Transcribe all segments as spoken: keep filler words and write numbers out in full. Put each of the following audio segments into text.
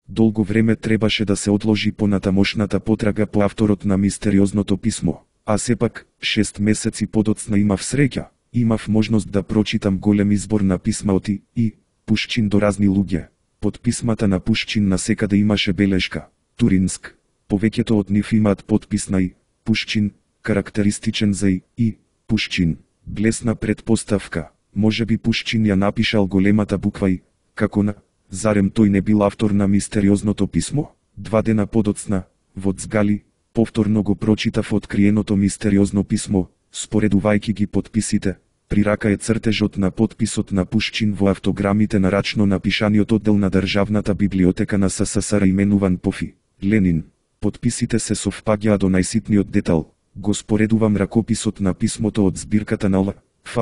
Долго време требаше да се одложи понатамошната потрага по авторот на мистериозното писмо, а сепак, шест месеци подоцна имав среќа, имав можност да прочитам голем избор на писма од и, и Пушчин до разни луѓе. Под писмата на Пушчин насекаде имаше белешка Туринск. Повеќето од нив имаат подпис на и Пушчин, карактеристичен за и, и Пушчин. Блесна предпоставка, можеби Пушчин ја напишал големата буква и, како на, зарем тој не бил автор на мистериозното писмо? Два дена подоцна, во Цгали, повторно го прочитав откриеното мистериозно писмо, споредувајќи ги подписите. При рака е цртежот на подписот на Пушчин во автограмите на рачно напишаниот оддел на Државната библиотека на СССР именуван Пофи Ленин. Подписите се совпаѓаа до најситниот детал. Го споредувам ракописот на писмото од збирката на Л. Ф.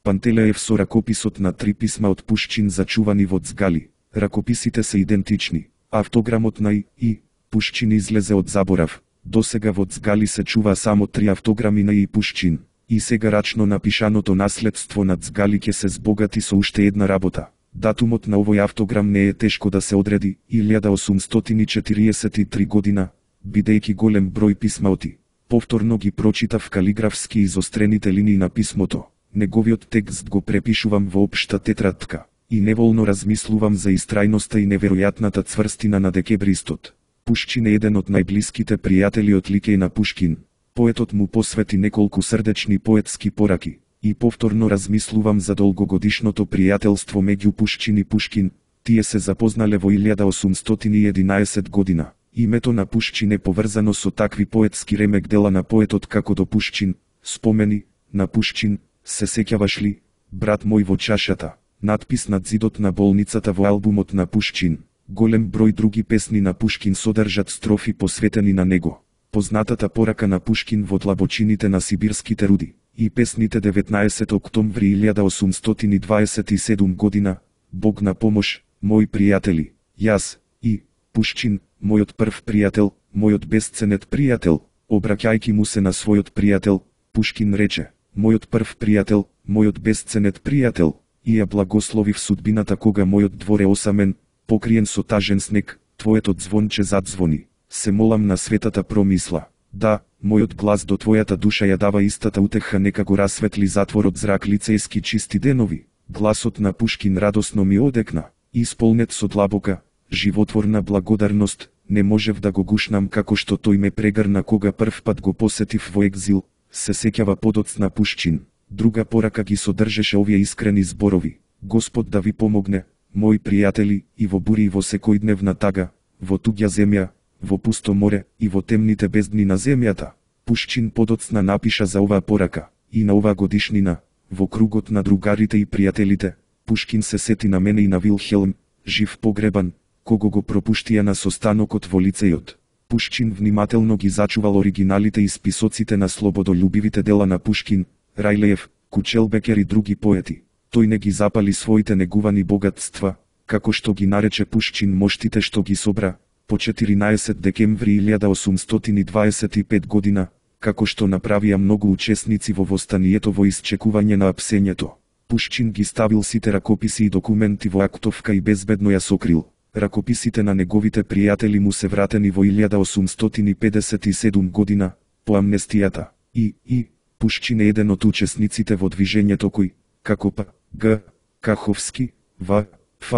Пантелеев со ракописот на три писма од Пушчин зачувани во Цгали. Ракописите се идентични. Автограмот на и, и Пушчин излезе од заборав. Досега во Цгали се чува само три автограми на и Пушчин. И сега рачно напишаното наследство на Цгали ќе се збогати со уште една работа. Датумот на овој автограм не е тешко да се одреди, илјада осумстотини и четириесет и три година, бидејќи голем број писма од и. Повторно ги прочитав калиграфски изострените линии на писмото. Неговиот текст го препишувам во општа тетрадка и неволно размислувам за истрајноста и неверојатната цврстина на декебристот. Пушчин е еден од најблиските пријатели од Ликеј на Пушкин. Поетот му посвети неколку срдечни поетски пораки и повторно размислувам за долгогодишното пријателство меѓу Пушчин и Пушкин. Тие се запознале во илјада осумстотини и единаесет година. Името на Пушчин е поврзано со такви поетски ремек дела на поетот како до Пушчин, спомени на Пушчин, се сеќаваш ли, брат мој во чашата, надпис над зидот на болницата во албумот на Пушчин. Голем број други песни на Пушкин содржат строфи посветени на него. Познатата порака на Пушкин во длабочините на сибирските руди и песните деветнаесет октомври илјада осумстотини дваесет и седма година, Бог на помош, мои пријатели, јас, и Пушчин, мојот прв пријател, мојот бесценет пријател, обраќајќи му се на својот пријател, Пушкин рече, мојот прв пријател, мојот бесценет пријател, и ја благословив судбината кога мојот двор е осамен, покриен со тажен снег, твоето звонче задзвони. Се молам на светата промисла. Да, мојот глас до твојата душа ја дава истата утеха, нека го расветли затворот зрак лицејски чисти денови. Гласот на Пушкин радосно ми одекна, исполнет со длабока, животворна благодарност, не можев да го гушнам како што тој ме прегрна кога прв пат го посетив во екзил, се сеќава подоцна Пушчин. Друга порака ги содржеше овие искрени зборови. Господ да ви помогне, мои пријатели, и во бури и во секојдневна тага, во туѓа земја, во пусто море и во темните бездни на земјата. Пушчин подоцна напиша за оваа порака и на оваа годишнина, во кругот на другарите и пријателите. Пушкин се сети на мене и на Вилхелм, жив погребан, кого го пропуштија на состанокот во лицејот. Пушчин внимателно ги зачувал оригиналите и списоците на слободолюбивите дела на Пушкин, Рајлеев, Кучелбекер и други поети. Тој не ги запали своите негувани богатства, како што ги нарече Пушчин моштите што ги собра, по четиринаесет декември илјада осумстотини дваесет и пета година, како што направија многу учесници во востанието во исчекување на апсењето. Пушчин ги ставил сите ракописи и документи во актовка и безбедно ја сокрил. Ракописите на неговите пријатели му се вратени во илјада осумстотини педесет и седма година, по амнестијата. И, и, Пушчин е еден од учесниците во движењето кој, како П. Г. Каховски, В. Ф.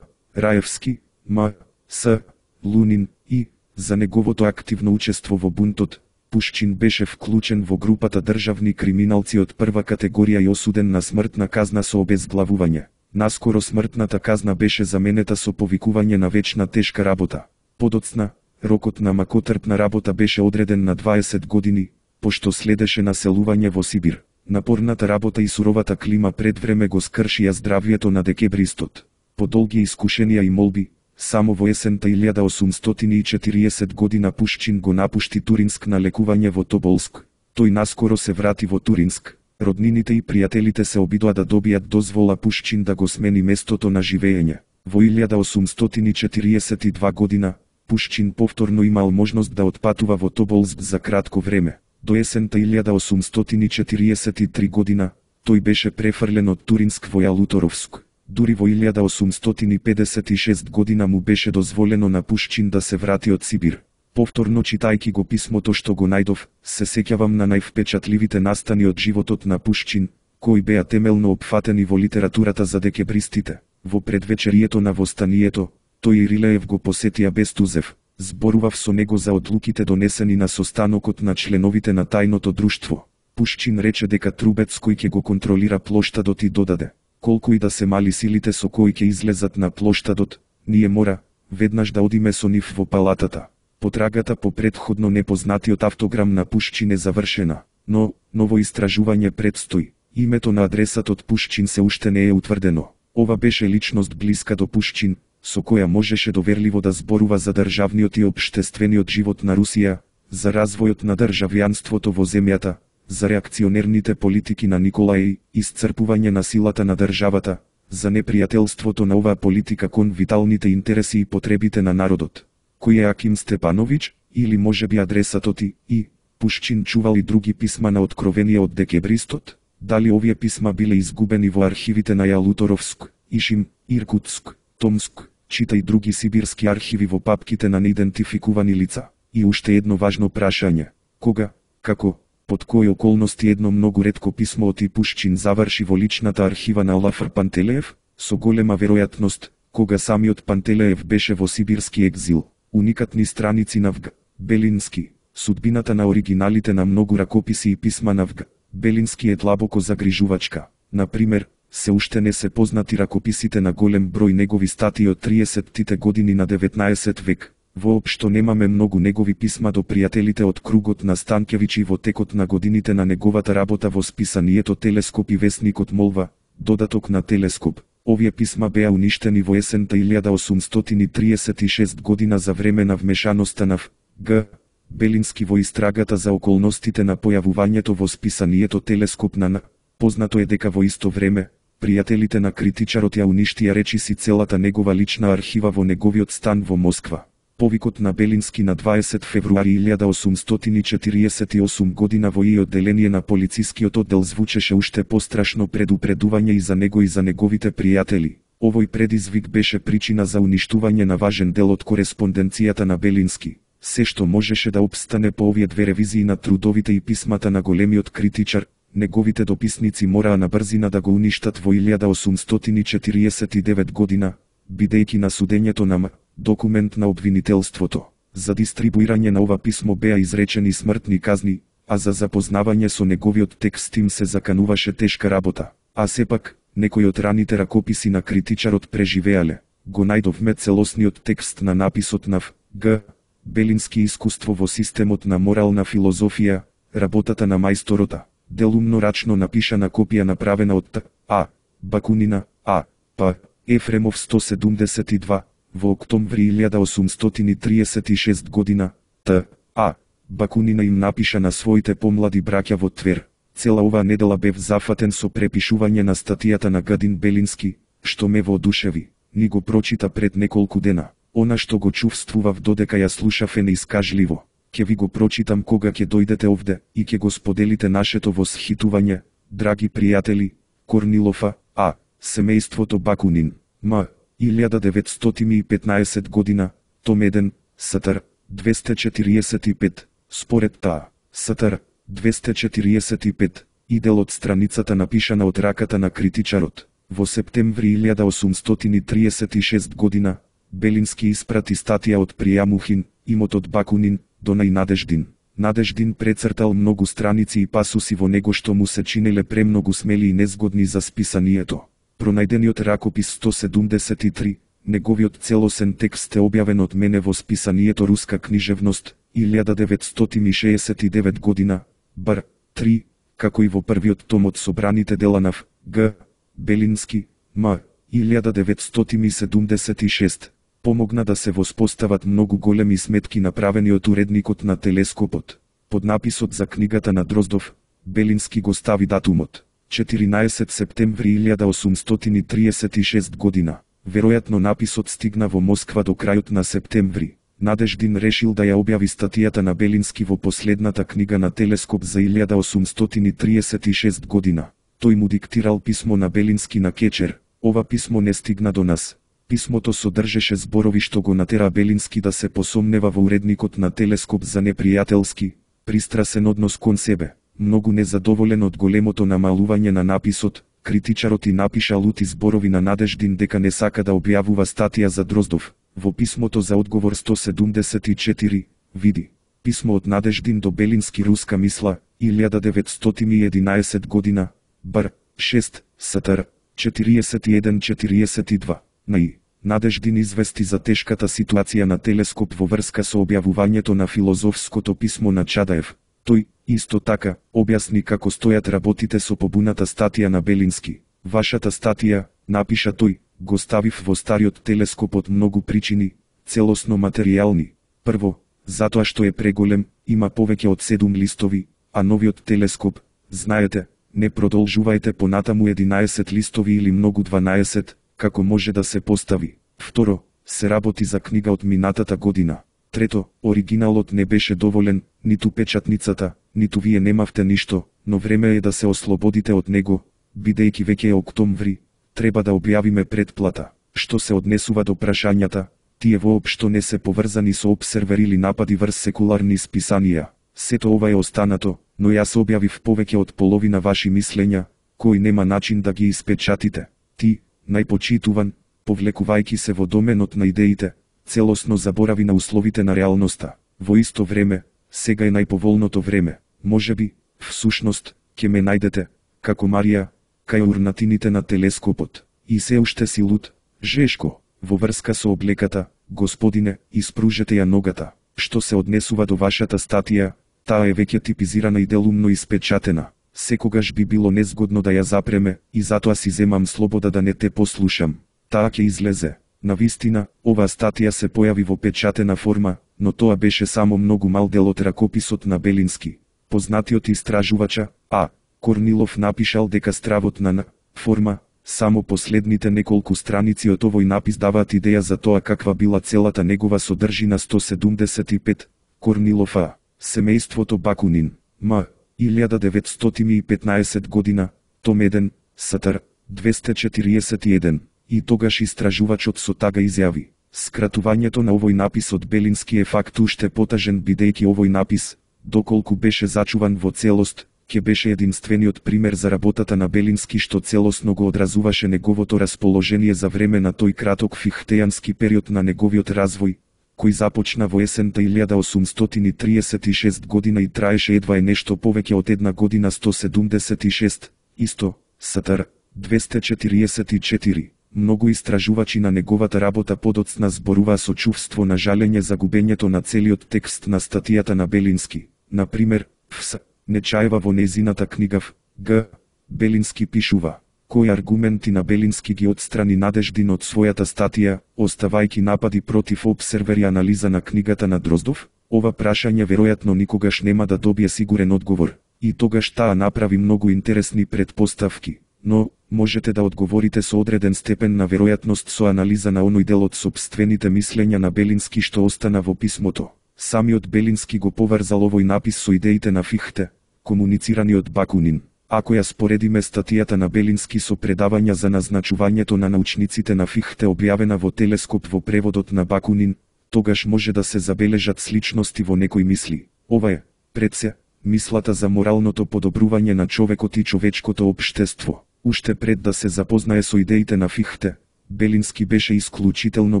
Раевски, М. С. Лунин, и, за неговото активно учество во бунтот, Пушчин беше вклучен во групата државни криминалци од прва категорија и осуден на смртна казна со обезглавување. Наскоро смртната казна беше заменета со повикување на вечна тешка работа. Подоцна, рокот на макотрпна работа беше одреден на дваесет години, пошто следеше населување во Сибир. Напорната работа и суровата клима пред време го скршија здравјето на декебристот. По долги искушенија и молби, само во есента илјада осумстотини и четириесет година Пушчин го напушти Туринск на лекување во Тоболск. Тој наскоро се врати во Туринск. Роднините и пријателите се обидоа да добијат дозвола Пушчин да го смени местото на живење. Во илјада осумстотини четириесет и две година, Пушчин повторно имал можност да отпатува во Тоболск за кратко време. До есента илјада осумстотини четириесет и три година, тој беше префрлен од Туринск во Јалуторовск. Дури во илјада осумстотини педесет и шеста година му беше дозволено на Пушчин да се врати од Сибир. Повторно читајќи го писмото што го најдов, се сеќавам на највпечатливите настани од животот на Пушчин, кои беа темелно опфатени во литературата за декембристите. Во предвечерието на востанието, тој и Рилеев го посетија Бестузев. Зборував со него за одлуките донесени на состанокот на членовите на тајното друштво. Пушчин рече дека Трубецкој ќе го контролира плоштадот и додаде: колку и да се мали силите со кои ќе излезат на плоштадот, ние мора веднаш да одиме со нив во палатата. Потрагата по претходно непознатиот автограм на Пушчин е завршена, но ново истражување предстои. Името на адресатот Пушчин се уште не е утврдено. Ова беше личност блиска до Пушчин, со која можеше доверливо да зборува за државниот и општествениот живот на Русија, за развојот на државјанството во земјата, за реакционерните политики на Николај, исцрпување на силата на државата, за непријателството на оваа политика кон виталните интереси и потребите на народот. Кој е Аким Степановиќ, или можеби адресатот и, и Пушчин чувал и други писма на откровение од декембристот? Дали овие писма биле изгубени во архивите на Ялуторовск, Ишим, Иркутск, Томск, чита и други сибирски архиви во папките на неидентификувани лица? И уште едно важно прашање: кога, како, под кои околности едно многу ретко писмо од И Пушчин заврши во личната архива на Олафр Пантелеев? Со голема веројатност, кога самиот Пантелеев беше во сибирски екзил. Уникатни страници на В.Г. Белински. Судбината на оригиналите на многу ракописи и писма на В.Г. Белински е длабоко загрижувачка. Например, се уште не се познати ракописите на голем број негови статии од триесеттите години на деветнаесет век. Воопшто немаме многу негови писма до пријателите од кругот на Станкевиќ и во текот на годините на неговата работа во списанието Телескоп и весникот Молва, додаток на Телескоп. Овие писма беа уништени во есента илјада осумстотини триесет и шеста година за време на вмешаноста на В.Г. Белински во истрагата за околностите на појавувањето во списанието Телескоп на Н. Познато е дека во исто време, пријателите на критичарот ја уништија речиси целата негова лична архива во неговиот стан во Москва. Повикот на Белински на дваесет февруари илјада осумстотини четириесет и осма година во и одделение на полицискиот оддел звучеше уште пострашно предупредување и за него и за неговите пријатели. Овој предизвик беше причина за уништување на важен дел од кореспонденцијата на Белински. Се што можеше да опстане по овие две ревизии на трудовите и писмата на големиот критичар, неговите дописници мораа на брзина да го уништат во илјада осумстотини четириесет и девета година, бидејќи на судењето на М. документ на обвинителството. За дистрибуирање на ова писмо беа изречени смртни казни, а за запознавање со неговиот текст им се закануваше тешка работа. А сепак, некои од раните ракописи на критичарот преживеале. Го најдовме целосниот текст на написот на В.Г. Белински искуство во системот на морална филозофија, работата на мајсторота, делумно рачно напишана копија направена од Т. А. Бакунина, А. П. Ефремов сто седумдесет и два, во октомври илјада осумстотини триесет и шеста година, Т. А. Бакунина им напиша на своите помлади браќа во Твер. Цела оваа недела бев зафатен со препишување на статијата на Гадин Белински, што ме воодушеви. Ни го прочита пред неколку дена. Она што го чувствував додека ја слушав е неискажливо. Ке ви го прочитам кога ќе дојдете овде и ќе го споделите нашето восхитување, драги пријатели. Корнилов А. Семејството Бакунин. М. илјада деветстотини и петнаесета година. Том еден. Сатар. двесте четириесет и пет. Според таа. Сатар. двесте четириесет и пет. И дел од страницата напишана од раката на критичарот. Во септември илјада осумстотини триесет и шеста година, Белински испрати статија од Пријамухин, имотот Бакунин, до најнадеждин. Надеждин прецртал многу страници и пасуси во него што му се чинеле премногу смели и незгодни за списанието. Пронајдениот ракопис сто седумдесет и три, неговиот целосен текст е објавен од мене во списанието Руска книжевност, илјада деветстотини шеесет и девета година, бар три, како и во првиот том од собраните дела на В.Г. Белински, М. илјада деветстотини седумдесет и шеста. Помогна да се воспостават многу големи сметки направени од уредникот на Телескопот. Под написот за книгата на Дроздов, Белински го стави датумот четиринаесет септември илјада осумстотини триесет и шеста година. Веројатно написот стигна во Москва до крајот на септември. Надеждин решил да ја објави статијата на Белински во последната книга на Телескоп за илјада осумстотини триесет и шеста година. Тој му диктирал писмо на Белински на Кечер, Ова писмо не стигна до нас. Писмото содржеше зборови што го натера Белински да се посомнева во уредникот на Телескоп за непријателски, пристрасен однос кон себе. Многу незадоволен од големото намалување на написот, критичарот и напиша лути зборови на Надеждин дека не сака да објавува статија за Дроздов. Во писмото за одговор сто седумдесет и четири, види. Писмо од Надеждин до Белински, руска мисла, илјада деветстотини и единаесет година, бр. шест, стр. четириесет и еден четириесет и два. Наи. Надеждин извести за тешката ситуација на Телескоп во врска со објавувањето на филозофското писмо на Чадаев. Тој, исто така, објасни како стојат работите со побуната статија на Белински. Вашата статија, напиша тој, го ставив во стариот Телескоп од многу причини, целосно материјални. Прво, затоа што е преголем, има повеќе од седум листови, а новиот Телескоп, знаете, не продолжувајте понатаму единаесет листови или многу дванаесет, како може да се постави. Второ, се работи за книга од минатата година. Трето, оригиналот не беше доволен, ниту печатницата, ниту вие немавте ништо, но време е да се ослободите од него, бидејќи веќе е октомври, треба да објавиме предплата. Што се однесува до прашањата, тие воопшто не се поврзани со обсервер или напади врз секуларни списанија. Сето ова е останато, но јас објавив повеќе од половина ваши мислења, кои нема начин да ги испечатите. Ти, најпочитуван, повлекувајќи се во доменот на идеите, целосно заборави на условите на реалноста. Во исто време, сега е најповолното време. Можеби, всушност, ќе ме најдете, како Марија, кај урнатините на Телескопот. И се уште си луд, Жешко, во врска со облеката, господине, испружете ја ногата. Што се однесува до вашата статија, таа е веќе типизирана и делумно испечатена. Секогаш би било незгодно да ја запреме, и затоа си земам слобода да не те послушам. Таа ќе излезе. Навистина, оваа статија се појави во печатена форма, но тоа беше само многу мал дел од ракописот на Белински. Познатиот истражувача, А. Корнилов напишал дека стравот на Н. форма, само последните неколку страници од овој напис даваат идеја за тоа каква била целата негова содржина. Сто седумдесет и пет. Корнилов А. Семејството Бакунин. М. илјада деветстотини и петнаесет година, том еден, стр. двесте четириесет и еден. И тогаш истражувачот со тага изјави: скратувањето на овој напис од Белински е факт уште потажен, бидејќи овој напис, доколку беше зачуван во целост, ќе беше единствениот пример за работата на Белински што целосно го одразуваше неговото расположение за време на тој краток фихтејански период на неговиот развој, кој започна во есента илјада осумстотини триесет и шеста година и траеше едва е нешто повеќе од една година. Сто седумдесет и шест. Исто, стр. двесте четириесет и четири. Многу истражувачи на неговата работа подоцна зборуваа со чувство на жалење за губењето на целиот текст на статијата на Белински. Например, Фс. Нечаева во незината книга В. Г. Белински пишува: кои аргументи на Белински ги отстрани Надеждин од својата статија, оставајќи напади против обсервер и анализа на книгата на Дроздов? Ова прашање веројатно никогаш нема да добие сигурен одговор, и тогаш таа направи многу интересни предпоставки. Но, можете да одговорите со одреден степен на веројатност со анализа на оној дел од сопствените мислења на Белински што остана во писмото. Самиот Белински го поврзал овој напис со идеите на Фихте, комуницирани од Бакунин. Ако ја споредиме статијата на Белински со предавања за назначувањето на научниците на Фихте објавена во Телескоп во преводот на Бакунин, тогаш може да се забележат сличности во некои мисли. Ова е, пред се, мислата за моралното подобрување на човекот и човечкото општество. Уште пред да се запознае со идеите на Фихте, Белински беше исклучително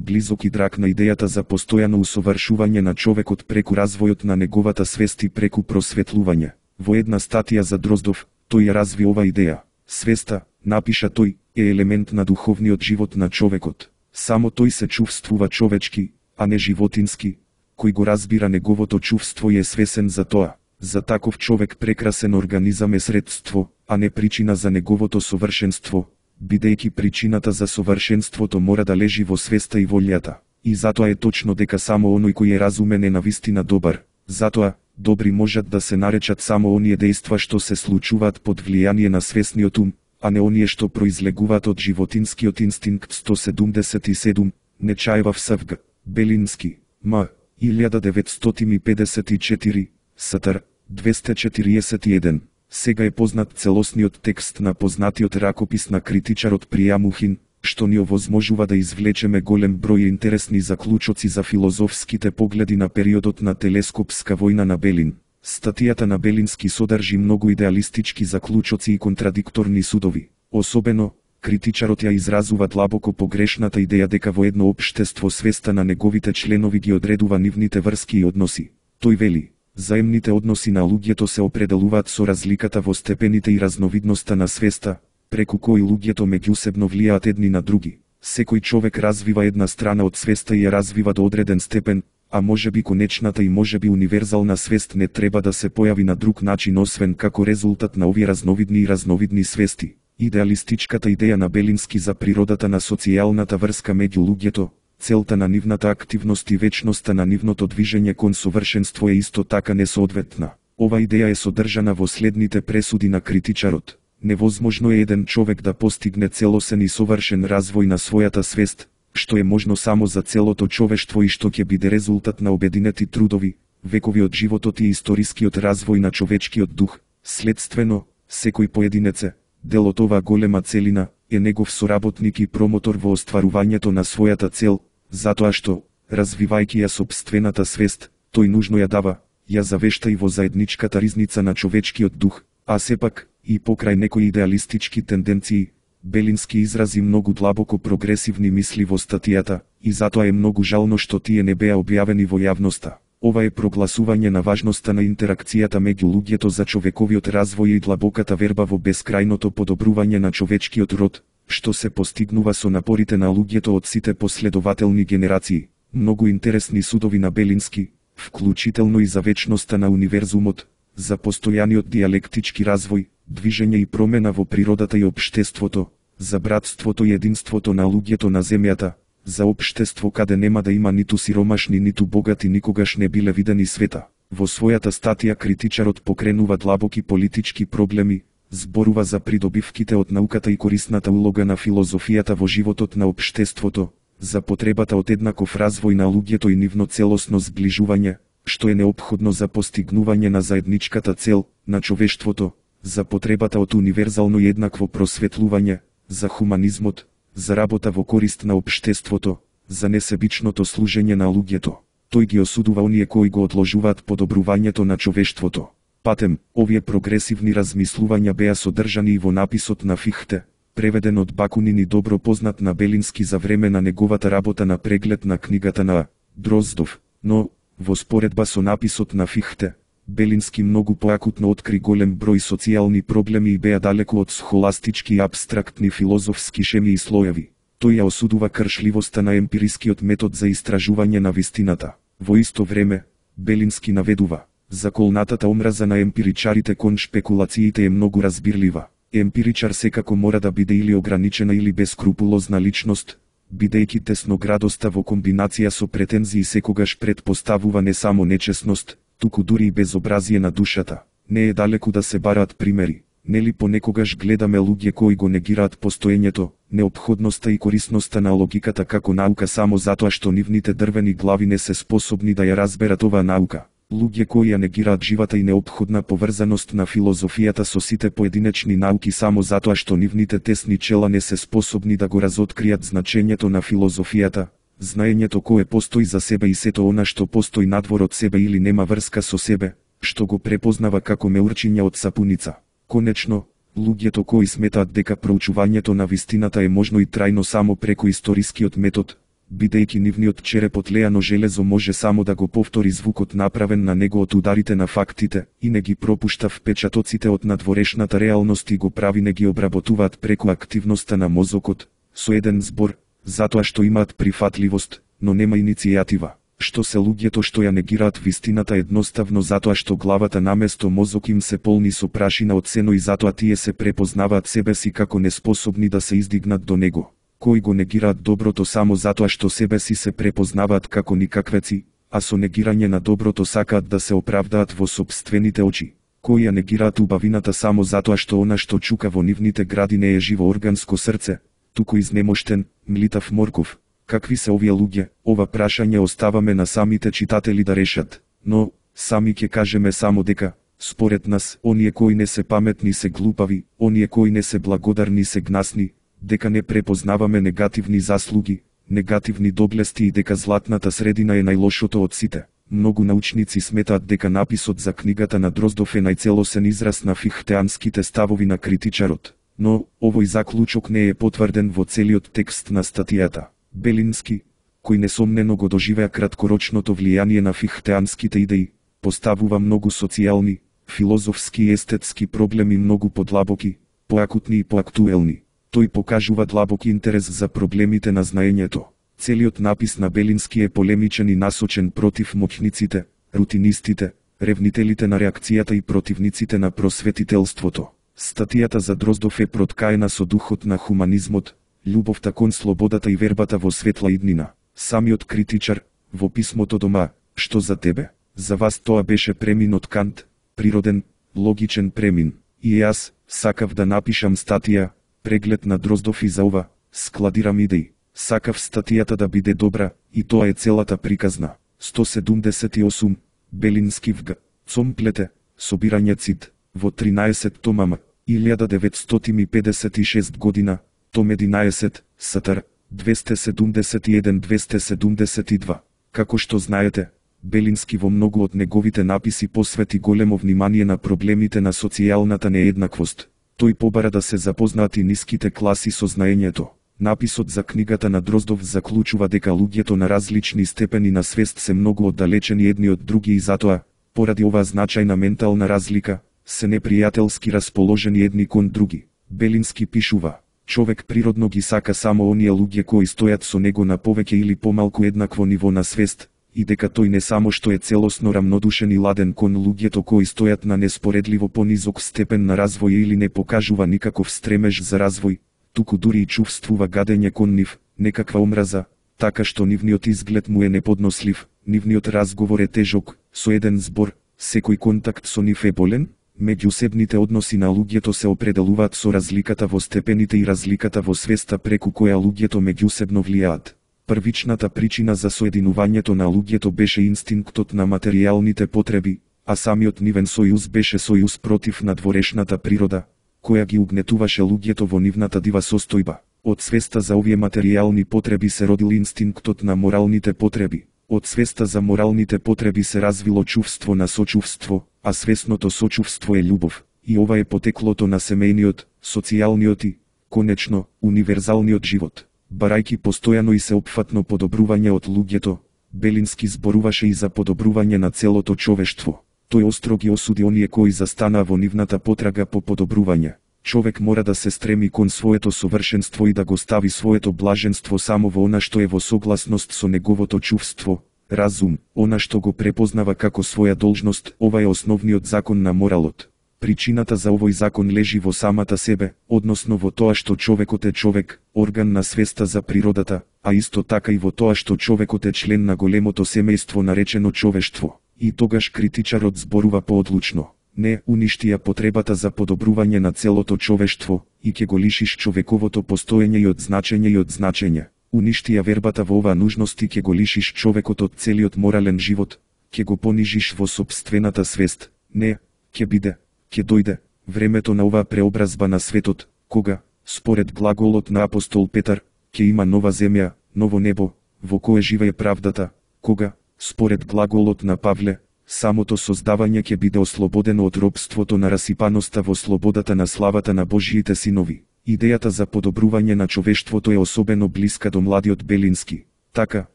близок и драг на идејата за постојано усовршување на човекот преку развојот на неговата свест и преку просветлување. Во една статија за Дроздов, тој ја разви ова идеја. Свеста, напиша тој, е елемент на духовниот живот на човекот. Само тој се чувствува човечки, а не животински. Кој го разбира неговото чувство и е свесен за тоа. За таков човек прекрасен организам е средство, а не причина за неговото совршенство, бидејќи причината за совршенството мора да лежи во свеста и волјата. И затоа е точно дека само оној кој е разумен е навистина добар. Затоа, добри можат да се наречат само оние дејства што се случуваат под влијание на свесниот ум, а не оние што произлегуваат од животинскиот инстинкт. Сто седумдесет и седум. Нечаева в Св. Белински. М. илјада деветстотини педесет и четири. Стр. двесте четириесет и еден. Сега е познат целосниот текст на познатиот ракопис на критичарот Пријамухин, што ни овозможува да извлечеме голем број интересни заклучоци за филозофските погледи на периодот на телескопска војна на Белин. Статијата на Белински содржи многу идеалистички заклучоци и контрадикторни судови. Особено, критичарот ја изразува длабоко погрешната идеја дека во едно општество свеста на неговите членови ги одредува нивните врски и односи. Тој вели: заемните односи на луѓето се определуваат со разликата во степените и разновидноста на свеста, преку кои луѓето меѓусебно влијаат едни на други. Секој човек развива една страна од свеста и ја развива до одреден степен, а можеби конечната и можеби универзална свест не треба да се појави на друг начин освен како резултат на овие разновидни и разновидни свести. Идеалистичката идеја на Белински за природата на социјалната врска меѓу луѓето, целта на нивната активност и вечноста на нивното движење кон совршенство е исто така несоодветна. Ова идеја е содржана во следните пресуди на критичарот. Невозможно е еден човек да постигне целосен и совршен развој на својата свест, што е можно само за целото човештво и што ќе биде резултат на обединети трудови, векови од животот и историскиот развој на човечкиот дух. Следствено, секој поединеце, дел од оваа голема целина, е негов соработник и промотор во остварувањето на својата цел, затоа што, развивајќи ја сопствената свест, тој нужно ја дава, ја завешта и во заедничката ризница на човечкиот дух, а сепак, и покрај некои идеалистички тенденции, Белински изрази многу длабоко прогресивни мисли во статијата, и затоа е многу жално што тие не беа објавени во јавноста. Ова е прогласување на важноста на интеракцијата меѓу луѓето за човековиот развој и длабоката верба во бескрајното подобрување на човечкиот род, што се постигнува со напорите на луѓето од сите последователни генерации. Многу интересни судови на Белински, вклучително и за вечноста на универзумот, за постојаниот диалектички развој, движење и промена во природата и општеството, за братството и единството на луѓето на земјата, за општество каде нема да има ниту сиромашни ниту богати никогаш не биле видени света. Во својата статија критичарот покренува длабоки политички проблеми, зборува за придобивките од науката и корисната улога на филозофијата во животот на општеството, за потребата од еднаков развој на луѓето и нивно целосно зближување, што е неопходно за постигнување на заедничката цел, на човештвото, за потребата од универзално и еднакво просветлување, за хуманизмот, за работа во корист на општеството, за несебичното служење на луѓето. Тој ги осудува оние кои го одложуваат подобрувањето на човештвото. Патем, овие прогресивни размислувања беа содржани и во написот на Фихте, преведен од Бакунин и добро познат на Белински за време на неговата работа на преглед на книгата на Дроздов, но, во споредба со написот на Фихте, Белински многу поакутно откри голем број социјални проблеми и беа далеку од схоластички и апстрактни филозофски шеми и слоеви. Тој ја осудува кршливоста на емпирискиот метод за истражување на вистината. Во исто време, Белински наведува: заколнатата омраза на емпиричарите кон шпекулациите е многу разбирлива. Емпиричар секако мора да биде или ограничена или бескрупулозна личност, бидејќи тесноградоста во комбинација со претензии секогаш предпоставува не само нечесност, туку дури и безобразие на душата. Не е далеку да се бараат примери. Нели понекогаш гледаме луѓе кои го негираат постоењето, неопходноста и корисноста на логиката како наука само затоа што нивните дрвени глави не се способни да ја разберат оваа наука. Луѓе кои ја негираат живата и неопходна поврзаност на филозофијата со сите поединечни науки само затоа што нивните тесни чела не се способни да го разоткријат значењето на филозофијата, знаењето кое постои за себе и сето она што постои надвор од себе или нема врска со себе, што го препознава како меурчиња од сапуница. Конечно, луѓето кои сметаат дека проучувањето на вистината е можно и трајно само преку историскиот метод, бидејќи нивниот череп од леано железо може само да го повтори звукот направен на него од ударите на фактите, и не ги пропушта впечатоците од надворешната реалност и го прави не ги обработуваат преку активноста на мозокот, со еден збор, затоа што имаат прифатливост, но нема иницијатива. Што се луѓето што ја негираат вистината едноставно затоа што главата наместо мозок им се полни со прашина од сено и затоа тие се препознаваат себе си како неспособни да се издигнат до него. Кои го негираат доброто само затоа што себе си се препознаваат како никаквеци, а со негирање на доброто сакаат да се оправдаат во сопствените очи. Кои ја негираат убавината само затоа што она што чука во нивните гради не е живо органско срце, туку изнемоштен, млитав морков. Какви се овие луѓе? Ова прашање оставаме на самите читатели да решат, но, сами ќе кажеме само дека, според нас, оние кои не се паметни се глупави, оние кои не се благодарни се гнасни, дека не препознаваме негативни заслуги, негативни доблести и дека златната средина е најлошото од сите. Многу научници сметаат дека написот за книгата на Дроздов е најцелосен израз на фихтеанските ставови на критичарот, но овој заклучок не е потврден во целиот текст на статијата. Белински, кој несомнено го доживеа краткорочното влијание на фихтеанските идеи, поставува многу социјални, филозофски и естетски проблеми многу подлабоки, поакутни и поактуелни. Тој покажува длабок интерес за проблемите на знаењето. Целиот напис на Белински е полемичен и насочен против моќниците, рутинистите, ревнителите на реакцијата и противниците на просветителството. Статијата за Дроздов е проткаена со духот на хуманизмот, љубовта кон слободата и вербата во светла иднина. Самиот критичар, во писмото дома, што за тебе? За вас тоа беше премин од Кант, природен, логичен премин. И јас сакав да напишам статија, преглед на Дроздов и за ова, складирам идеи. Сакав статијата да биде добра, и тоа е целата приказна. сто седумдесет и осум, Белински в Г. Цомплете, собирање цит, во тринаесет томама, илјада деветстотини и педесет и шеста година, том единаесет, Сатар, двесте седумдесет и еден до двесте седумдесет и два. Како што знаете, Белински во многу од неговите написи посвети големо внимание на проблемите на социјалната нееднаквост. Тој побара да се запознаат и ниските класи со знаењето. Написот за книгата на Дроздов заклучува дека луѓето на различни степени на свест се многу оддалечени едни од други и затоа, поради оваа значајна ментална разлика, се непријателски расположени едни кон други. Белински пишува: човек природно ги сака само оние луѓе кои стојат со него на повеќе или помалку еднакво ниво на свест, и дека тој не само што е целосно рамнодушен и ладен кон луѓето кои стојат на неспоредливо понизок степен на развој или не покажува никаков стремеж за развој, туку дури и чувствува гадење кон нив, некаква омраза, така што нивниот изглед му е неподнослив, нивниот разговор е тежок, со еден збор, секој контакт со нив е болен. Меѓусебните односи на луѓето се определуваат со разликата во степените и разликата во свеста преку која луѓето меѓусебно влијаат. Првичната причина за соединувањето на луѓето беше инстинктот на материјалните потреби, а самиот нивен сојуз беше сојуз против надворешната природа, која ги угнетуваше луѓето во нивната дива состојба. Од свеста за овие материјални потреби се родил инстинктот на моралните потреби. Од свеста за моралните потреби се развило чувство на сочувство, а свесното сочувство е љубов, и ова е потеклото на семејниот, социјалниот и, конечно, универзалниот живот. Барајки постојано и сеопфатно подобрување од луѓето, Белински зборуваше и за подобрување на целото човештво. Тој остро ги осуди оние кои застанаа во нивната потрага по подобрување. Човек мора да се стреми кон своето совршенство и да го стави своето блаженство само во она што е во согласност со неговото чувство, разум, она што го препознава како своја должност. Ова е основниот закон на моралот. Причината за овој закон лежи во самата себе, односно во тоа што човекот е човек, орган на свеста за природата, а исто така и во тоа што човекот е член на големото семејство наречено човештво. И тогаш критичарот зборува поодлучно: не уништи ја потребата за подобрување на целото човештво, и ќе го лишиш човековото постоење и од значење и од значење. Уништи ја вербата во оваа нужност и ќе го лишиш човекот од целиот морален живот, ќе го понижиш во сопствената свест. Не, ќе биде, ќе дојде времето на оваа преобразба на светот, кога, според глаголот на апостол Петар, ќе има нова земја, ново небо, во кое живее правдата, кога, според глаголот на Павле, самото создавање ќе биде ослободено од робството на расипаноста во слободата на славата на Божиите синови. Идејата за подобрување на човештвото е особено блиска до младиот Белински. Така,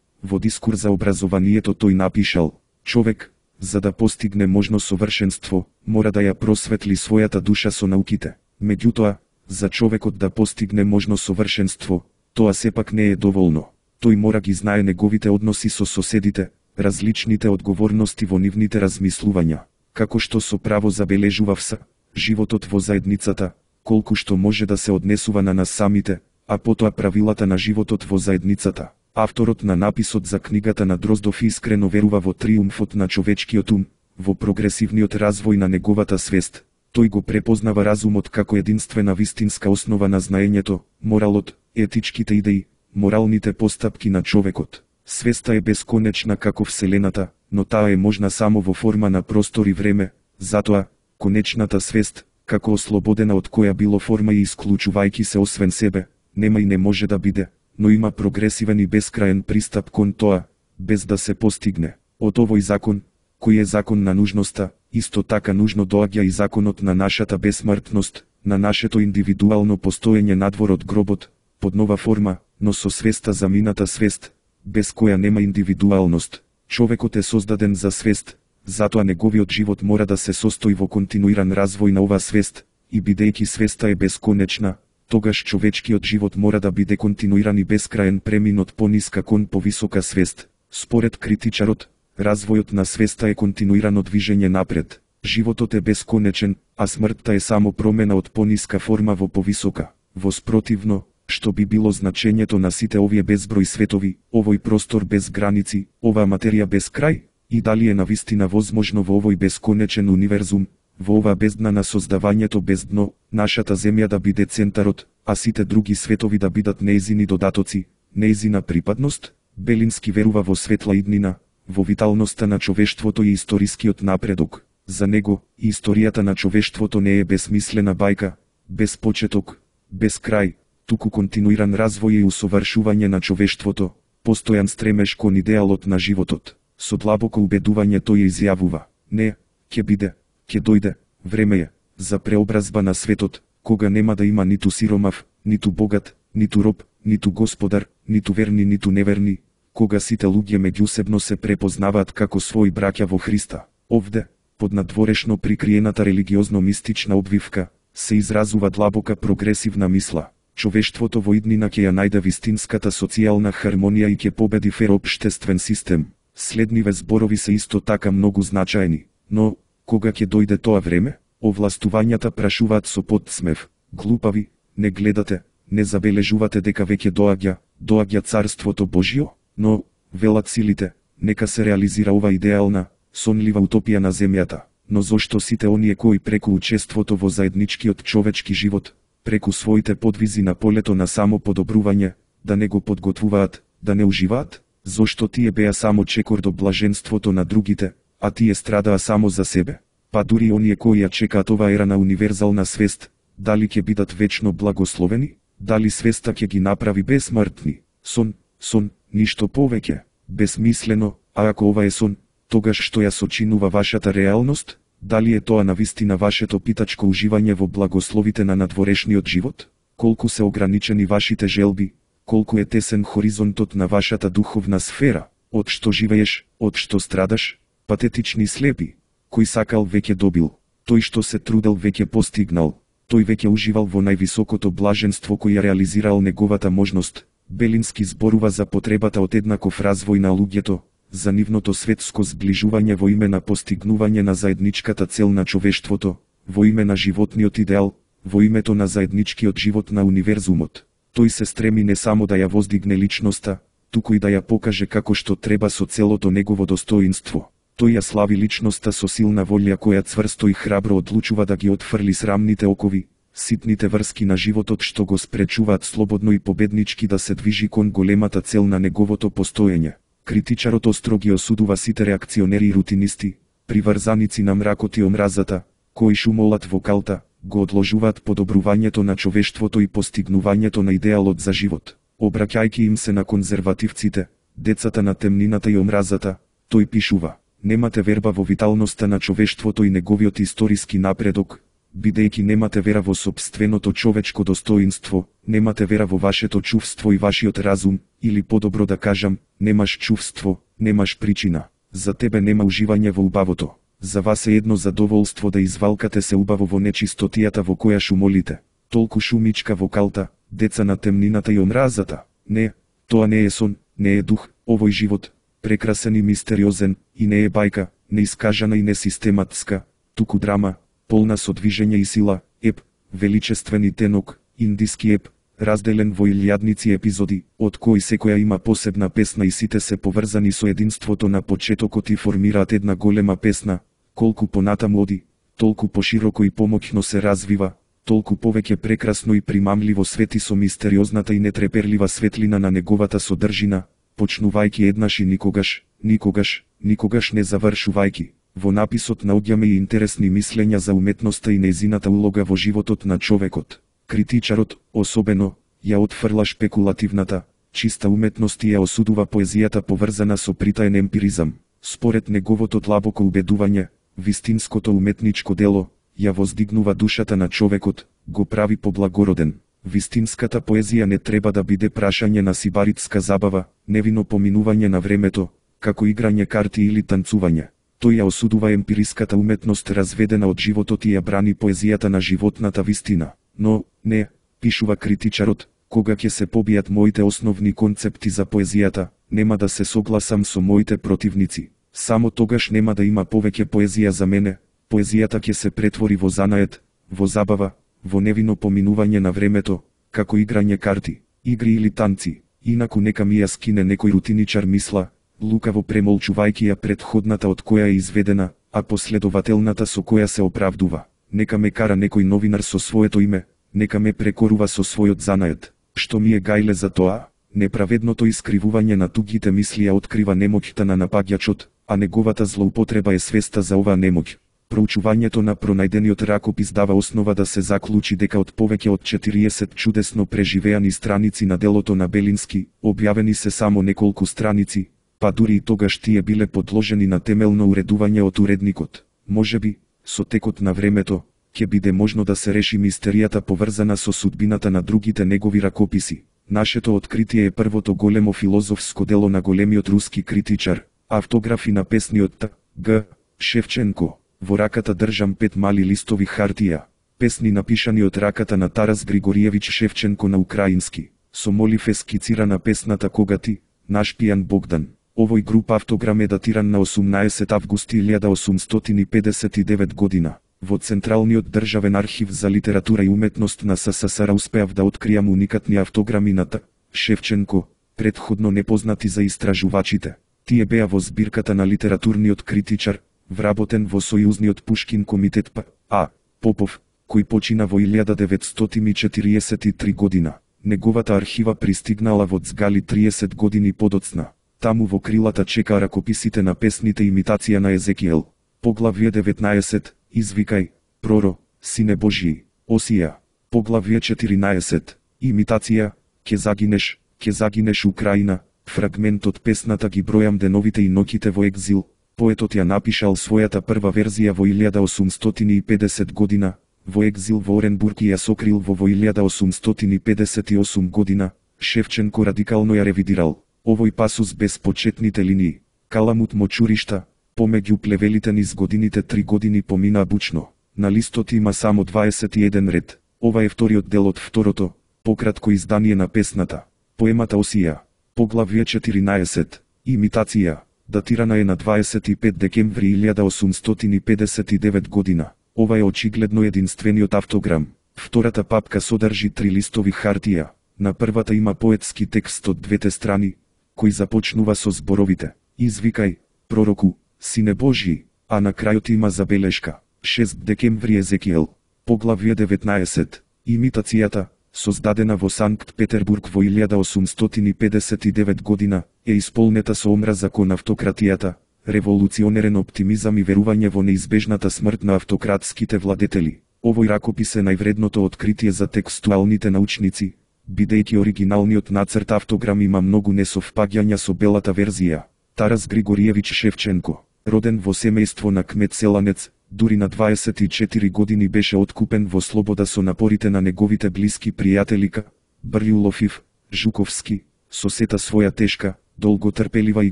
во дискурс за образованието тој напишал: човек, за да постигне можно совршенство, мора да ја просветли својата душа со науките. Меѓутоа, за човекот да постигне можно совршенство, тоа сепак не е доволно. Тој мора ги знае неговите односи со соседите, различните одговорности во нивните размислувања, како што со право забележува вс. животот во заедницата, колку што може да се однесува на нас самите, а потоа правилата на животот во заедницата. Авторот на написот за книгата на Дроздов искрено верува во триумфот на човечкиот ум, во прогресивниот развој на неговата свест. Тој го препознава разумот како единствена вистинска основа на знаењето, моралот, етичките идеи, моралните постапки на човекот. Свеста е бесконечна како Вселената, но таа е можна само во форма на простор и време, затоа, конечната свест, како ослободена од која било форма и исклучувајќи се освен себе, нема и не може да биде, но има прогресивен и бескраен пристап кон тоа, без да се постигне. Од овој закон, кој е закон на нужноста, исто така нужно доаѓа и законот на нашата бесмртност, на нашето индивидуално постоење надвор од гробот, под нова форма, но со свеста за мината свест, без која нема индивидуалност. Човекот е создаден за свест, затоа неговиот живот мора да се состои во континуиран развој на оваа свест, и бидејќи свеста е бесконечна, тогаш човечкиот живот мора да биде континуиран и бескраен премин од пониска кон повисока свест. Според критичарот, развојот на свеста е континуирано движење напред. Животот е бесконечен, а смртта е само промена од пониска форма во повисока. Воспротивно, што би било значењето на сите овие безброј светови, овој простор без граници, оваа материја без крај, и дали е навистина возможно во овој бесконечен универзум, во оваа бездна на создавањето без дно, нашата земја да биде центарот, а сите други светови да бидат неизини додатоци, неизина припадност? Белински верува во светла иднина, во виталноста на човештвото и историскиот напредок. За него, и историјата на човештвото не е безсмислена бајка, без почеток, без крај, туку континуиран развој и усовршување на човештвото, постојан стремеж кон идеалот на животот. Со длабоко убедување тој изјавува: не, ќе биде, ќе дојде, време е, за преобразба на светот, кога нема да има ниту сиромав, ниту богат, ниту роб, ниту господар, ниту верни, ниту неверни, кога сите луѓе меѓусебно се препознаваат како своји браќа во Христа. Овде, под надворешно прикриената религиозно-мистична обвивка, се изразува длабока прогресивна мисла. Човештвото во иднина ќе ја најде вистинската социјална хармонија и ќе победи фер општествен систем. Следниве зборови се исто така многу значајни, но, кога ќе дојде тоа време, овластувањата прашуваат со подсмев: глупави, не гледате, не забележувате дека веќе доаѓа, доаѓа царството Божјо? Но, велат силите, нека се реализира ова идеална, сонлива утопија на земјата. Но зошто сите оние кои преку учеството во заедничкиот човечки живот, преку своите подвизи на полето на само подобрување, да не го подготвуваат, да не уживаат? Зошто тие беа само чекор до блаженството на другите, а тие страдаа само за себе? Па дури оние кои ја чекаат оваа ера на универзална свест, дали ќе бидат вечно благословени? Дали свеста ќе ги направи бесмртни? Сон, сон, ништо повеќе. Безсмислено, а ако ова е сон, тогаш што ја сочинува вашата реалност? Дали е тоа навистина вашето питачко уживање во благословите на надворешниот живот? Колку се ограничени вашите желби, колку е тесен хоризонтот на вашата духовна сфера, од што живееш, од што страдаш? Патетични слепи, кој сакал веќе добил, тој што се трудел веќе постигнал, тој веќе уживал во највисокото блаженство кој ја реализирал неговата можност. Белински зборува за потребата од еднаков развој на луѓето, за нивното светско зближување во име на постигнување на заедничката цел на човештвото, во име на животниот идеал, во името на заедничкиот живот на универзумот. Тој се стреми не само да ја воздигне личноста, туку и да ја покаже како што треба со целото негово достоинство. Тој ја слави личноста со силна волја која цврсто и храбро одлучува да ги отфрли срамните окови, ситните врски на животот што го спречуваат слободно и победнички да се движи кон големата цел на неговото постоење. Критичарот остро ги осудува сите реакционери и рутинисти, приврзаници на мракот и омразата, кои шумолат во калта, го одложуваат подобрувањето на човештвото и постигнувањето на идеалот за живот. Обраќајќи им се на конзервативците, децата на темнината и омразата, тој пишува: немате верба во виталноста на човештвото и неговиот историски напредок, бидејќи немате вера во сопственото човечко достоинство, немате вера во вашето чувство и вашиот разум, или подобро да кажам, немаш чувство, немаш причина. За тебе нема уживање во убавото. За вас е едно задоволство да извалкате се убаво во нечистотијата во која шумолите. Толку шумичка во калта, деца на темнината и омразата. Не, тоа не е сон, не е дух, овој живот, прекрасен и мистериозен, и не е бајка, неискажана и несистематска, туку драма, полна со движење и сила, еп, величествен и тенок, индиски еп, разделен во илјадници епизоди, од кои секоја има посебна песна и сите се поврзани со единството на почетокот и формираат една голема песна. Колку понатаму оди, толку пошироко и помоќно се развива, толку повеќе прекрасно и примамливо свети со мистериозната и нетреперлива светлина на неговата содржина, почнувајќи еднаш и никогаш, никогаш, никогаш не завршувајќи. Во написот наоѓаме и интересни мислења за уметноста и нејзината улога во животот на човекот. Критичарот, особено, ја отфрла шпекулативната, чиста уметност и ја осудува поезијата поврзана со притаен емпиризам. Според неговото длабоко убедување, вистинското уметничко дело ја воздигнува душата на човекот, го прави поблагороден. Вистинската поезија не треба да биде прашање на сибаритска забава, невино поминување на времето, како играње карти или танцување. Тој ја осудува емпириската уметност разведена од животот и ја брани поезијата на животната вистина. Но, не, пишува критичарот, кога ќе се побијат моите основни концепти за поезијата, нема да се согласам со моите противници. Само тогаш нема да има повеќе поезија за мене, поезијата ќе се претвори во занает, во забава, во невино поминување на времето, како играње карти, игри или танци. Инаку нека ми ја скине некој рутиничар мисла, лукаво премолчувајќи ја претходната од која е изведена, а последователната со која се оправдува. Нека ме кара некој новинар со своето име, нека ме прекорува со својот занает. Што ми е гајле за тоа? Неправедното искривување на тугите мисли ја открива немоќта на напаѓачот, а неговата злоупотреба е свеста за оваа немоќ. Проучувањето на пронајдениот ракопис дава основа да се заклучи дека од повеќе од четириесет чудесно преживеани страници на делото на Белински, објавени се само неколку страници, па дури и тогаш тие биле подложени на темелно уредување од уредникот. Можеби, со текот на времето, ќе биде можно да се реши мистеријата поврзана со судбината на другите негови ракописи. Нашето откритие е првото големо филозофско дело на големиот руски критичар, автографи на песниот Т. Г. Шевченко. Во раката држам пет мали листови хартија. Песни напишани од раката на Тарас Григориевич Шевченко на украински. Со молив е скицирана песната Кога ти, наш пијан Богдан. Овој груп автограм е датиран на осумнаесет августи илјада осумстотини и педесет и девет година. Во Централниот државен архив за литература и уметност на СССР успеав да откријам уникатни автограми на Т. Шевченко, претходно непознати за истражувачите. Тие беа во збирката на литературниот критичар, вработен во Сојузниот Пушкин комитет П. А. Попов, кој почина во илјада деветстотини четириесет и три година. Неговата архива пристигнала во Цгали триесет години подоцна. Таму во крилата чека ракописите на песните имитација на Езекиел. Поглавје деветнаесет, Извикај, Проро, Сине Божји, Осија. Поглавје четиринаесет, Имитација, Ке загинеш, ке загинеш Украина. Фрагмент од песната Ги бројам деновите и ноќите во екзил. Поетот ја напишал својата прва верзија во илјада осумстотини и педесет година, во екзил во Оренбург и ја сокрил во во илјада осумстотини педесет и осум година. Шевченко радикално ја ревидирал. Овој пасус без почетните линии. Каламут мочуришта, помеѓу плевелите низ годините три години помина бучно. На листот има само дваесет и еден ред. Ова е вториот дел од второто, пократко издание на песната. Поемата Осија. Поглавје четиринаесет. Имитација. Датирана е на дваесет и пет декември илјада осумстотини и педесет и девет година. Ова е очигледно единствениот автограм. Втората папка содржи три листови хартија. На првата има поетски текст од двете страни, кој започнува со зборовите Извикај, Пророку, Сине Божји, а на крајот има забелешка шест декември Езекиел. Поглавје деветнаесет. Имитацијата, создадена во Санкт Петербург во илјада осумстотини и педесет и девет година, е исполнета со омраза кон автократијата, револуционерен оптимизам и верување во неизбежната смрт на автократските владетели. Овој ракопис е највредното откритие за текстуалните научници, бидејќи оригиналниот нацрт автограм има многу несовпаѓања со белата верзија. Тарас Григориевич Шевченко, роден во семејство на кмет селанец, дури на дваесет и четири години беше откупен во слобода со напорите на неговите блиски пријатели К. Брјулов, Жуковски, со сета своја тешка, долготрпелива и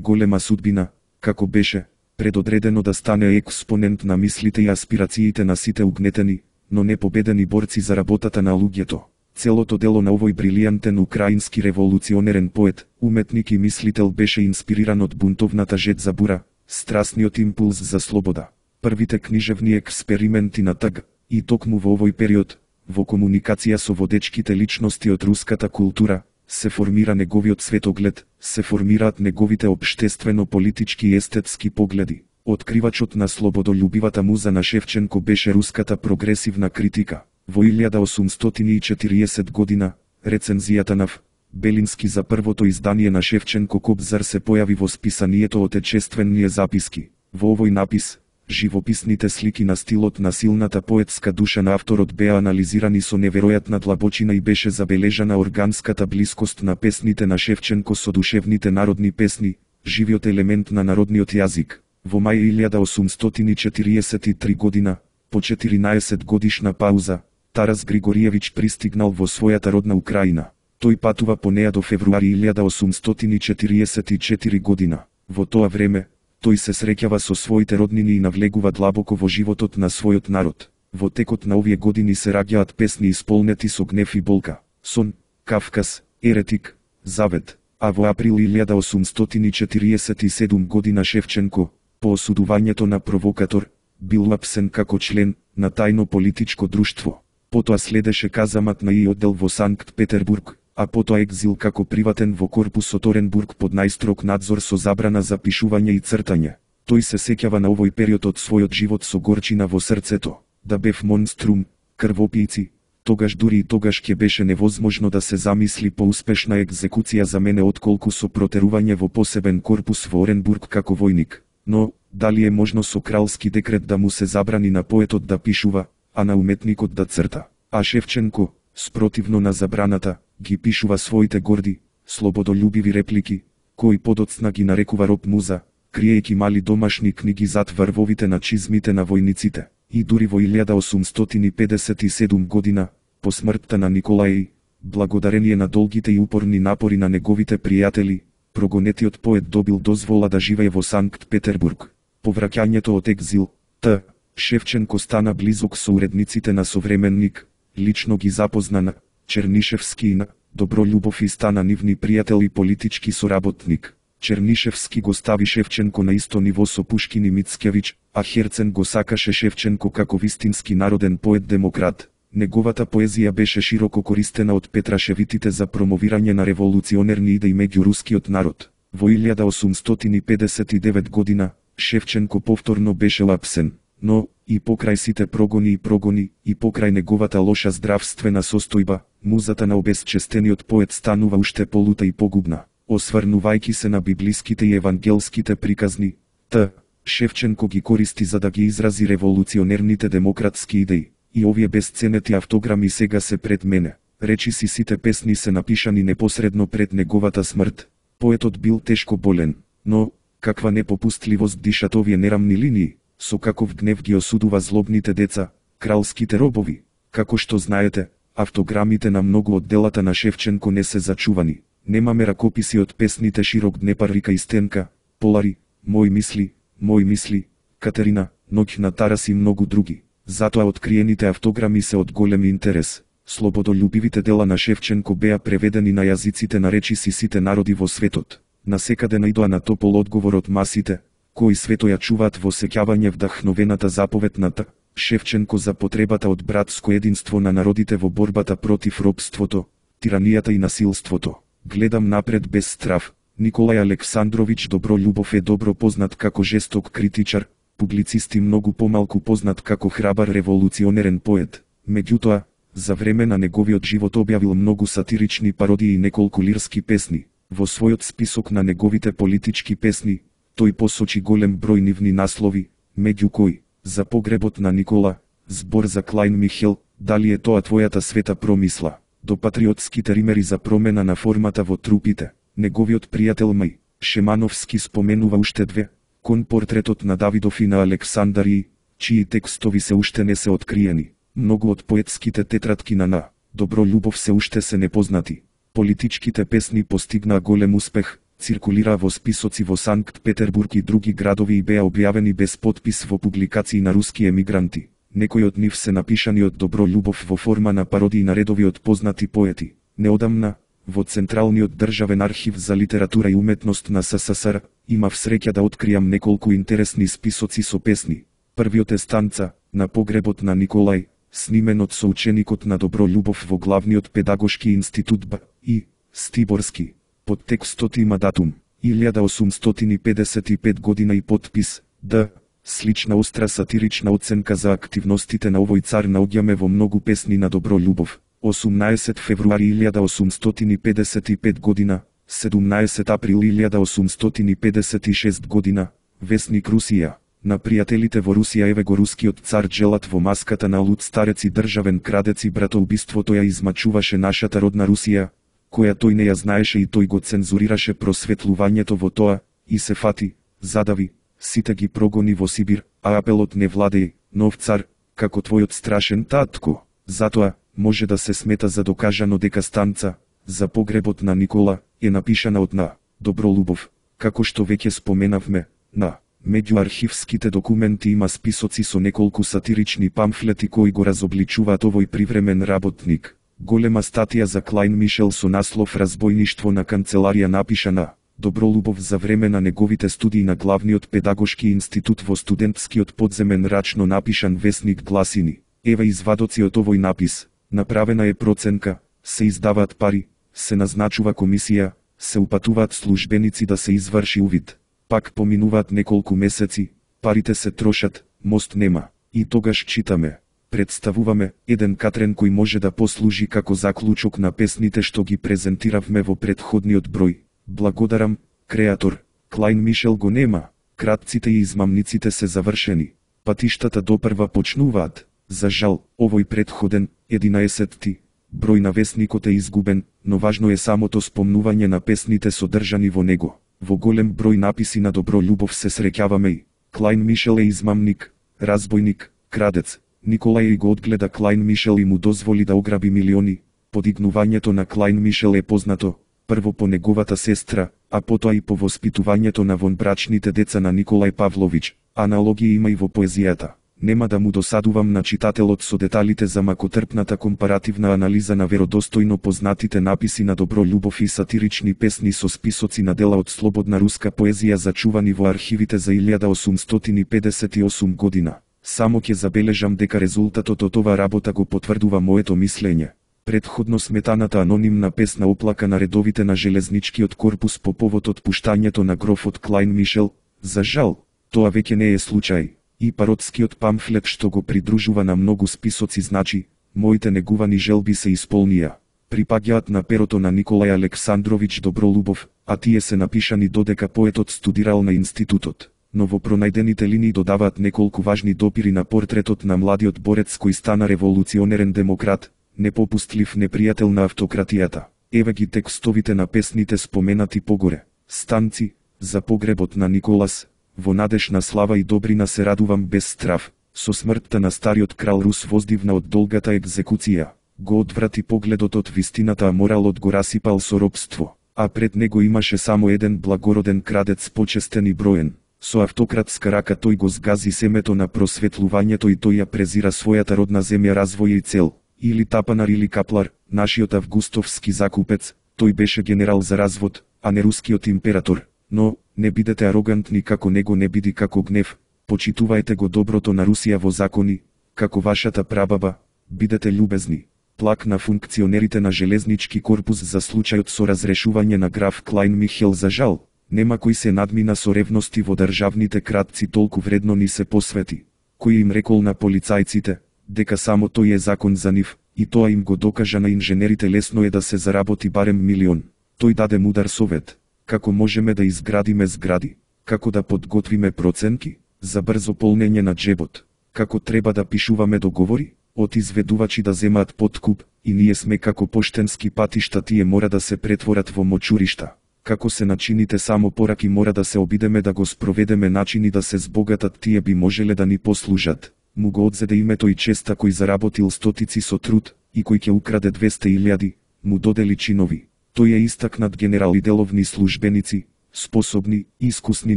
голема судбина, како беше предодредено да стане експонент на мислите и аспирациите на сите угнетени, но непобедени борци за работата на луѓето. Целото дело на овој брилијантен украински револуционерен поет, уметник и мислител беше инспириран од бунтовната жет за бура, страсниот импулс за слобода. Првите книжевни експерименти на Т Г, и токму во овој период, во комуникација со водечките личности од руската култура, се формира неговиот светоглед, се формираат неговите општествено-политички и естетски погледи. Откривачот на слободолюбивата муза на Шевченко беше руската прогресивна критика. Во илјада осумстотини и четириесет година, рецензијата на В. Белински за првото издание на Шевченко Кобзар се појави во списанието Отечествени записки. Во овој напис, Живописните слики на стилот на силната поетска душа на авторот беа анализирани со неверојатна длабочина и беше забележана органската блискост на песните на Шевченко со душевните народни песни, живиот елемент на народниот јазик. Во мај илјада осумстотини и четириесет и три година, по четиринаесет годишна пауза, Тарас Григориевич пристигнал во својата родна Украина. Тој патува по неа до февруари илјада осумстотини и четириесет и четврта година. Во тоа време, тој се среќава со своите роднини и навлегува длабоко во животот на својот народ. Во текот на овие години се раѓаат песни исполнети со гнев и болка: Сон, Кавказ, Еретик, Завет. А во април илјада осумстотини и четириесет и седма година Шевченко, по осудувањето на провокатор, бил апсен како член на тајно политичко друштво. Потоа следеше казамат на и оддел во Санкт Петербург, а потоа екзил како приватен во корпусот Оренбург под најстрог надзор со забрана за пишување и цртање. Тој се сеќава на овој период од својот живот со горчина во срцето. Да бев монструм, крвопијци, тогаш дури и тогаш ќе беше невозможно да се замисли поуспешна екзекуција за мене отколку со протерување во посебен корпус во Оренбург како војник. Но, дали е можно со кралски декрет да му се забрани на поетот да пишува, а на уметникот да црта? А Шевченко, спротивно на забраната, ги пишува своите горди, слободолюбиви реплики, кои подоцна ги нарекува роб муза, криејќи мали домашни книги зад врвовите на чизмите на војниците. И дури во илјада осумстотини педесет и седма година, по смртта на Николај, благодарение на долгите и упорни напори на неговите пријатели, прогонетиот поет добил дозвола да живее во Санкт Петербург. По враќањето од екзил, Т. Шевченко стана близок со уредниците на Современник, лично ги запозна на Чернишевски и на Добролюбов и стана нивни пријател и политички соработник. Чернишевски го стави Шевченко на исто ниво со Пушкин и Мицкевич, а Херцен го сакаше Шевченко како вистински народен поет-демократ. Неговата поезија беше широко користена од Петрашевитите за промовирање на револуционерни идеи меѓу рускиот народ. Во илјада осумстотини педесет и девета година, Шевченко повторно беше лапсен, но, и покрај сите прогони и прогони, и покрај неговата лоша здравствена состојба, музата на обезчестениот поет станува уште полута и погубна. Осврнувајќи се на библиските и евангелските приказни, Т. Шевченко ги користи за да ги изрази револуционерните демократски идеи. И овие безценети автограми сега се пред мене. Речиси сите песни се напишани непосредно пред неговата смрт. Поетот бил тешко болен, но, каква непопустливост дишат овие нерамни линии, со каков гнев ги осудува злобните деца, кралските робови. Како што знаете, автограмите на многу од делата на Шевченко не се зачувани. Немаме ракописи од песните Широк Днепар рика и Стенка, Полари, Мои мисли, Мои мисли, Катерина, Ноќ на Тарас и многу други. Затоа откриените автограми се од голем интерес. Слободолюбивите дела на Шевченко беа преведени на јазиците на речиси сите народи во светот. Насекаде најдоа на топол одговор од масите, кои свето ја чуваат во сеќавање вдахновената заповед на Т. Шевченко за потребата од братско единство на народите во борбата против робството, тиранијата и насилството. Гледам напред без страв. Николај Александрович Добролюбов е добро познат како жесток критичар, публицист и многу помалку познат како храбар револуционерен поет. Меѓутоа, за време на неговиот живот објавил многу сатирични пародии и неколку лирски песни. Во својот список на неговите политички песни, тој посочи голем број нивни наслови, меѓу кои За погребот на Никола, збор за Клајн Михел, Дали е тоа твојата света промисла, до патриотските римери за промена на формата во трупите. Неговиот пријател Мај Шемановски споменува уште две, кон портретот на Давидов и на Александарии, чии текстови се уште не се откриени. Многу од поетските тетратки на На Добролюбов се уште се непознати. Политичките песни постигнаа голем успех, циркулираа во списоци во Санкт Петербург и други градови и беа објавени без подпис во публикации на руски емигранти. Некои од нив се напишани од Добролюбов во форма на пародии на редови од познати поети. Неодамна, во Централниот државен архив за литература и уметност на СССР, имав среќа да откријам неколку интересни списоци со песни. Првиот е Станца, на погребот на Николај, снимен од соученикот на Добролюбов во главниот педагошки институт Б. И. Стиборски. Под текстот има датум, илјада осумстотини педесет и пета година и подпис, Д. Слична остра сатирична оценка за активностите на овој цар наоѓаме во многу песни на Добролюбов. осумнаесет февруари илјада осумстотини педесет и пета година, седумнаесет април илјада осумстотини педесет и шеста година, Весник Русија, На пријателите во Русија еве го рускиот цар Джелат во маската на луд старец и државен крадец и братоубиството ја измачуваше нашата родна Русија, која тој не ја знаеше и тој го цензурираше просветлувањето во тоа, и се фати, задави, сите ги прогони во Сибир, а апелот не владеј, нов цар, како твојот страшен татко. Затоа, може да се смета за докажано дека станца, за погребот на Никола, е напишана од на Добролубов, како што веќе споменавме, на меѓу архивските документи има списоци со неколку сатирични памфлети кои го разобличуваат овој привремен работник. Голема статија за Клајн Мишел со наслов Разбојништво на канцеларија напишана Добролубов за време на неговите студии на главниот педагошки институт во студентскиот подземен рачно напишан весник Гласини. Ева извадоци од овој напис. Направена е проценка, се издаваат пари, се назначува комисија, се упатуваат службеници да се изврши увид. Пак поминуваат неколку месеци, парите се трошат, мост нема. И тогаш читаме, представуваме еден катрен кој може да послужи како заклучок на песните што ги презентиравме во претходниот број. Благодарам, креатор, Клајн Мишел го нема, кратците и измамниците се завршени, патиштата допрва почнуваат. За жал, овој претходен, единаесетти, број на весникот е изгубен, но важно е самото спомнување на песните содржани во него. Во голем број написи на Добролюбов се среќаваме и Клајн Мишел е измамник, разбойник, крадец. Николај го одгледа Клајн Мишел и му дозволи да ограби милиони. Подигнувањето на Клајн Мишел е познато, прво по неговата сестра, а потоа и по воспитувањето на вонбрачните деца на Николај Павлович. Аналогија има и во поезијата. Нема да му досадувам на читателот со деталите за макотрпната компаративна анализа на веродостојно познатите написи на Добролюбов и сатирични песни со списоци на дела од слободна руска поезија зачувани во архивите за илјада осумстотини педесет и осум година. Само ќе забележам дека резултатот од ова работа го потврдува моето мислење. Предходно сметаната анонимна песна оплака на редовите на железничкиот корпус по повод отпуштањето на грофот Клајн Мишел, за жал, тоа веќе не е случај. И пародскиот памфлет што го придружува на многу списоци значи, моите негувани желби се исполнија. Припаѓаат на перото на Николај Александрович Добролюбов, а тие се напишани додека поетот студирал на институтот. Но во пронајдените линии додаваат неколку важни допири на портретот на младиот борец кој стана револуционерен демократ, непопустлив непријател на автократијата. Еве ги текстовите на песните споменати погоре. Станци, за погребот на Николас, во надеж на слава и добрина се радувам без страв. Со смртта на стариот крал Рус воздивна од долгата екзекуција. Го одврати погледот од вистината, а моралот го расипал со робство. А пред него имаше само еден благороден крадец, почестен и броен. Со автократска рака тој го згази семето на просветлувањето и тој ја презира својата родна земја, развој и цел. Или тапанар или каплар, нашиот августовски закупец, тој беше генерал за развод, а не рускиот император. Но, не бидете арогантни како него, не биди како гнев, почитувајте го доброто на Русија во закони, како вашата прабаба, бидете љубезни. Плак на функционерите на железнички корпус за случајот со разрешување на граф Клајн Михел. За жал, нема кој се надмина со ревности во државните кратци, толку вредно ни се посвети. Кој им рекол на полицајците, дека само тој е закон за нив, и тоа им го докажа на инженерите. Лесно е да се заработи барем милион. Тој даде мудар совет. Како можеме да изградиме згради, како да подготвиме проценки, за брзо полнење на джебот, како треба да пишуваме договори, од изведувачи да земаат подкуп, и ние сме како поштенски патишта, тие мора да се претворат во мочуришта. Како се начините само пораки, мора да се обидеме да го спроведеме начини да се збогатат, тие би можеле да ни послужат. Му го одзеде името и честа кој заработил стотици со труд, и кој ќе украде двесте илјади, му додели чинови. Тој е истакнат генерал и деловни службеници, способни, искусни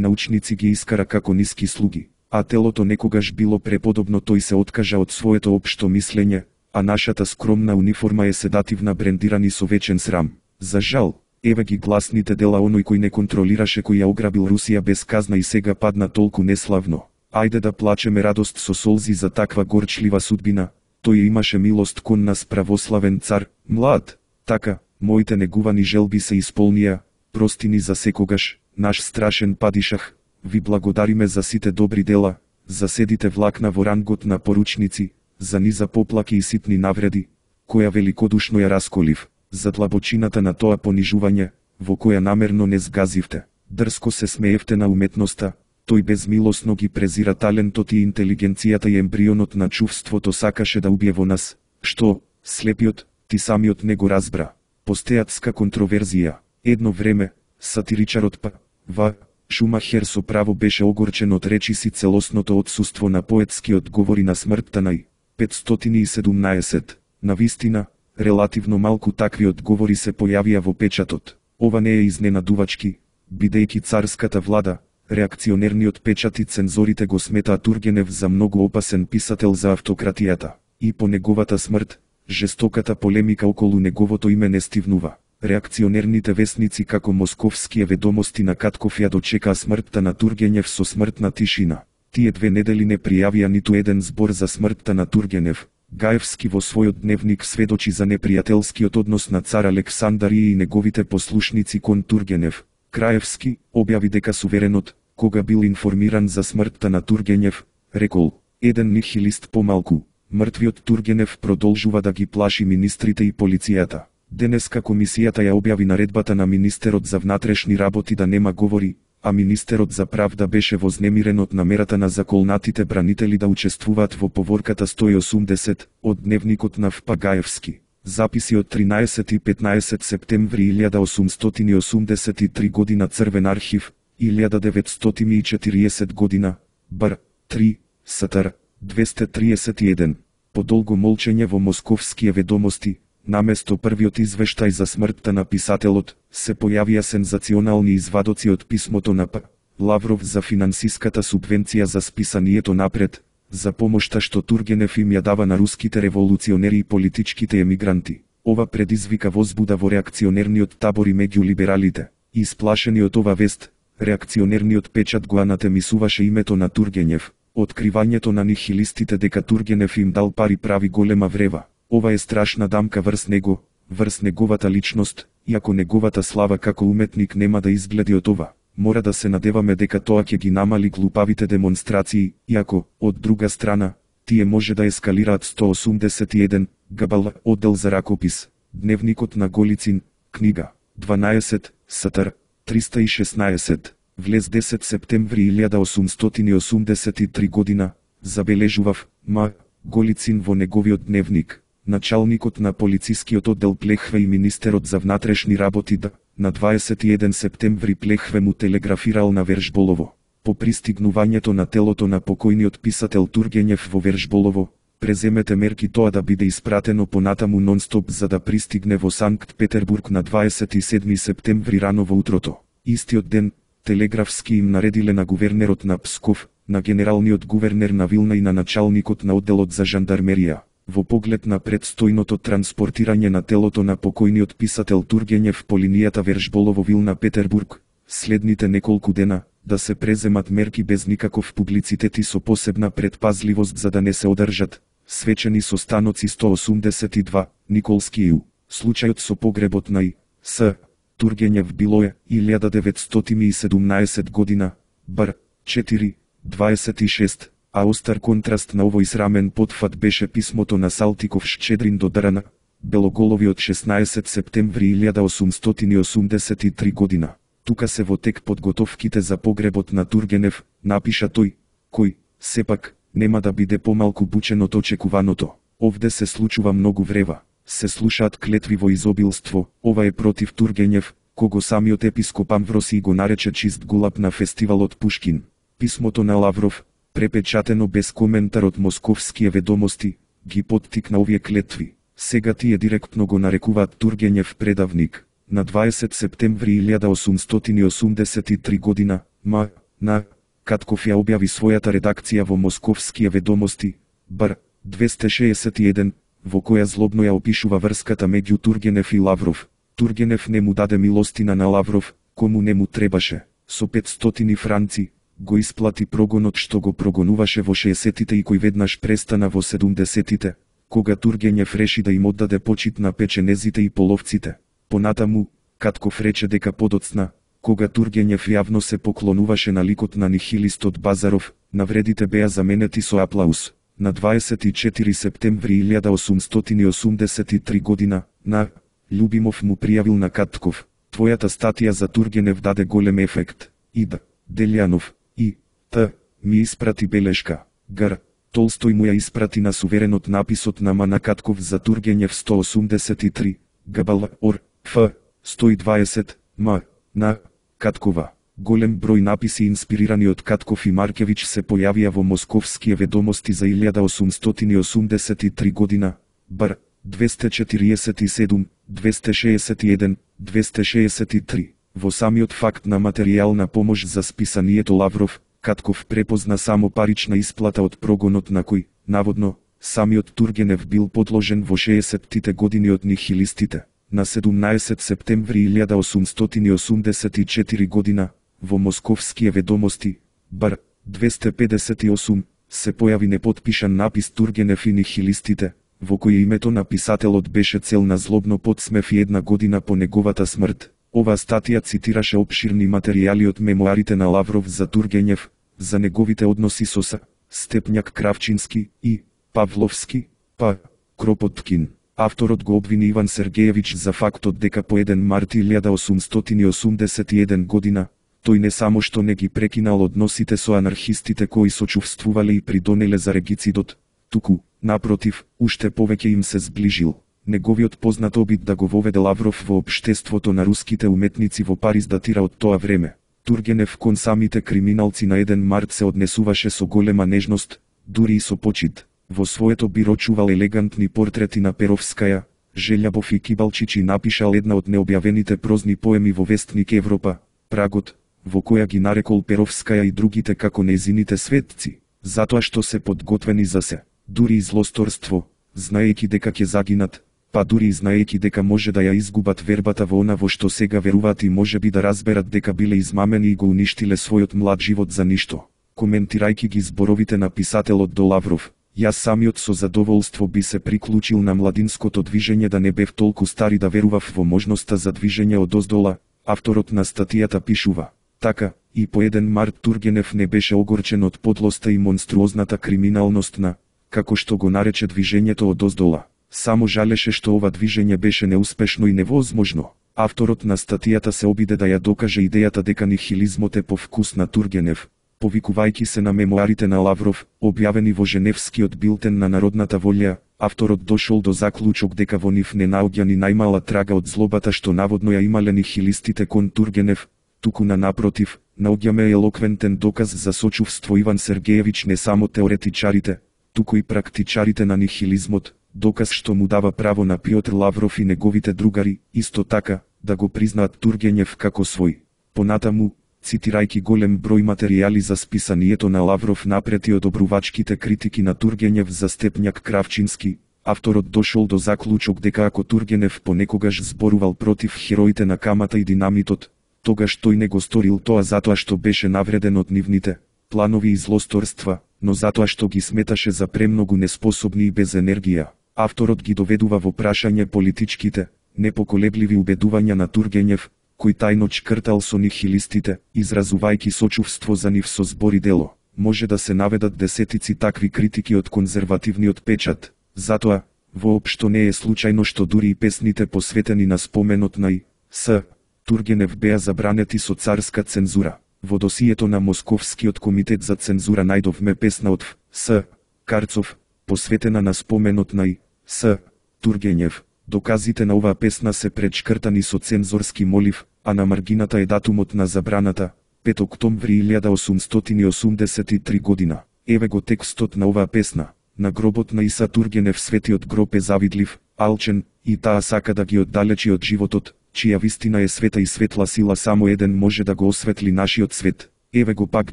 научници ги искара како ниски слуги, а телото некогаш било преподобно. Тој се откажа од своето општо мислење, а нашата скромна униформа е седативна, брендирани со вечен срам. За жал, еве ги гласните дела оној кој не контролираше, кој ја ограбил Русија без казна и сега падна толку неславно. Ајде да плачеме радост со солзи за таква горчлива судбина. Тој имаше милост кон нас, православен цар, млад. Така, моите негувани желби се исполнија, прости ни за секогаш, наш страшен падишах. Ви благодариме за сите добри дела, за седите влакна во рангот на поручници, за низа поплаки и ситни навреди, која великодушно ја расколив, за длабочината на тоа понижување, во која намерно не згазивте. Дрско се смеевте на уметноста, Тој безмилосно ги презира талентот и интелигенцијата и ембрионот на чувството сакаше да убие во нас, што, слепиот, ти самиот не го разбра. Постеатска контроверзија. Едно време, сатиричарот П. В. Шумахер со право беше огорчен од речиси целосното отсуство на поетски одговори на смртта на И. петстотини и седумнаесет. Навистина, релативно малку такви одговори се појавија во печатот. Ова не е изненадувачки, бидејќи царската влада, реакционерниот печат и цензорите го сметаат Тургенев за многу опасен писател за автократијата. И по неговата смрт, жестоката полемика околу неговото име не стивнува. Реакционерните весници како Московские ведомости на Катков ја дочекаа смртта на Тургенев со смртна тишина. Тие две недели не пријавија ниту еден збор за смртта на Тургенев. Гаевски во својот дневник сведочи за непријателскиот однос на цар Александар и неговите послушници кон Тургенев. Краевски објави дека суверенот, кога бил информиран за смртта на Тургенев, рекол: еден нихилист помалку. Мртвиот Тургенев продолжува да ги плаши министрите и полицијата. Денеска комисијата ја објави наредбата на министерот за внатрешни работи да нема говори, а министерот за правда беше вознемирен од намерата на заколнатите бранители да учествуваат во поворката сто и осумдесет од дневникот на Ф. Гаевски. Записи од тринаесет и петнаесет септември илјада осумстотини осумдесет и три година Црвен архив, илјада деветстотини и четириесет година, Бр. три, Стр. двесте триесет и еден. Подолго молчење во Московские ведомости, наместо првиот извештај за смртта на писателот, се појавија сензационални извадоци од писмото на П. Лавров за финансиската субвенција за списанието напред, за помошта што Тургенев им ја дава на руските револуционери и политичките емигранти. Ова предизвика возбуда во реакционерниот табор и меѓу либералите. Исплашени од ова вест, реакционерниот печат го анатемисуваше името на Тургенев. Откривањето на нихилистите дека Тургенев им дал пари прави голема врева. Ова е страшна дамка врз него, врз неговата личност, иако неговата слава како уметник нема да изгледи од ова. Мора да се надеваме дека тоа ќе ги намали глупавите демонстрации, иако, од друга страна, тие може да ескалираат. сто осумдесет и еден, Габал, оддел за ракопис, Дневникот на Голицин, книга, дванаесет, Стр. триста и шеснаесет. Влез десет септември илјада осумстотини осумдесет и три година, забележував, М. Голицин во неговиот дневник. Началникот на полицискиот оддел Плехве и министерот за внатрешни работи Д. На дваесет и еден септември Плехве му телеграфирал на Вершболово. По пристигнувањето на телото на покојниот писател Тургенев во Вершболово, преземете мерки тоа да биде испратено понатаму нонстоп за да пристигне во Санкт Петербург на дваесет и седми септември рано во утрото. Истиот ден, телеграфски им наредиле на гувернерот на Псков, на генералниот гувернер на Вилна и на началникот на одделот за жандармерија, во поглед на предстојното транспортирање на телото на покојниот писател Тургенев по линијата Вершболово-Вилна Петербург, следните неколку дена, да се преземат мерки без никаков публицитет и со посебна предпазливост за да не се одржат свечени состаноци. сто осумдесет и два, Николски Ю. Случајот со погребот на И. С. Тургенев било е илјада деветстотини и седумнаесет година, Бр. четири, дваесет и шест, а остар контраст на овој срамен потфат беше писмото на Салтиков Шчедрин до Драна, Белоголови од шеснаесет септември илјада осумстотини осумдесет и три година. Тука се во тек подготовките за погребот на Тургенев, напиша тој, кој, сепак, нема да биде помалку бучен од очекуваното. Овде се случува многу врева. Се слушаат клетви во изобилство, ова е против Тургенев, кого самиот епископ Амвросиј го нарече чист гулаб на фестивалот Пушкин. Писмото на Лавров, препечатено без коментар од Московские ведомости, ги поттикна овие клетви. Сега тие директно го нарекуваат Тургенев предавник. На дваесет септември илјада осумстотини осумдесет и три година, М. На. Катков ја објави својата редакција во Московские ведомости, Бр. двесте шеесет и еден, во која злобно ја опишува врската меѓу Тургенев и Лавров. Тургенев не му даде милостина на Лавров, кому не му требаше. Со петстотини франци, го исплати прогонот што го прогонуваше во шеесетите и кој веднаш престана во седумдесетите, кога Тургенев реши да им оддаде почит на печенезите и половците. Понатаму, Катков рече дека подоцна, кога Тургенев јавно се поклонуваше на ликот на нихилистот Базаров, навредите беа заменети со аплауз. На дваесет и четири септември илјада осумстотини осумдесет и три година, на Љубимов му пријавил на Катков: твојата статија за Тургенев даде голем ефект. И Д. Делјанов, и Т. Ми испрати белешка. Гр. Толстој му ја испрати на суверенот написот на М. Катков за Тургенев сто осумдесет и три, Гбл. Ор. Ф. сто и дваесет, М. На. Каткова. Голем број написи инспирирани од Катков и Маркевиќ се појавија во Московские ведомости за илјада осумстотини осумдесет и три година, бр. двесте четириесет и седум, двесте шеесет и еден, двесте шеесет и три. Во самиот факт на материјална помош за списанието Лавров, Катков препозна само парична исплата од прогонот на кој, наводно, самиот Тургенев бил подложен во шеесеттите години од нихилистите. На седумнаесет септември илјада осумстотини осумдесет и четири година, во Московские ведомости, бр. двесте педесет и осум, се појави непотпишан напис Тургенев и нихилистите, во кој името на писателот беше цел на злобно подсмев и една година по неговата смрт. Оваа статија цитираше опширни материјали од мемуарите на Лавров за Тургенев, за неговите односи со С. Степњак Кравчински и Павловски, П. Кропоткин. Авторот го обвини Иван Сергеевиќ за фактот дека по еден март илјада осумстотини осумдесет и еден година, тој не само што не ги прекинал односите со анархистите кои сочувствувале и придонеле за регицидот, туку, напротив, уште повеќе им се сближил. Неговиот познат обид да го воведе Лавров во општеството на руските уметници во Париз датира од тоа време. Тургенев кон самите криминалци на еден март се однесуваше со голема нежност, дури и со почит. Во своето биро чувал елегантни портрети на Перовскаја, Желјабов и Кибалчич и напишал една од необјавените прозни поеми во Вестник Европа, Прагот, во која ги нарекол Перовскаја и другите како нејзините светци, затоа што се подготвени за се, дури и злосторство, знаејќи дека ќе загинат, па дури и знаејќи дека може да ја изгубат вербата во она во што сега веруваат и можеби да разберат дека биле измамени и го уништиле својот млад живот за ништо. Коментирајќи ги зборовите на писателот до Лавров, јас самиот со задоволство би се приклучил на младинското движење да не бев толку стари да верував во можноста за движење одоздола. Авторот на статијата пишува: така, и по еден март Тургенев не беше огорчен од подлоста и монструозната криминалност на, како што го нарече движењето одоздола. Само жалеше што ова движење беше неуспешно и невозможно. Авторот на статијата се обиде да ја докаже идејата дека нихилизмот е по вкус на Тургенев, повикувајќи се на мемуарите на Лавров, објавени во Женевскиот билтен на народната волја. Авторот дошол до заклучок дека во нив не наоѓа ни најмала трага од злобата што наводно ја имале нихилистите кон Тургенев, туку на напротив, наоѓаме елоквентен доказ за сочувство Иван Сергеевиќ не само теоретичарите, туку и практичарите на нихилизмот, доказ што му дава право на Пјотр Лавров и неговите другари, исто така, да го признаат Тургенев како свој. Понатаму, цитирајќи голем број материјали за списанието на Лавров напред и одобрувачките критики на Тургенев за Степњак Кравчински, авторот дошол до заклучок дека ако Тургенев понекогаш зборувал против хероите на камата и динамитот, тогаш тој не го сторил тоа затоа што беше навреден од нивните планови и злосторства, но затоа што ги сметаше за премногу неспособни и без енергија. Авторот ги доведува во прашање политичките, непоколебливи убедувања на Тургенев, кој тајно чкртал со нихилистите, изразувајќи сочувство за нив со збор и дело. Може да се наведат десетици такви критики од конзервативниот печат. Затоа, воопшто не е случајно што дури и песните посветени на споменот на И. С. Тургенев беа забранети со царска цензура. Во досието на Московскиот комитет за цензура најдовме песна од Ф. С. Карцов, посветена на споменот на И. С. Тургенев. Доказите на оваа песна се пречкртани со цензорски молив, а на маргината е датумот на забраната, пети октомври илјада осумстотини осумдесет и три година. Еве го текстот на оваа песна. На гробот на Иса Тургенев светиот гроб е завидлив, алчен, и таа сака да ги оддалечи од животот, чија вистина е света и светла сила, само еден може да го осветли нашиот свет. Еве го пак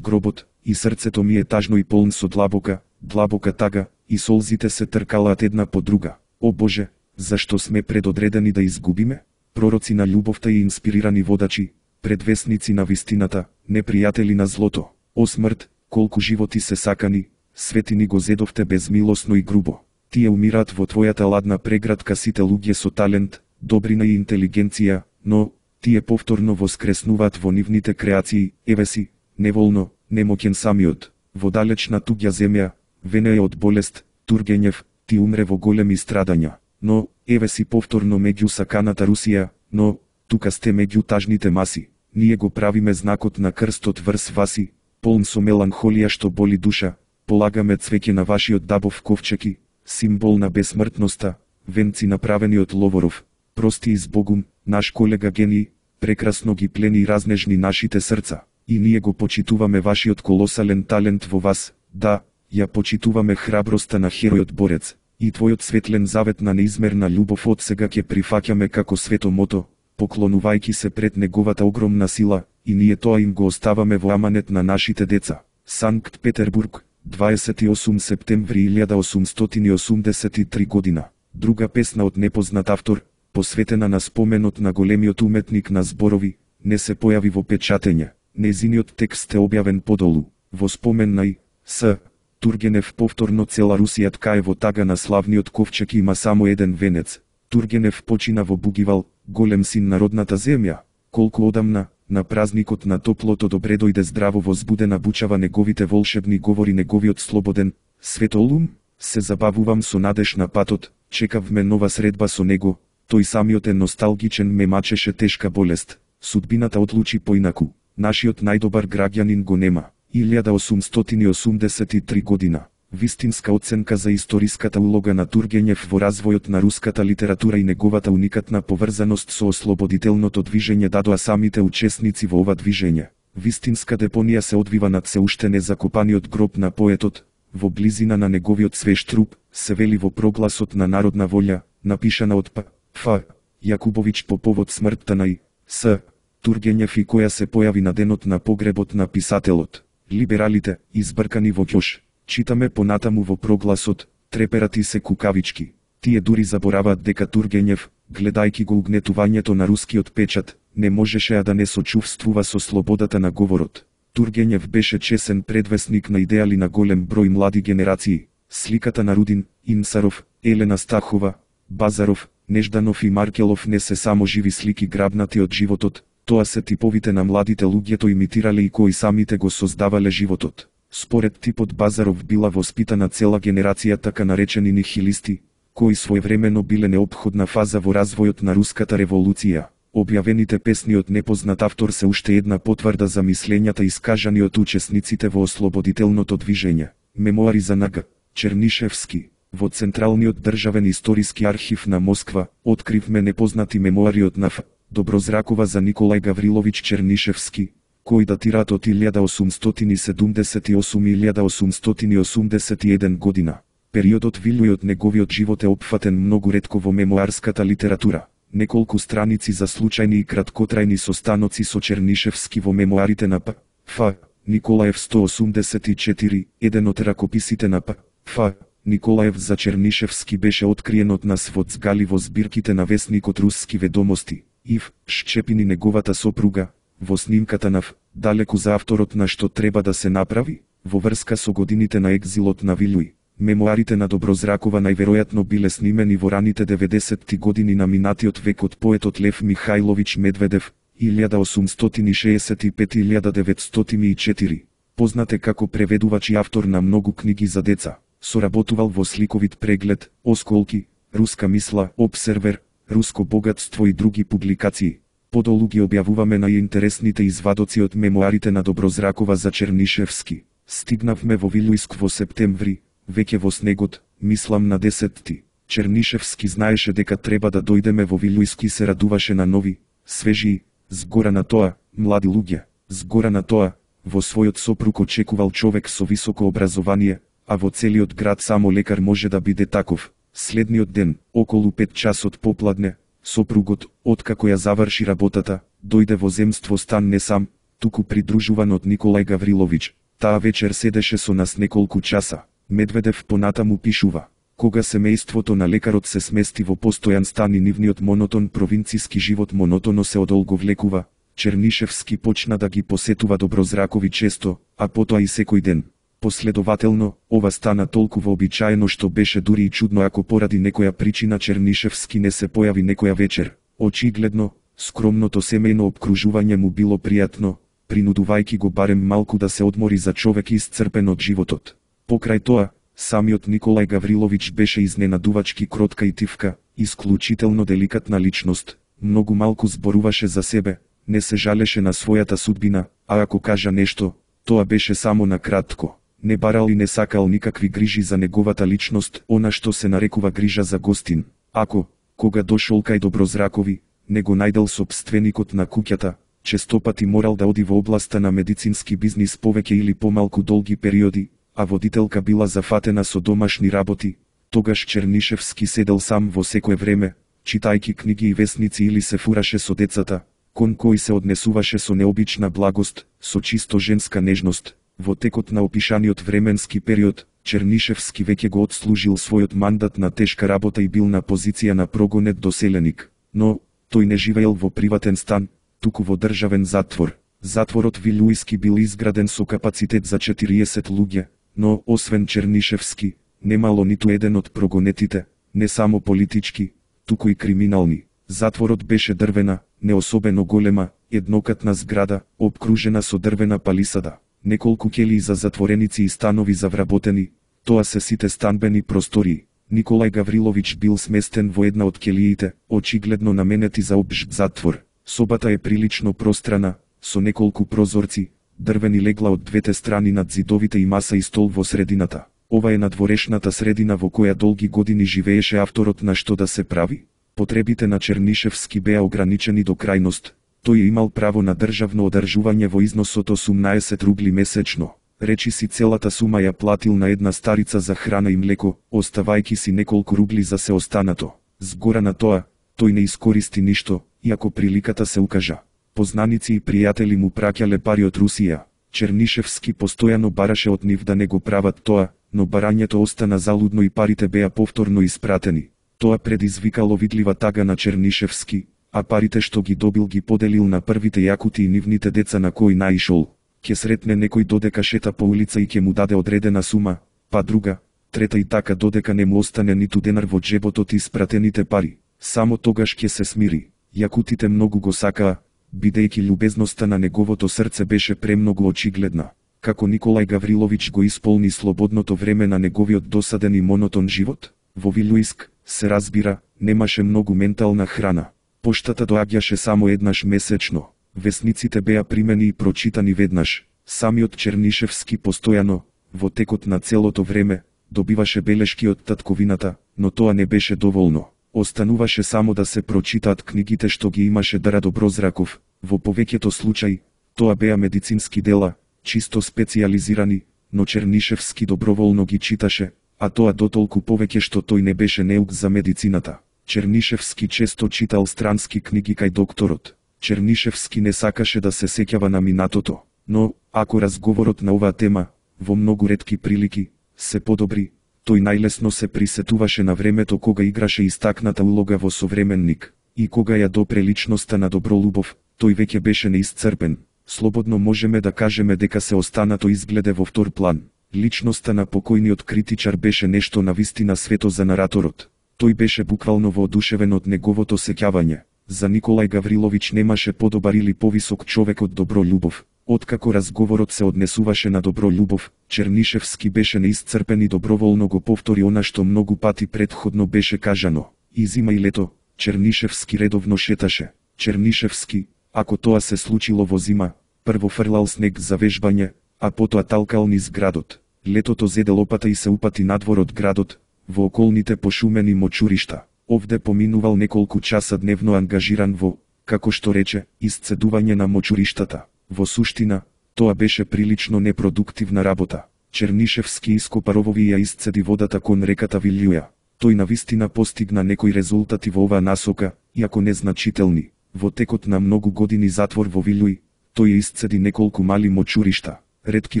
гробот, и срцето ми е тажно и полн со длабока, длабока тага, и солзите се тркалаат една по друга. О Боже, зашто сме предодредени да изгубиме? Пророци на љубовта и инспирирани водачи, предвесници на вистината, непријатели на злото. О смрт, колку животи се сакани, свети ни го зедовте безмилосно и грубо. Тие умираат во твојата ладна преградка, сите луѓе со талент, добрина и интелигенција, но тие повторно воскреснуваат во нивните креации. Еве си, неволно, немоќен самиот, во далечна туѓа земја, венеја од болест, Тургенев, ти умре во големи страдања. Но, еве си повторно меѓу саканата Русија, но, тука сте меѓу тажните маси. Ние го правиме знакот на крстот врз васи, полн со меланхолија што боли душа, полагаме цвеќе на вашиот дабов ковчег, символ на бесмртноста, венци направени од ловоров, прости и збогум, наш колега гений, прекрасно ги плени и разнежни нашите срца, и ние го почитуваме вашиот колосален талент во вас, да, ја почитуваме храброста на херојот борец, и твојот светлен завет на неизмерна љубов од сега ќе прифаќаме како свето мото, поклонувајќи се пред неговата огромна сила, и ние тоа им го оставаме во аманет на нашите деца. Санкт Петербург, дваесет и осми септември илјада осумстотини осумдесет и три година. Друга песна од непознат автор, посветена на споменот на големиот уметник на зборови, не се појави во печатење. Незиниот текст е објавен подолу, во спомен на И. С. Тургенев. Повторно цела Русија ткае во тага на славниот ковчег има само еден венец. Тургенев почина во Бугивал, голем син на родната земја. Колку одамна, на празникот на топлото добре дојде здраво возбудена бучава неговите волшебни говори неговиот слободен, светол ум, се забавувам со надеж на патот, чекавме нова средба со него, тој самиот е носталгичен, ме мачеше тешка болест, судбината одлучи поинаку, нашиот најдобар граѓанин го нема. илјада осумстотини осумдесет и три година. Вистинска оценка за историската улога на Тургенев во развојот на руската литература и неговата уникатна поврзаност со ослободителното движење дадоа самите учесници во ова движење. Вистинска депонија се одвива над се уште незакопаниот гроб на поетот, во близина на неговиот свеж труп, се вели во прогласот на народна волја, напишана од П. Ф. Јакубовиќ по повод смртта на И. С. Тургенев и која се појави на денот на погребот на писателот. Либералите, избркани во ќош. Читаме понатаму во прогласот, треперати се кукавички. Тие дури забораваат дека Тургенев, гледајќи го угнетувањето на рускиот печат, не можеше да не сочувствува со слободата на говорот. Тургенев беше чесен предвесник на идеали на голем број млади генерации. Сликата на Рудин, Инсаров, Елена Стахова, Базаров, Нежданов и Маркелов не се само живи слики грабнати од животот, тоа се типовите на младите луѓето имитирале и кои самите го создавале животот. Според типот Базаров била воспитана цела генерација така наречени нихилисти, кои своевремено биле неопходна фаза во развојот на руската револуција. Објавените песни од непознат автор се уште една потврда за мислењата искажани од учесниците во ослободителното движење. Мемуари за Н Г. Чернишевски. Во Централниот државен историски архив на Москва откривме непознати мемуари од Н Ф. Доброзракова за Николај Гавриловиќ Чернишевски, кои датираат од илјада осумстотини седумдесет и осум до илјада осумстотини осумдесет и еден година. Периодот Вилјуј од неговиот живот е опфатен многу ретко во мемуарската литература. Неколку страници за случајни и краткотрајни состаноци со Чернишевски во мемуарите на П. Ф. Николаев сто осумдесет и четири, еден од ракописите на П. Ф. Николаев за Чернишевски беше откриен од нас во Цгали во збирките на весникот Руски ведомости. Ив. Шчепини неговата сопруга, во снимката на Ф. Далеку за авторот на што треба да се направи, во врска со годините на екзилот на Вилјуј. Мемуарите на Доброзракова најверојатно биле снимени во раните деветдесетти години на минатиот век од поетот Лев Михајловиќ Медведев, илјада осумстотини шеесет и пет до илјада деветстотини и четири. Познат е како преведувач и автор на многу книги за деца. Соработувал во Сликовит преглед, Осколки, Руска мисла, Обсервер, Руско богатство и други публикации. Подолу ги објавуваме најинтересните извадоци од мемуарите на Доброзракова за Чернишевски. Стигнавме во Вилјујск во септември, веќе во снегот, мислам на десетти. Чернишевски знаеше дека треба да дојдеме во Вилјујск и се радуваше на нови, свежи, згора на тоа, млади луѓе. Згора на тоа, во својот сопруг очекувал човек со високо образование, а во целиот град само лекар може да биде таков. Следниот ден, околу пет часот попладне, сопругот, откако ја заврши работата, дојде во земство стан не сам, туку придружуван од Николај Гавриловиќ. Таа вечер седеше со нас неколку часа. Медведев понатаму пишува: кога семејството на лекарот се смести во постојан стан и нивниот монотон провинциски живот монотоно се одолговлекува, Чернишевски почна да ги посетува Доброзракови често, а потоа и секој ден. Последователно, ова стана толку вообичаено што беше дури и чудно ако поради некоја причина Чернишевски не се појави некоја вечер. Очигледно, скромното семејно обкружување му било пријатно, принудувајќи го барем малку да се одмори за човек исцрпен од животот. Покрај тоа, самиот Николај Гавриловиќ беше изненадувачки кротка и тивка, исклучително деликатна личност, многу малку зборуваше за себе, не се жалеше на својата судбина, а ако кажа нешто, Тоа беше само на кратко. Не барал и не сакал никакви грижи за неговата личност, она што се нарекува грижа за гостин. Ако, кога дошол кај Доброзракови, не го најдел сопственикот на куќата, честопати морал да оди во областа на медицински бизнис повеќе или помалку долги периоди, а водителка била зафатена со домашни работи, тогаш Чернишевски седел сам во секое време, читајки книги и весници или се фураше со децата, кон кој се однесуваше со необична благост, со чисто женска нежност. Во текот на опишаниот временски период, Чернишевски веќе го отслужил својот мандат на тешка работа и бил на позиција на прогонет доселеник, но тој не живеел во приватен стан, туку во државен затвор. Затворот Вилјујски бил изграден со капацитет за четириесет луѓе, но освен Чернишевски, немало ниту еден од прогонетите, не само политички, туку и криминални. Затворот беше дрвена, не особено голема, еднокатна зграда, обкружена со дрвена палисада. Неколку ќелии за затвореници и станови за вработени, тоа се сите станбени простории. Николај Гавриловиќ бил сместен во една од ќелиите, очигледно наменети за општ затвор. Собата е прилично пространа, со неколку прозорци, дрвени легла од двете страни над зидовите и маса и стол во средината. Ова е надворешната средина во која долги години живееше авторот на Што да се прави. Потребите на Чернишевски беа ограничени до крајност. Тој имал право на државно одржување во износ од осумнаесет рубли месечно. Речи си целата сума ја платил на една старица за храна и млеко, оставајки си неколку рубли за се останато. Згора на тоа, тој не искористи ништо, иако приликата се укажа. Познаници и пријатели му праќале пари од Русија. Чернишевски постојано бараше од нив да не го прават тоа, но барањето остана залудно и парите беа повторно испратени. Тоа предизвикало видлива тага на Чернишевски, а парите што ги добил ги поделил на првите јакути и нивните деца на кои наишол. Ке сретне некој додека шета по улица и ке му даде одредена сума, па друга, трета и така додека не му остане ниту денар во джебот од испратените пари. Само тогаш ке се смири. Јакутите многу го сакаа, бидејќи љубезноста на неговото срце беше премногу очигледна. Како Николај Гавриловиќ го исполни слободното време на неговиот досаден и монотон живот? Во Вилјујск, се разбира, немаше многу ментална храна. Поштата доаѓаше само еднаш месечно. Весниците беа примени и прочитани веднаш. Самиот Чернишевски постојано, во текот на целото време, добиваше белешки од татковината, но тоа не беше доволно. Остануваше само да се прочитаат книгите што ги имаше Дара Доброзраков. Во повеќето случаи, тоа беа медицински дела, чисто специјализирани, но Чернишевски доброволно ги читаше, а тоа дотолку повеќе што тој не беше неук за медицината. Чернишевски често читал странски книги кај докторот. Чернишевски не сакаше да се сеќава на минатото, но, ако разговорот на оваа тема, во многу ретки прилики, се подобри, тој најлесно се присетуваше на времето кога играше истакната улога во современник, и кога ја допре личноста на Добролубов, тој веќе беше неисцрпен. Слободно можеме да кажеме дека се останато изгледе во втор план. Личноста на покојниот критичар беше нешто навистина свето за нараторот. Тој беше буквално воодушевен од неговото сеќавање. За Николај Гавриловиќ немаше подобар или повисок човек од Добролюбов. Откако разговорот се однесуваше на Добролюбов, Чернишевски беше неисцрпен и доброволно го повтори она што многу пати претходно беше кажано. И зима и лето, Чернишевски редовно шеташе. Чернишевски, ако тоа се случило во зима, прво фрлал снег за вежбање, а потоа талкал низ градот. Летото зеде лопата и се упати надвор од градот, во околните пошумени мочуришта. Овде поминувал неколку часа дневно ангажиран во, како што рече, исцедување на мочуриштата. Во суштина, тоа беше прилично непродуктивна работа. Чернишевски ископа ровови и ја исцеди водата кон реката Вилјуја. Тој навистина постигна некои резултати во оваа насока, иако незначителни. Во текот на многу години затвор во Вилјуј, тој исцеди неколку мали мочуришта. Ретки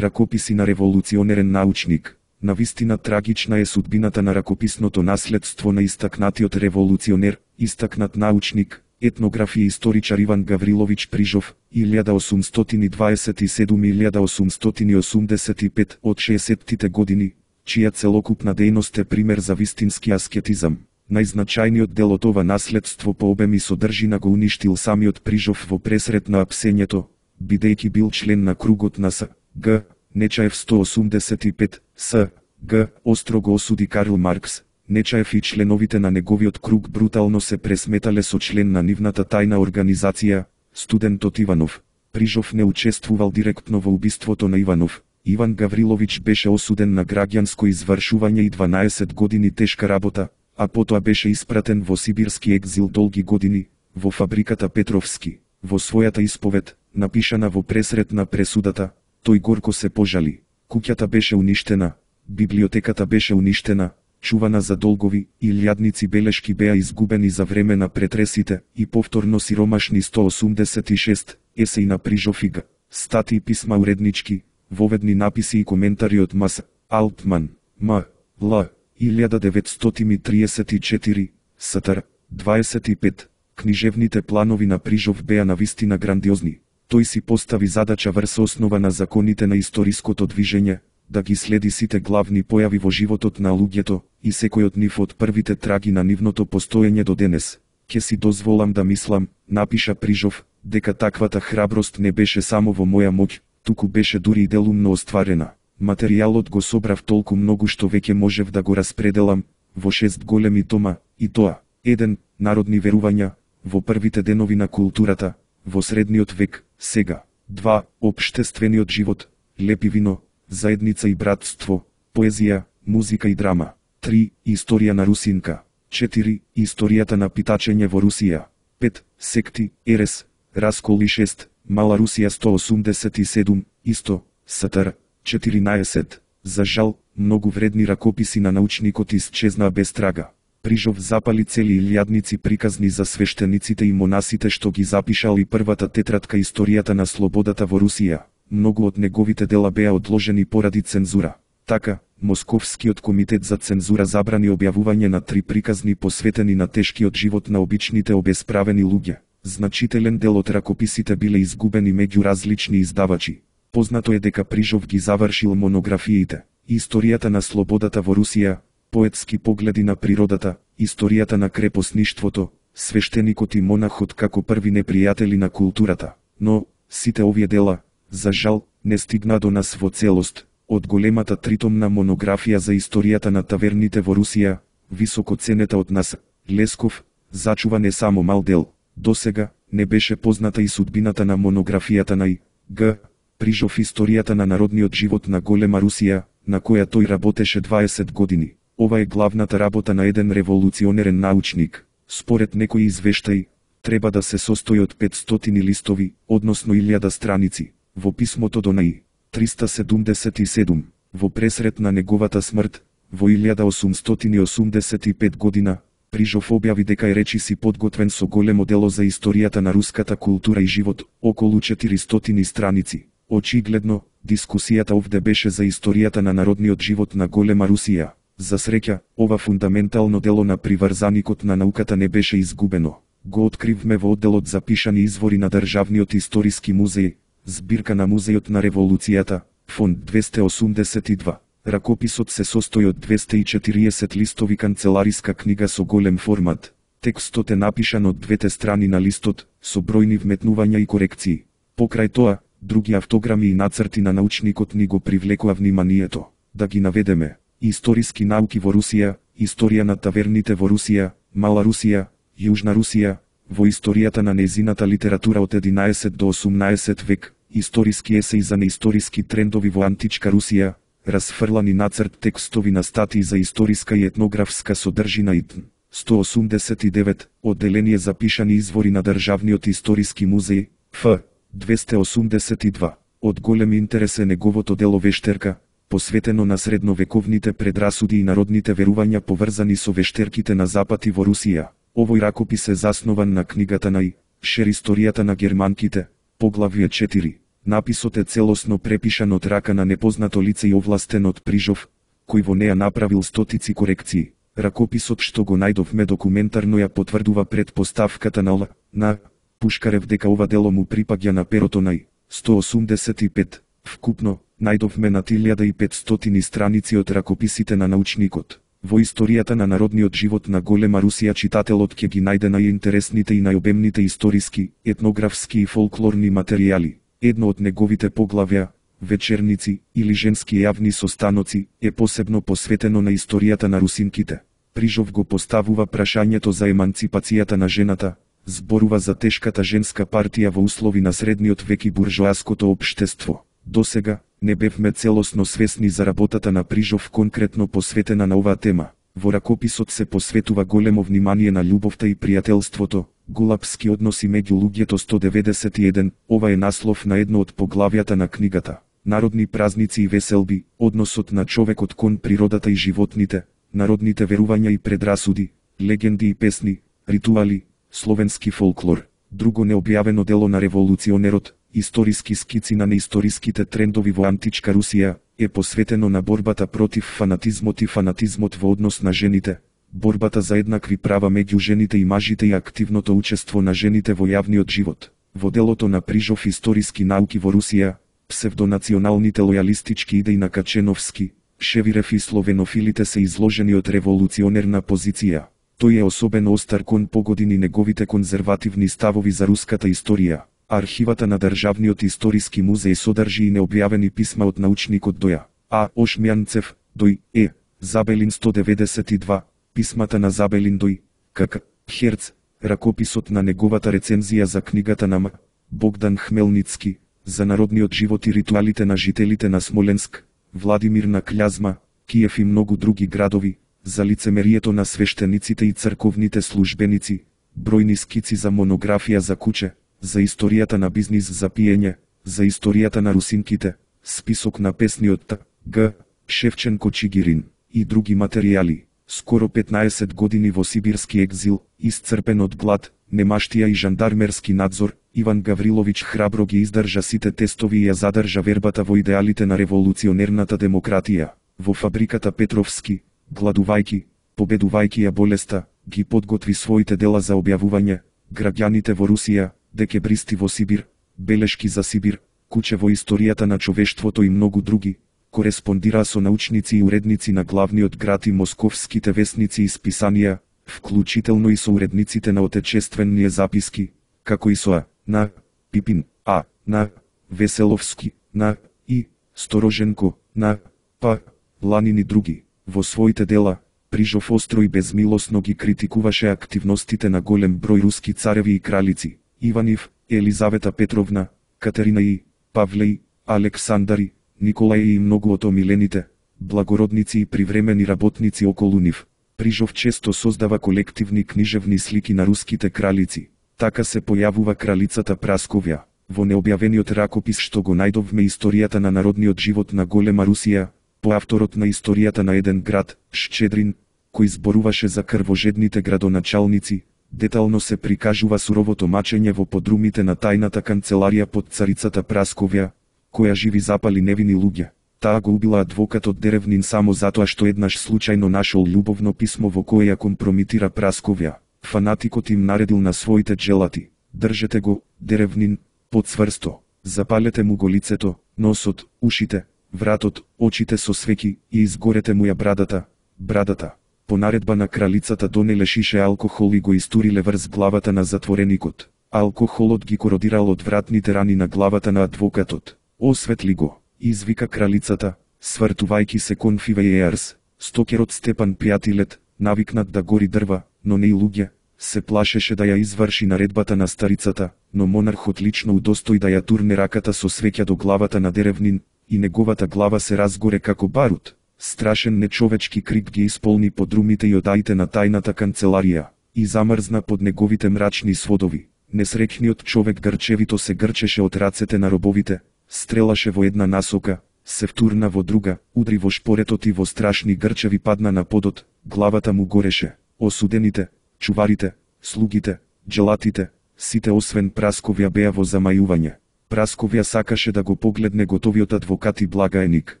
ракописи на револуционерен научник. Навистина трагична е судбината на ракописното наследство на истакнатиот револуционер, истакнат научник, етнограф и историчар Иван Гавриловиќ Прижов, илјада осумстотини дваесет и седум до илјада осумстотини осумдесет и пет од шеесеттите години, чија целокупна дејност е пример за вистински аскетизам. Најзначајниот дел од ова наследство по обем и содржина го уништил самиот Прижов во пресрет на апсењето, бидејќи бил член на кругот на С. Г. Нечаев сто осумдесет и пет, С. Г. Остро го осуди Карл Маркс. Нечаев и членовите на неговиот круг брутално се пресметале со член на нивната тајна организација, студентот Иванов. Прижов не учествувал директно во убиството на Иванов. Иван Гаврилович беше осуден на граѓанско извршување и дванаесет години тешка работа, а потоа беше испратен во сибирски екзил долги години, во фабриката Петровски. Во својата исповед, напишана во пресред на пресудата, тој горко се пожали. Куќата беше уништена, библиотеката беше уништена, чувана за долгови, илјадници белешки беа изгубени за време на претресите и повторно сиромашни сто осумдесет и шест, есеи на Прижов и Г. Статии, писма уреднички, воведни написи и коментари од М С. Алтман, М. Л. илјада деветстотини и триесет и четири, Ст. дваесет и пет. Книжевните планови на Прижов беа навистина грандиозни. Тој си постави задача врз основа на законите на историското движење, да ги следи сите главни појави во животот на луѓето, и секој од нив од првите траги на нивното постоење до денес. Ке си дозволам да мислам, напиша Прижов, дека таквата храброст не беше само во моја моќ, туку беше дури и делумно остварена. Материјалот го собрав толку многу што веќе можев да го распределам во шест големи тома, и тоа: еден Народни верувања, во првите денови на културата, во средниот век, сега; два Општествениот живот, Лепи вино, Заедница и братство, Поезија, музика и драма; три Историја на Русинка; четири Историјата на питачење во Русија; пет Секти, Ерес, Раскол и шест Мала Русија сто осумдесет и седум, исто, Ст. четиринаесет. За жал, многу вредни ракописи на научникот исчезнаа без трага. Прижов запали цели илјадници приказни за свештениците и монасите што ги запишал и првата тетрадка Историјата на слободата во Русија. Многу од неговите дела беа одложени поради цензура. Така, Московскиот комитет за цензура забрани објавување на три приказни посветени на тешкиот живот на обичните обесправени луѓе. Значителен дел од ракописите биле изгубени меѓу различни издавачи. Познато е дека Прижов ги завршил монографиите: Историјата на слободата во Русија, Поетски погледи на природата, Историјата на крепосништвото, Свештеникот и монахот како први непријатели на културата. Но сите овие дела, за жал, не стигна до нас во целост. Од големата тритомна монографија за историјата на таверните во Русија, високо ценета од нас, Лесков, зачува не само мал дел. Досега не беше позната и судбината на монографијата на И. Г. Прижов Историјата на народниот живот на голема Русија, на која тој работеше дваесет години. Ова е главната работа на еден револуционерен научник. Според некои извештаи, треба да се состои од петстотини листови, односно илјада страници. Во писмото до Наи, триста седумдесет и седум, во пресред на неговата смрт, во илјада осумстотини осумдесет и пет година, Прижов објави дека е речиси подготвен со големо дело за историјата на руската култура и живот, околу четиристотини страници. Очигледно, дискусијата овде беше за историјата на народниот живот на голема Русија. За среќа, ова фундаментално дело на приврзаникот на науката не беше изгубено. Го откривме во одделот за пишани извори на Државниот историски музеј, збирка на Музејот на револуцијата, фонд двесте осумдесет и два. Ракописот се состои од двесте и четириесет листови канцелариска книга со голем формат. Текстот е напишан од двете страни на листот, со бројни вметнувања и корекции. Покрај тоа, други автограми и нацрти на научникот ни го привлекоа вниманието. Да ги наведеме: Историски науки во Русија, Историја на таверните во Русија, Мала Русија, Јужна Русија, во историјата на нејзината литература од единаесет до осумнаесет век, Историски есеи за неисториски трендови во античка Русија, расфрлани нацрт текстови на статии за историска и етнографска содржина и т. сто осумдесет и девет, одделение за пишани извори на Државниот историски музеј, Ф. двесте осумдесет и два. Од голем интерес е неговото дело Вештерка, посветено на средновековните предрасуди и народните верувања поврзани со вештерките на Запад и во Русија. Овој ракопис е заснован на книгата на И. Шер Историјата на германките, поглавје четири. Написот е целосно препишан од рака на непознато лице и овластен од Прижов, кој во неа направил стотици корекции. Ракописот што го најдовме документарно ја потврдува предпоставката на Л. на Пушкарев дека ова дело му припаѓа на перото на И. сто осумдесет и пет. Вкупно, најдовме над илјада и петстотини страници од ракописите на научникот. Во историјата на народниот живот на голема Русија читателот ќе ги најде најинтересните и најобемните историски, етнографски и фолклорни материјали. Едно од неговите поглавја, Вечерници или женски јавни состаноци, е посебно посветено на историјата на русинките. Прижов го поставува прашањето за еманципацијата на жената, Зборува за тешката женска партија во услови на средниот век и буржоаското општество. Досега не бевме целосно свесни за работата на Прижов конкретно посветена на оваа тема. Во ракописот се посветува големо внимание на љубовта и пријателството, голапски односи меѓу луѓето сто деветдесет и еден, ова е наслов на едно од поглавјата на книгата. Народни празници и веселби, односот на човекот кон природата и животните, народните верувања и предрасуди, легенди и песни, ритуали, словенски фолклор. Друго необјавено дело на револуционерот, историски скици на неисториските трендови во античка Русија, е посветено на борбата против фанатизмот и фанатизмот во однос на жените, борбата за еднакви права меѓу жените и мажите и активното учество на жените во јавниот живот. Во делото на Прижов историски науки во Русија, псевдонационалните лојалистички идеи на Каченовски, Шевирев и словенофилите се изложени од револуционерна позиција. Тој е особено остар кон погодини неговите конзервативни ставови за руската историја. Архивата на Државниот историски музеј содржи и необјавени писма од научникот Доја А. Ошмјанцев, Дој Е. Забелин сто деветдесет и два, писмата на Забелин Дој К. К. Херц, ракописот на неговата рецензија за книгата на М. Богдан Хмелницки, за народниот живот и ритуалите на жителите на Смоленск, Владимир на Кљазма, Киев и многу други градови, за лицемерието на свештениците и црковните службеници, бројни скици за монографија за куче, за историјата на бизнис за пиење, за историјата на русинките, список на песни од Т. Г. Шевченко Чигирин и други материјали. Скоро петнаесет години во сибирски екзил, исцрпен од глад, немаштија и жандармерски надзор, Иван Гавриловиќ храбро ги издржа сите тестови и ја задржа вербата во идеалите на револуционерната демократија. Во фабриката Петровски, гладувајки, победувајки ја болеста, ги подготви своите дела за објавување, граѓаните во Русија, декебристи во Сибир, белешки за Сибир, куче во историјата на човештвото и многу други, кореспондира со научници и уредници на главниот град и московските весници и списанија, вклучително и со уредниците на отечествени записки, како и со А. На. Пипин, А. На. Веселовски, на. И. Стороженко, на. П. Ланин и други. Во своите дела, Прижов остро и безмилосно ги критикуваше активностите на голем број руски цареви и кралици, Иванив, Елизавета Петровна, Катерина и Павлеј, Александари, Николај и многу од омилените благородници и привремени работници околу нив. Прижов често создава колективни книжевни слики на руските кралици. Така се појавува кралицата Прасковја. Во необјавениот ракопис што го најдовме историјата на народниот живот на голема Русија, по авторот на историјата на еден град, Шчедрин, кој зборуваше за крвожедните градоначалници, детално се прикажува суровото мачење во подрумите на тајната канцеларија под царицата Прасковја, која живи запали невини луѓе. Таа го убила адвокатот Деревнин само затоа што еднаш случајно нашол љубовно писмо во кое ја компрометира Прасковја. Фанатикот им наредил на своите джелати: држете го, Деревнин, под цврсто, запалете му го лицето, носот, ушите, вратот, очите со свеќи и изгорете му ја брадата, брадата. По наредба на кралицата донеле шише алкохол и го истуриле врз главата на затвореникот. Алкохолот ги кородирал од вратните рани на главата на адвокатот. Осветли го, извика кралицата, свртувајќи се кон фивејеарс. Стокерот Степан Пјатилет, навикнат да гори дрва, но не и луѓе, се плашеше да ја изврши наредбата на старицата, но монархот лично удостои да ја турне раката со свеќа до главата на Деревнин, и неговата глава се разгоре како барут. Страшен нечовечки крик ги исполни подрумите и одаите на тајната канцеларија, и замрзна под неговите мрачни сводови. Несреќниот човек грчевито се грчеше од рацете на робовите, стрелаше во една насока, се втурна во друга, удри во шпоретот и во страшни грчеви падна на подот, главата му гореше. Осудените, чуварите, слугите, джелатите, сите освен Прасковја беа во замајување. Прасковја сакаше да го погледне готовиот адвокат и благаеник.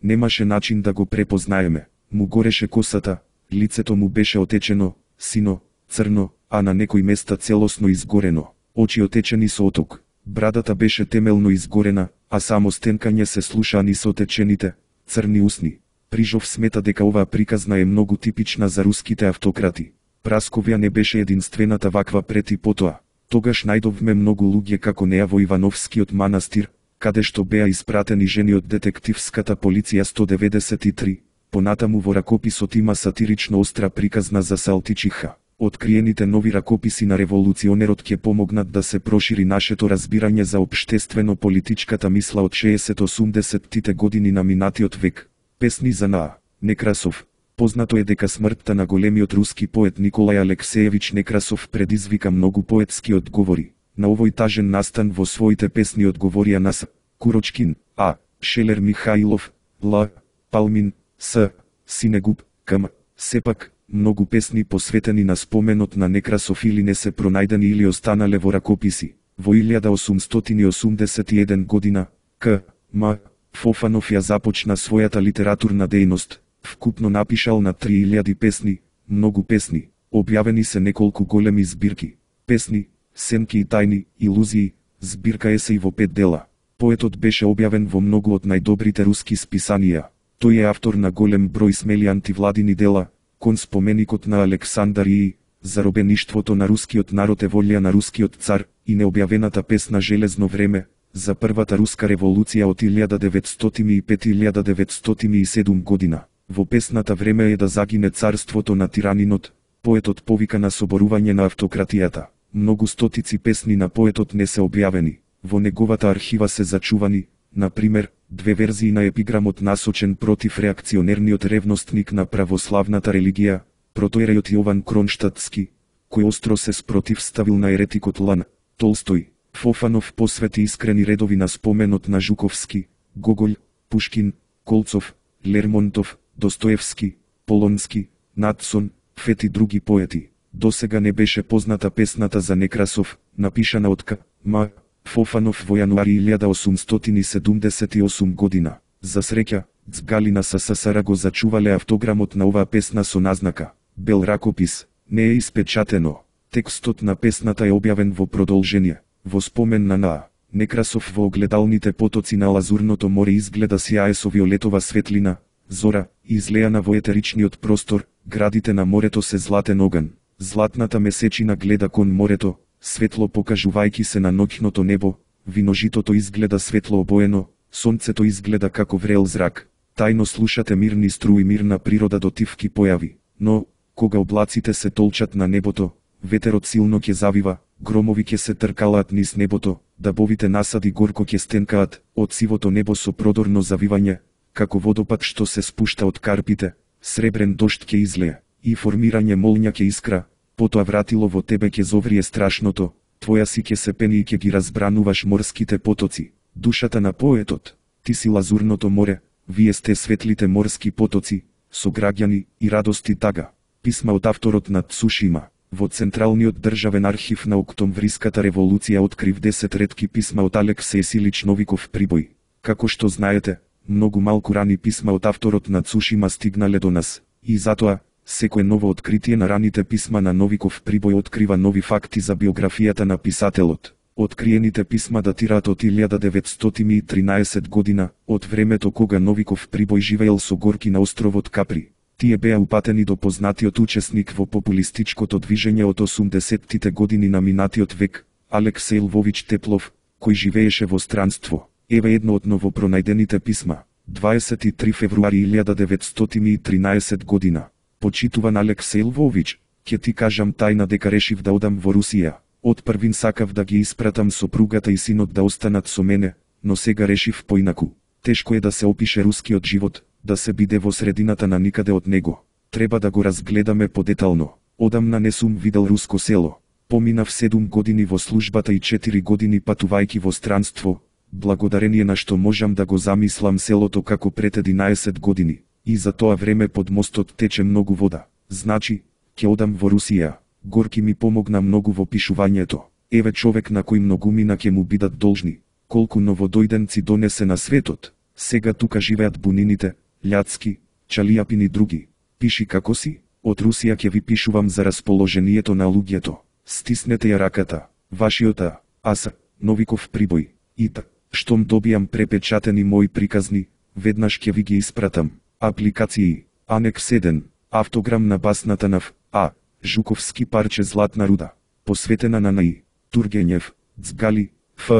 Немаше начин да го препознаеме. Му гореше косата, лицето му беше отечено, сино, црно, а на некои места целосно изгорено. Очи отечени со оток. Брадата беше темелно изгорена, а само стенкање се слушаа низ отечените, црни усни. Прижов смета дека оваа приказна е многу типична за руските автократи. Прасковја не беше единствената ваква пред и потоа. Тогаш најдовме многу луѓе како неа во Ивановскиот манастир, каде што беа испратени жени од детективската полиција сто деветдесет и три. Понатаму во ракописот има сатирично остра приказна за Салтичиха. Откриените нови ракописи на револуционерот ќе помогнат да се прошири нашето разбирање за општествено-политичката мисла од шеесет-осумдесеттите години на минатиот век. Песни за Н.А. Некрасов. Познато е дека смртта на големиот руски поет Николај Алексеевич Некрасов предизвика многу поетски одговори. На овој тажен настан во своите песни одговорија на С. Курочкин, А. Шелер Михаилов, Л. Палмин, С. Синегуб, К.М. Сепак, многу песни посветени на споменот на Некрасов или не се пронајдени или останале во ракописи. Во илјада осумстотини осумдесет и еден година, К. М. Фофанов ја започна својата литературна дејност. Вкупно напишал на три илјади песни, многу песни, објавени се неколку големи збирки. Песни, сенки и тајни, илузии, збирка есеи во пет дела. Поетот беше објавен во многу од најдобрите руски списанија. Тој е автор на голем број смели антивладини дела, кон споменикот на Александар и заробеништвото на рускиот народ е волја на рускиот цар и необјавената песна Железно време, за првата руска револуција од илјада деветстотини и пет до илјада деветстотини и седум година. Во песната Време е да загине царството на тиранинот, поетот повика на соборување на автократијата. Многу стотици песни на поетот не се објавени. Во неговата архива се зачувани, на пример, две верзии на епиграмот насочен против реакционерниот ревностник на православната религија, протоерејот Јован Кронштадтски, кој остро се спротивставил на еретикот Лан Толстој. Фофанов посвети искрени редови на споменот на Жуковски, Гоголј, Пушкин, Колцов, Лермонтов, Достоевски, Полонски, Надсон, Фет и други поети. Досега не беше позната песната за Некрасов, напишана од К. М. Фофанов во јануари илјада осумстотини седумдесет и осум година. За среќа, цгали на СССР го зачувале автограмот на оваа песна со назнака бел ракопис. Не е испечатено. Текстот на песната е објавен во продолжение. Во спомен на Н.А. Некрасов во огледалните потоци на Лазурното море изгледа сјае со виолетова светлина, зора, излеана во етеричниот простор, градите на морето се златен оган. Златната месечина гледа кон морето, светло покажувајќи се на ноќното небо, виножитото изгледа светло обоено, сонцето изгледа како врел зрак. Тајно слушате мирни струи мирна природа дотивки појави, но, кога облаците се толчат на небото, ветерот силно ќе завива, громови ќе се тркалаат низ небото, дабовите насади горко ќе стенкаат, од сивото небо со продорно завивање, како водопад што се спушта од карпите, сребрен дожд ќе излее, и формирање молња ќе искра, потоа вратило во тебе ќе зоврие страшното, твоја си ќе се пени и ќе ги разбрануваш морските потоци. Душата на поетот, ти си Лазурното море, вие сте светлите морски потоци, со граѓани и радости тага. Писма од авторот на Цушима. Во Централниот државен архив на Октомвриската револуција открив десет ретки писма од Алексеј Силич Новиков Прибој. Како што знаете, многу малку рани писма од авторот на Цушима стигнале до нас, и затоа, секое ново откритие на раните писма на Новиков Прибој открива нови факти за биографијата на писателот. Откриените писма датираат од илјада деветстотини и тринаесет година, од времето кога Новиков Прибој живеел со Горки на островот Капри. Тие беа упатени до познатиот учесник во популистичкото движење од осумдесеттите години на минатиот век, Алексеј Лвович Теплов, кој живееше во странство. Еве едно од новопронајдените писма. дваесет и три февруари илјада деветстотини и тринаесет година. Почитуван Алексеј Лвович, ќе ти кажам тајна дека решив да одам во Русија. Од првин сакав да ги испратам сопругата и синот да останат со мене, но сега решив поинаку. Тешко е да се опише рускиот живот, да се биде во средината на никаде од него. Треба да го разгледаме подетално. Одамна не сум видел руско село. Поминав седум години во службата и четири години патувајќи во странство, благодарение на што можам да го замислам селото како пред единаесет години. И за тоа време под мостот тече многу вода. Значи, ќе одам во Русија. Горки ми помогна многу во пишувањето. Еве човек на кој многумина ќе му бидат должни. Колку новодојденци донесе на светот. Сега тука живеат бунините, Љацки, Чалијапин и други. Пиши како си, од Русија ќе ви пишувам за расположението на луѓето. Стиснете ја раката. Вашиот А. Аса, Новиков Прибој. Ита, штом добијам препечатени мои приказни, веднаш ќе ви ги испратам. Апликации. Анекс еден. Автограм на басната на Ф. А. Жуковски парче Златна руда. Посветена на Н.И. Тургенев. Цгали. Ф.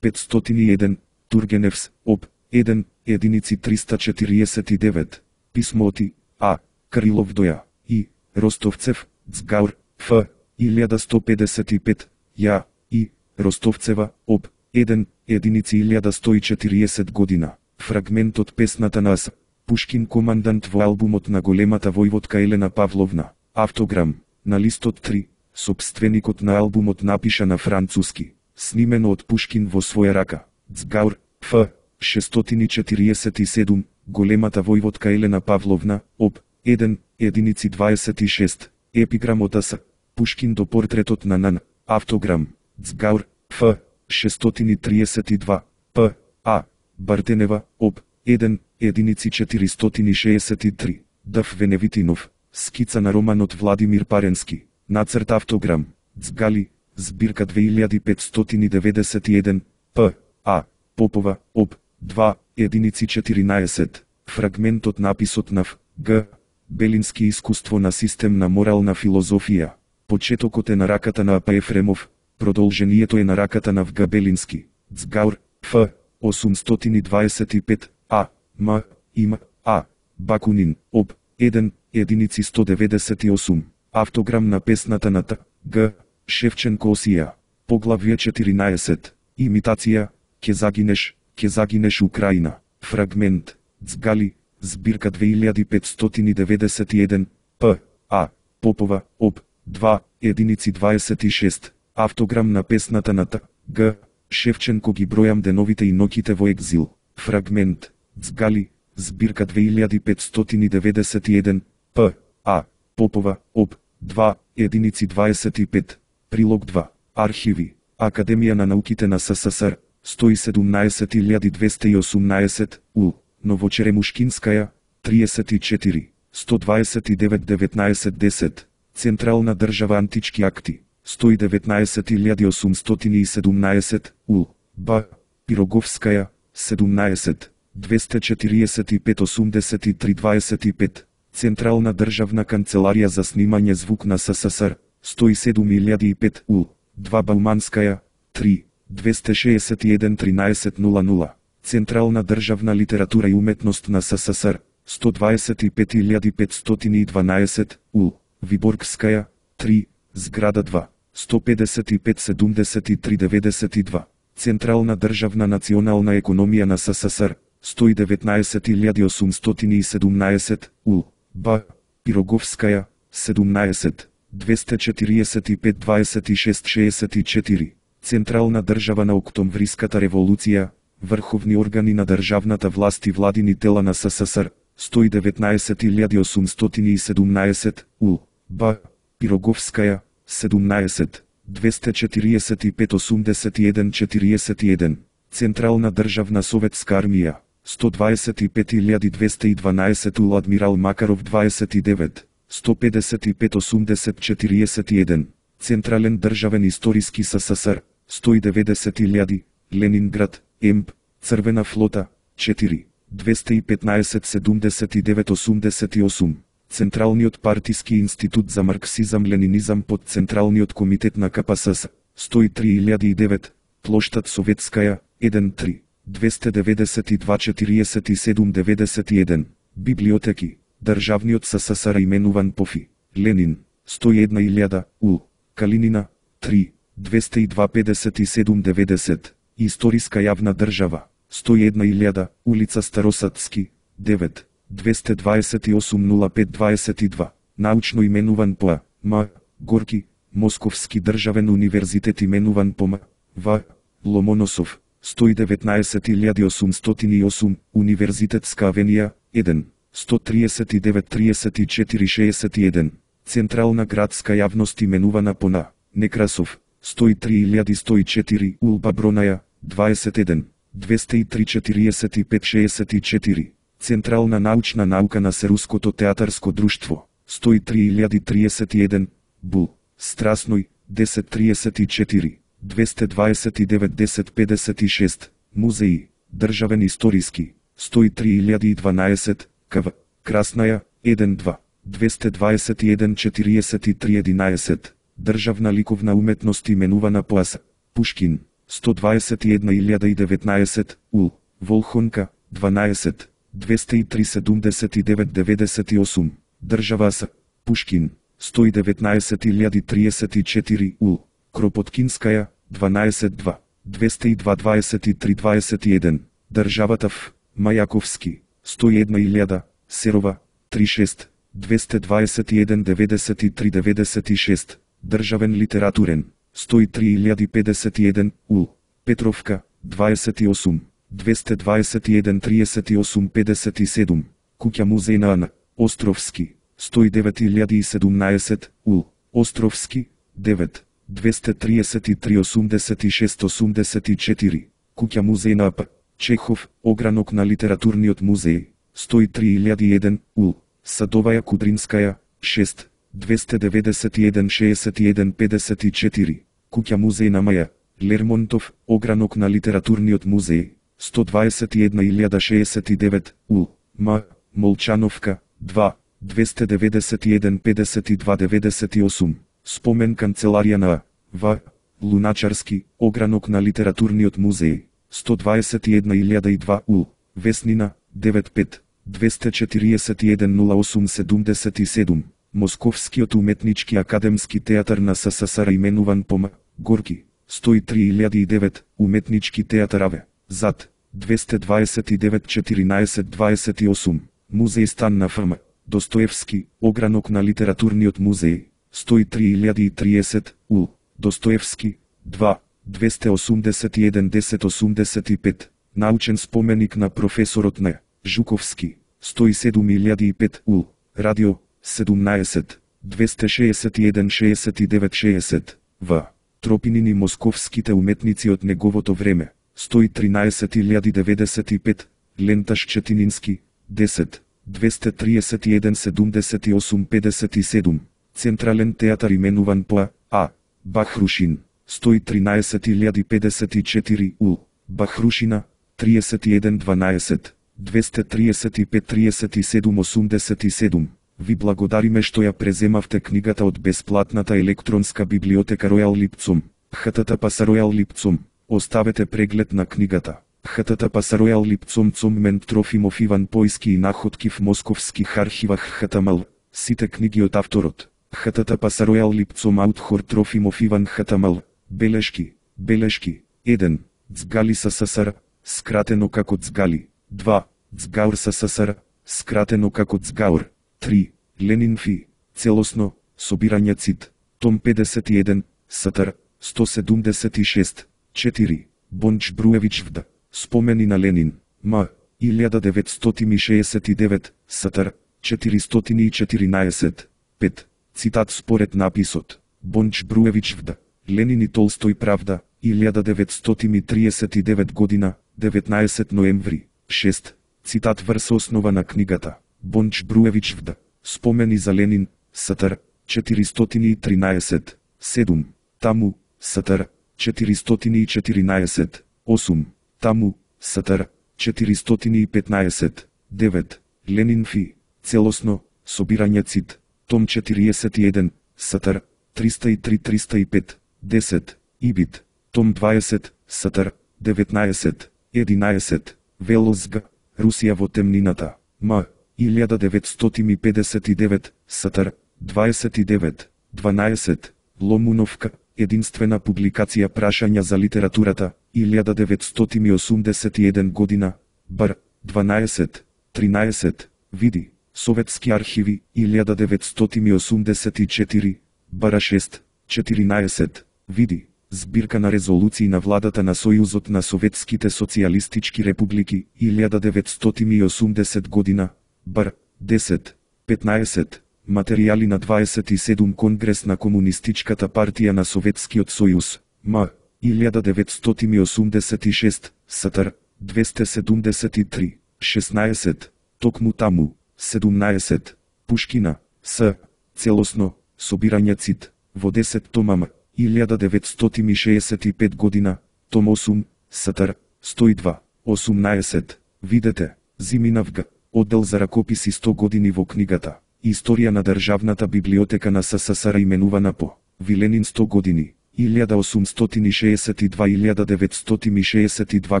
петстотини и еден. Тургеневс. Об. еден. Единици триста четириесет и девет. Писмо оти. А. Крилов доја. И. Ростовцев. Цгаур. Ф илјада сто педесет и пет, Ја, И, Ростовцева, Об, еден, единици илјада сто и четириесет година. Фрагмент од песната на С. Пушкин командант во албумот на големата војводка Елена Павловна. Автограм, на листот три, сопственикот на албумот напиша на француски. Снимено од Пушкин во своја рака. Цгаур, Ф. шестстотини четириесет и седум, големата војводка Елена Павловна, Об, еден, единици дваесет и шест. Епиграмот С. Пушкин до портретот на Нан. Автограм, Цгаур, Ф. шестстотини триесет и два, П. А. Бартенева, Об, еден, единици четиристотини шеесет и три. Дав Веневитинов. Скица на романот Владимир Паренски. Нацрт автограм, Цгали, збирка две илјади петстотини деветдесет и еден, П. А. Попова, Об, два, единици четиринаесет. Фрагмент од написот на Ф. Г. Белински искуство на системна морална филозофија. Почетокот е на раката на А П. Ефремов, продолжението е на раката на В. Г. Белински. Цгаур, Ф. осумстотини дваесет и пет, А. М. Им. А. Бакунин, Об, еден, единици сто деветдесет и осум. Автограм на песната на Т. Г. Шевченко Осија. Поглавје четиринаесет. Имитација, ке загинеш, ке загинеш Украина. Фрагмент, Цгали, збирка две илјади петстотини деветдесет и еден, П. А. Попова, Об, два, единици дваесет и шест. Автограм на песната на Т. Г. Шевченко ги бројам деновите и ноќите во екзил. Фрагмент, Цгали, збирка две илјади петстотини деветдесет и еден, П. А. Попова, Об, два, единици дваесет и пет. Прилог два. Архиви. Академија на науките на СССР. сто и седумнаесет илјади двесте и осумнаесет, У. Новочеремушкинскаја, триесет и четири, сто дваесет и девет деветнаесет десет. Централна држава антички акти. сто и деветнаесет илјади осумстотини и седумнаесет, У. Б. Пироговскаја, седумнаесет, двесте четириесет и пет осумдесет и три дваесет и пет. Централна државна канцеларија за снимање звук на СССР, сто и седум илјади и пет, У. два Бауманскаја, три, двесте шеесет и еден тринаесет нула нула. Централна државна литература и уметност на СССР, сто дваесет и пет илјади петстотини и дванаесет, У. Виборгскаја, три, зграда два, сто педесет и пет седумдесет и три деветдесет и два. Централна државна национална економија на СССР, сто и деветнаесет илјади осумстотини и седумнаесет, У. Б. Пироговскаја, седумнаесет, двесте четириесет и пет дваесет и шест шеесет и четири. Централна држава на Октомвриската револуција, врховни органи на државната власт и владини тела на СССР, сто и деветнаесет илјади осумстотини и седумнаесет, У. Б. Пироговскаја, седумнаесет, двесте четириесет и пет осумдесет и еден четириесет и еден. Централна државна советска армија, сто дваесет и пет илјади двесте и дванаесет, У. Адмирал Макаров дваесет и девет, сто педесет и пет осумдесет четириесет и еден. Централен државен историски СССР, сто и деветдесет илјади, Ленинград, Емп, Црвена флота, четири, двесте и петнаесет седумдесет и девет осумдесет и осум. Централниот партиски институт за марксизам-ленинизам под Централниот комитет на К П С С, сто и три илјади и девет, плоштад Советскаја, еден три, двесте деветдесет и два четириесет и седум деветдесет и еден. Библиотеки, државниот СССР именуван по Ф И. Ленин, сто и една илјада, У. Калинина, три, двесте и два педесет и седум деветдесет. Историска јавна држава, сто и една илјада, улица Старосадски, девет, двесте дваесет и осум нула пет дваесет и два. Научно именуван по А. М. Горки, Московски државен универзитет именуван по М. В. Ломоносов, сто и деветнаесет илјади осумстотини и осум, Универзитетска авенија, еден, сто триесет и девет триесет и четири шеесет и еден. Централна градска јавност именувана по Н. Некрасов, сто и три илјади сто и четири, Улба Бронаја, дваесет и еден, двесте и три четириесет и пет шеесет и четири. Централна научна наука на Серуското театарско друштво, сто и три илјади триесет и еден, Бул, Страсној, десет триесет и четири, двесте дваесет и девет десет педесет и шест. Музеи, државен историски, сто и три илјади и дванаесет, К В. Краснаја, еден два, двесте дваесет и еден четириесет и три единаесет. Државна ликовна уметност именувана по А С. Пушкин, сто дваесет и една илјада и деветнаесет, У. Волхонка, дванаесет, двесте и три седумдесет и девет деветдесет и осум. Држава А С. Пушкин, сто и деветнаесет илјади триесет и четири ул. Кропоткинскаја, дванаесет два, двесте и два дваесет и три дваесет и еден, Државата Ф. Мајаковски, сто и една илјада, Серова, три шест, двесте дваесет и еден деветдесет и три деветдесет и шест, Државен литературен, сто и три илјади педесет и еден ул. Петровка, дваесет и осум, двесте дваесет и еден триесет и осум педесет и седум, Куќа музеј на Ан. Островски, сто и девет илјади и седумнаесет ул. Островски, девет, двесте триесет и три осумдесет и шест осумдесет и четири, Куќа музеј на А П. Чехов, огранок на литературниот музеј, сто и три илјади и еден ул. Садоваја Кудринскаја, шест, двесте деветдесет и еден шеесет и еден педесет и четири, Куќа музеј на Маја. Лермонтов, огранок на литературниот музеј, сто дваесет и една илјада шеесет и девет ул. М. Молчановка, два, двесте деветдесет и еден педесет и два деветдесет и осум, спомен канцеларија на А. В. Луначарски, огранок на литературниот музеј, сто дваесет и една илјада и два ул. Веснина, девет пет, двесте четириесет и еден нула осум седумдесет и седум, Московскиот уметнички академски театар на С С С Р именуван по М. Горки, сто и три илјади и девет, уметнички театар Аве, Зад, двесте дваесет и девет четиринаесет дваесет и осум, Музеј стан на Ф М. Достоевски, огранок на литературниот музеј, сто и три илјади и триесет ул. Достоевски, два, двесте осумдесет и еден десет осумдесет и пет, научен споменик на професорот Н. Жуковски, сто и седум илјади и пет ул. Радио, седумнаесет, двесте шеесет и еден шеесет и девет шеесет, В. Тропинини московските уметници од неговото време, сто и тринаесет илјади деветдесет и пет, Ленташ Четинински, десет, двесте триесет и еден седумдесет и осум педесет и седум, Централен театар именуван по А. Бахрушин, сто и тринаесет илјади педесет и четири ул. Бахрушина, триесет и еден дванаесет, двесте триесет и пет триесет и седум осумдесет и седум. Ви благодариме што ја преземавте книгата од бесплатната електронска библиотека Ројал Липцум. Х Т Т П С Ројал Липцум. Оставете преглед на книгата. Х Т Т П С Ројал Липцум Цуммент Трофимов Иван Појски и находки в московских архивах Х Т М Л. Сите книги од авторот. Х Т Т П С Ројал Липцум Аутхор Трофимов Иван Х Т М Л. Белешки. Белешки. еден. Цгали С С С Р. Скратено како Цгали. два. Цгаур С С С Р. Скратено како Цгаур. три. Ленин Фи. Целосно. Собирање цит. Том педесет и еден. Сатар. сто седумдесет и шест. четири. Бонч Бруевич Вд. Спомени на Ленин. М. илјада деветстотини шеесет и девет. Сатар. четиристотини и четиринаесет. пет. Цитат според написот. Бонч Бруевич Вд. Ленин и Толстој Правда. илјада деветстотини триесет и девет година. деветнаесет ноември. шест. Цитат врз основа на книгата. Бонч Бруевич Вд. Спомени за Ленин. Сатар. четиристотини и тринаесет. седум. Таму. Сатар. четиристотини и четиринаесет. осум. Таму. Сатар. четиристотини и петнаесет. девет. Ленин Фи. Целосно. Собирање цит. Том четириесет и еден. Сатар. триста и три триста и пет. десет. Ибит. Том дваесет. Сатар. деветнаесет. единаесет. Велозг. Русија во темнината. М. илјада деветстотини педесет и девет. Сатар. дваесет и девет. дванаесет. Ломуновка. Единствена публикација прашања за литературата. илјада деветстотини осумдесет и еден година. Бар. дванаесет. тринаесет. Види. Советски архиви. илјада деветстотини осумдесет и четири. Бара шест. четиринаесет. Види. Збирка на резолуции на владата на Сојузот на Советските социјалистички републики. илјада деветстотини осумдесет година. Бар. десет. петнаесет. Материјали на дваесет и седум Конгрес на Комунистичката партија на Советскиот сојуз. М. илјада деветстотини осумдесет и шест. Сатар. двесте седумдесет и три. шеснаесет. Токму таму. седумнаесет. Пушкина. С. Целосно. Собирање цит. Во десет тома. илјада деветстотини шеесет и пет година. Том осум. Сатар. сто и два. осумнаесет. Видете. Зиминавг. Оддел за ракописи сто години во книгата. Историја на Државната библиотека на С С С Р именувана по Виленин сто години. илјада осумстотини шеесет и два до илјада деветстотини шеесет и два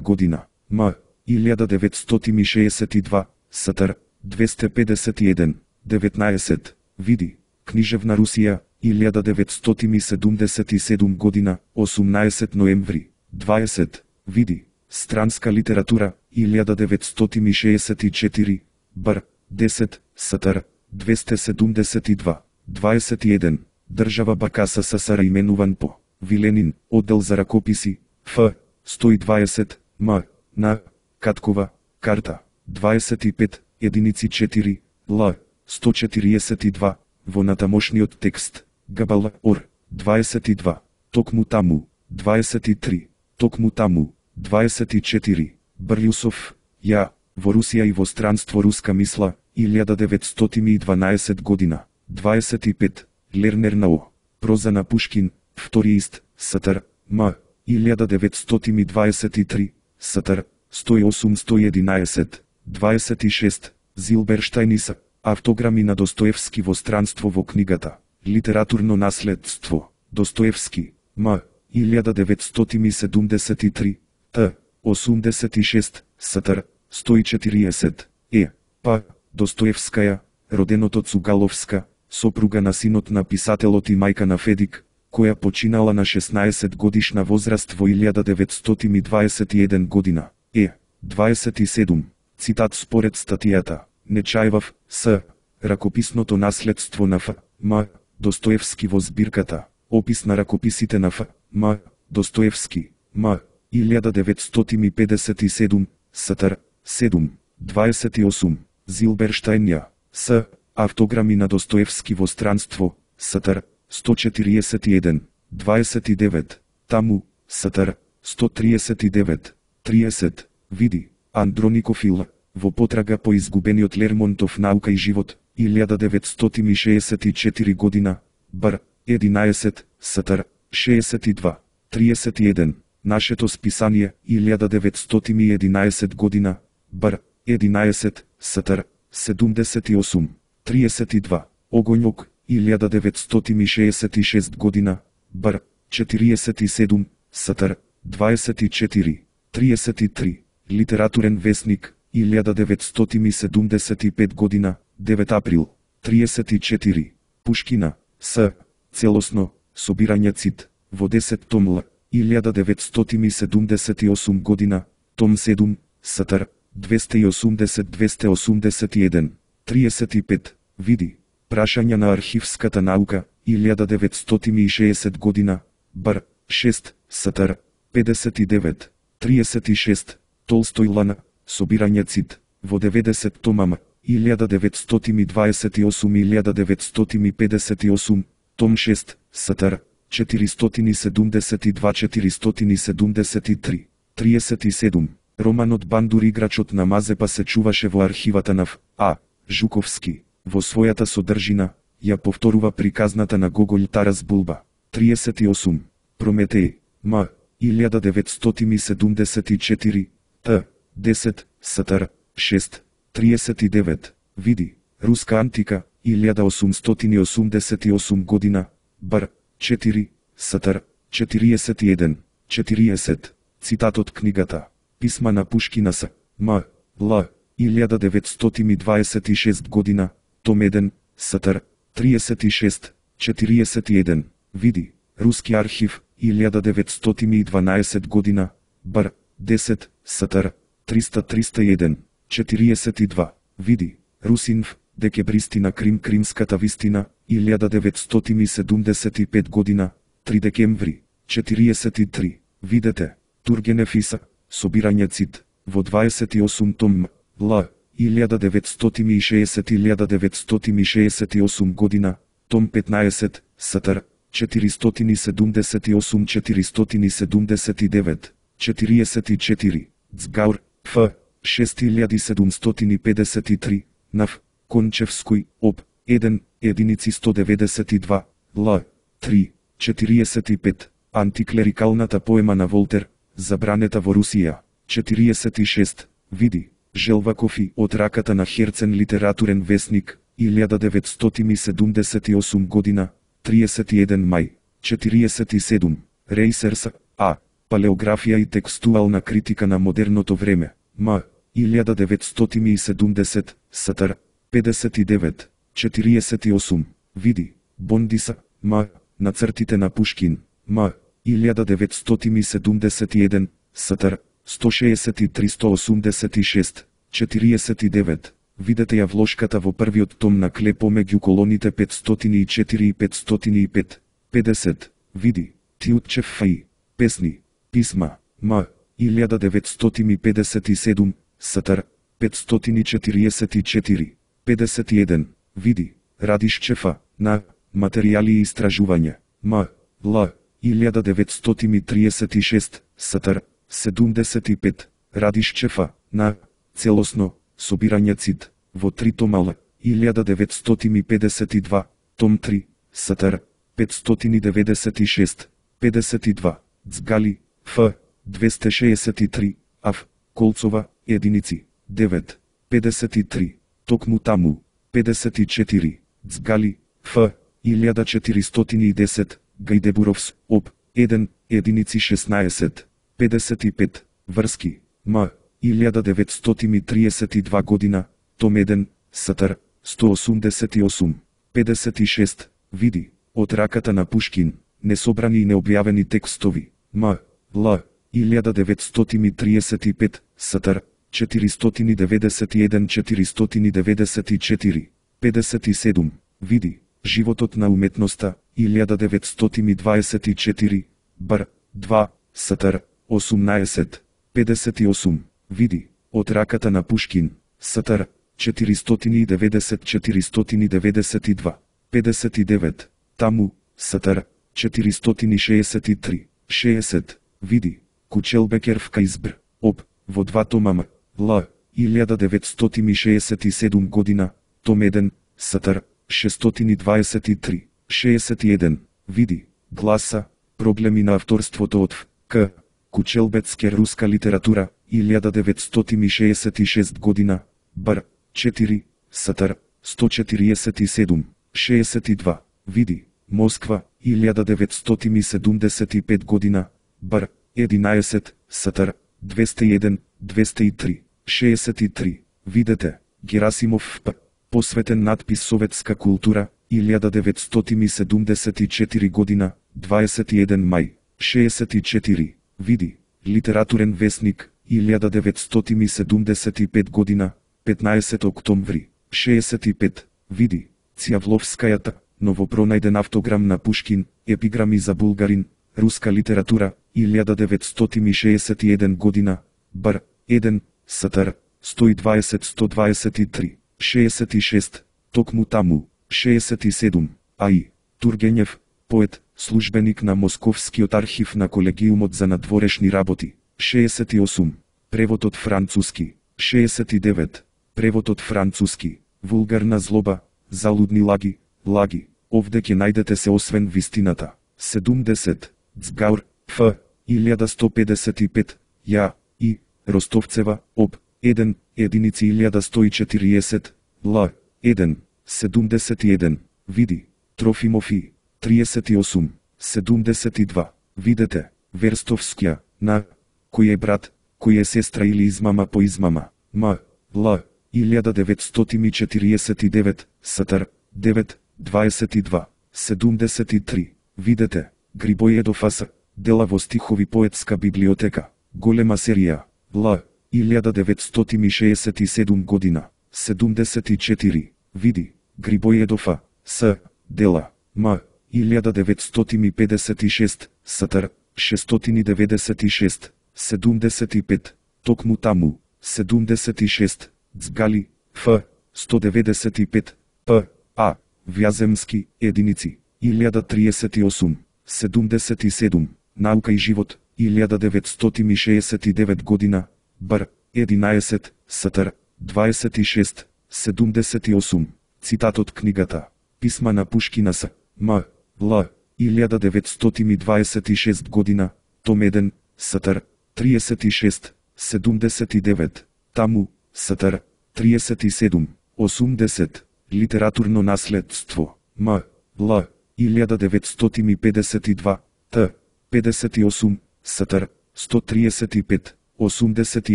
година. М. илјада деветстотини шеесет и два. Сатар. двесте педесет и еден. деветнаесет. Види. Книжевна Русија, илјада деветстотини седумдесет и седма година, осумнаесет ноември, дваесет, види, странска литература, илјада деветстотини шеесет и четири, бр, десет, стр, двесте седумдесет и два, дваесет и еден, држава Бакаса СССР именуван по Виленин, оддел за ракописи, Ф, сто и дваесет, М, на, Каткова, карта, дваесет и пет, единици четири, Л, сто четириесет и два, во натамошниот текст, Габал, Ор, дваесет и два, токму таму, дваесет и три, токму таму, дваесет и четири, Брлјусов, ја, во Русија и во странство руска мисла, илјада деветстотини и дванаесет година, дваесет и пет, Лернер на О, проза на Пушкин, втори ист, Стр, М, илјада деветстотини дваесет и три, Стр, сто и осум сто и единаесет, дваесет и шест, Зилберштајнис, автограми на Достоевски во странство во книгата, литературно наследство, Достоевски, М, илјада деветстотини седумдесет и три, Т, осумдесет и шест, Стр, сто и четириесет, Е, П, Достоевскаја, роденото Цугаловска, сопруга на синот на писателот и мајка на Федик, која починала на шеснаесет годишна возраст во илјада деветстотини дваесет и еден година. Е, дваесет и седум, цитат според статијата, Нечаевав, С, ракописното наследство на Ф, М, Достоевски во збирката, опис на ракописите на Ф, М, Достоевски, М, илјада деветстотини педесет и седум, Стр, седум, дваесет и осум, Зилберштајн, С, автограми на Достоевски во странство, Стр, сто четириесет и еден, дваесет и девет, таму, Стр, сто триесет и девет, триесет, види, Андроников Ил, во потрага по изгубениот Лермонтов наука и живот, илјада деветстотини шеесет и четири година, бр, единаесет, Стр, шеесет и два, триесет и еден, нашето списание, илјада деветстотини и единаесет година, бр, единаесет, Стр, седумдесет и осум, триесет и два, Огоњок, илјада деветстотини шеесет и шест година, бр, четириесет и седум, Стр, дваесет и четири, триесет и три, литературен весник, илјада деветстотини седумдесет и пет година, девет април, триесет и четири, Пушкина, С, целосно, собирање цит, во десет том Л, илјада деветстотини седумдесет и осум година, том седум, Стр, двесте и осумдесет до двесте осумдесет и еден, триесет и пет, види, прашања на архивската наука, илјада деветстотини и шеесет година, бр, шест, Стр, педесет и девет, триесет и шест, Толстој Лана, собирање цит, во деветдесет тома, илјада деветстотини дваесет и осум до илјада деветстотини педесет и осум, том шест, Стр, четиристотини седумдесет и два до четиристотини седумдесет и три, триесет и седум, романот Бандур играчот на Мазепа се чуваше во архивата на Ф. А. Жуковски, во својата содржина, ја повторува приказната на Гоголј Тарас Булба, триесет и осум, Прометеј, М, илјада деветстотини седумдесет и четири, Т, десет, Стр, шест, триесет и девет, види, Руска антика, илјада осумстотини осумдесет и осум година, бр, четири, Стр, четириесет и еден, четириесет, цитат од книгата, Писма на Пушкина С. М. Л. илјада деветстотини дваесет и шест година, том еден, Стр, триесет и шест, четириесет и еден, види, Руски архив, илјада деветстотини и дванаесет година, бр, десет, Стр, триста триста и еден, четириесет и два, види, Русинф, декембристи на Крим Кримската вистина, илјада деветстотини седумдесет и пет година, три декември, четириесет и три, видете, Тургенев Иса, собирање цит, во дваесет и осум том, Л, илјада деветстотини и шеесет до илјада деветстотини шеесет и осум година, том петнаесет, Стр, четиристотини седумдесет и осум до четиристотини седумдесет и девет, четириесет и четири, Цгаур, Ф, шест илјади седумстотини педесет и три, Нав, Кончевској, Об, еден, единици сто деветдесет и два, Л, три, четириесет и пет, антиклерикалната поема на Волтер, Забранета во Русија, четириесет и шест, види, Желваков од раката на Херцен литературен весник, илјада деветстотини седумдесет и осум година, триесет и еден мај, четириесет и седум, Рейсерс, А, Палеографија и текстуална критика на модерното време, М, илјада деветстотини и седумдесет, Стр, педесет и девет, четириесет и осум, види, Бондиса, М. Нацртите на Пушкин, М. илјада деветстотини седумдесет и еден, Сатар, сто шеесет и три сто осумдесет и шест, четириесет и девет. Видете ја вложката во првиот том на Клепо меѓу колоните петстотини и четири и петстотини и пет. педесет. Види, Тиутчев Фаи, песни, писма, М. илјада деветстотини педесет и седум, Сатар, петстотини четириесет и четири. педесет и еден. Види, Радишчефа, на, материјали и истражувања, М. Л. илјада деветстотини триесет и шест, Сатар, седумдесет и пет. Радишчефа, на, целосно, собирање цит, во три тома Л. илјада деветстотини педесет и два, том три, Сатар, петстотини деветдесет и шест, педесет и два. Цгали, Ф. двесте шеесет и три, Ав. Колцова, единици, девет, педесет и три. Токму таму, педесет и четири. Цгали, Ф. илјада четиристотини и десет, Гајдебуровс, Об. еден, единици шеснаесет, педесет и пет. Врски, М. илјада деветстотини триесет и два година, том еден, Сатар, сто осумдесет и осум, педесет и шест. Види, од раката на Пушкин, несобрани и необјавени текстови, М. Л. илјада деветстотини триесет и пет, Сатар, четиристотини деветдесет и еден четиристотини деветдесет и четири, педесет и седум. Види, животот на уметноста, илјада деветстотини дваесет и четири, Бр. два, Сатар, осумнаесет, педесет и осум. Види, од раката на Пушкин, Сатар, четиристотини деветдесет четиристотини деветдесет и два, педесет и девет. Таму, Сатар, четиристотини шеесет и три, шеесет. Види, Кучелбекервка избр, Об, во два тома М. Л. илјада деветстотини шеесет и седум година, том еден, Сатар, шестстотини дваесет и три, шеесет и еден. Види, Гласа, проблеми на авторството од Ф. К. Кучелбецке руска литература, илјада деветстотини шеесет и шест година, Бр. четири, Сатар, сто четириесет и седум, шеесет и два. Види, Москва, илјада деветстотини седумдесет и пет година, Бр. единаесет, Сатар, двесте и еден, двесте и три, шеесет и три. Видете, Герасимов П. Посветен надпис Советска култура, илјада деветстотини седумдесет и четири година, дваесет и еден мај, шеесет и четири. Види, Литературен весник, илјада деветстотини седумдесет и пет година, петнаесет октомври, шеесет и пет. Види, Цјавловскајата, новопронајден автограм на Пушкин, епиграми за булгарин, руска литература, илјада деветстотини шеесет и еден година, Бр. еден, Сатар, сто и дваесет сто дваесет и три, шеесет и шест. Токму таму, шеесет и седум. Аи, Тургенев, поет, службеник на Московскиот архив на Колегиумот за надворешни работи, шеесет и осум. Превод од француски, шеесет и девет. Превод од француски, вулгарна злоба, залудни лаги, лаги. Овде ќе најдете се освен вистината. седумдесет. Цгаур, Ф. илјада сто педесет и пет. Ја, И. Ростовцева, Об. еден, единици илјада сто и четириесет. Л. еден, седумдесет и еден. Види, Трофимов И. триесет и осум, седумдесет и два. Видете, Верстовскија, на, кој е брат, кој е сестра или измама по измама, М. Л. илјада деветстотини четириесет и девет, Сатар, девет, дваесет и два, седумдесет и три. Видете, Грибоједов Ас. Дела во стихови поетска библиотека, голема серија, Л. илјада деветстотини шеесет и седум година, седумдесет и четири. Види, Грибоједов А. С. Дела, М. илјада деветстотини педесет и шест, Сатар, шестстотини деветдесет и шест, седумдесет и пет. Токму таму, седумдесет и шест. Цгали, Ф. сто деветдесет и пет. П. А. Вјаземски, единици, илјада триесет и осум, седумдесет и седум. Наука и живот, илјада деветстотини шеесет и девет година, Бр. единаесет, Сатар, дваесет и шест, седумдесет и осум. Цитат од книгата Писма на Пушкина С. М. Л. илјада деветстотини дваесет и шест година, том еден, Сатар, триесет и шест, седумдесет и девет. Таму, Сатар, триесет и седум, осумдесет. Литературно наследство, М. Л. илјада деветстотини педесет и два, Т. педесет и осум, Сатар, сто триесет и пет, осумдесет и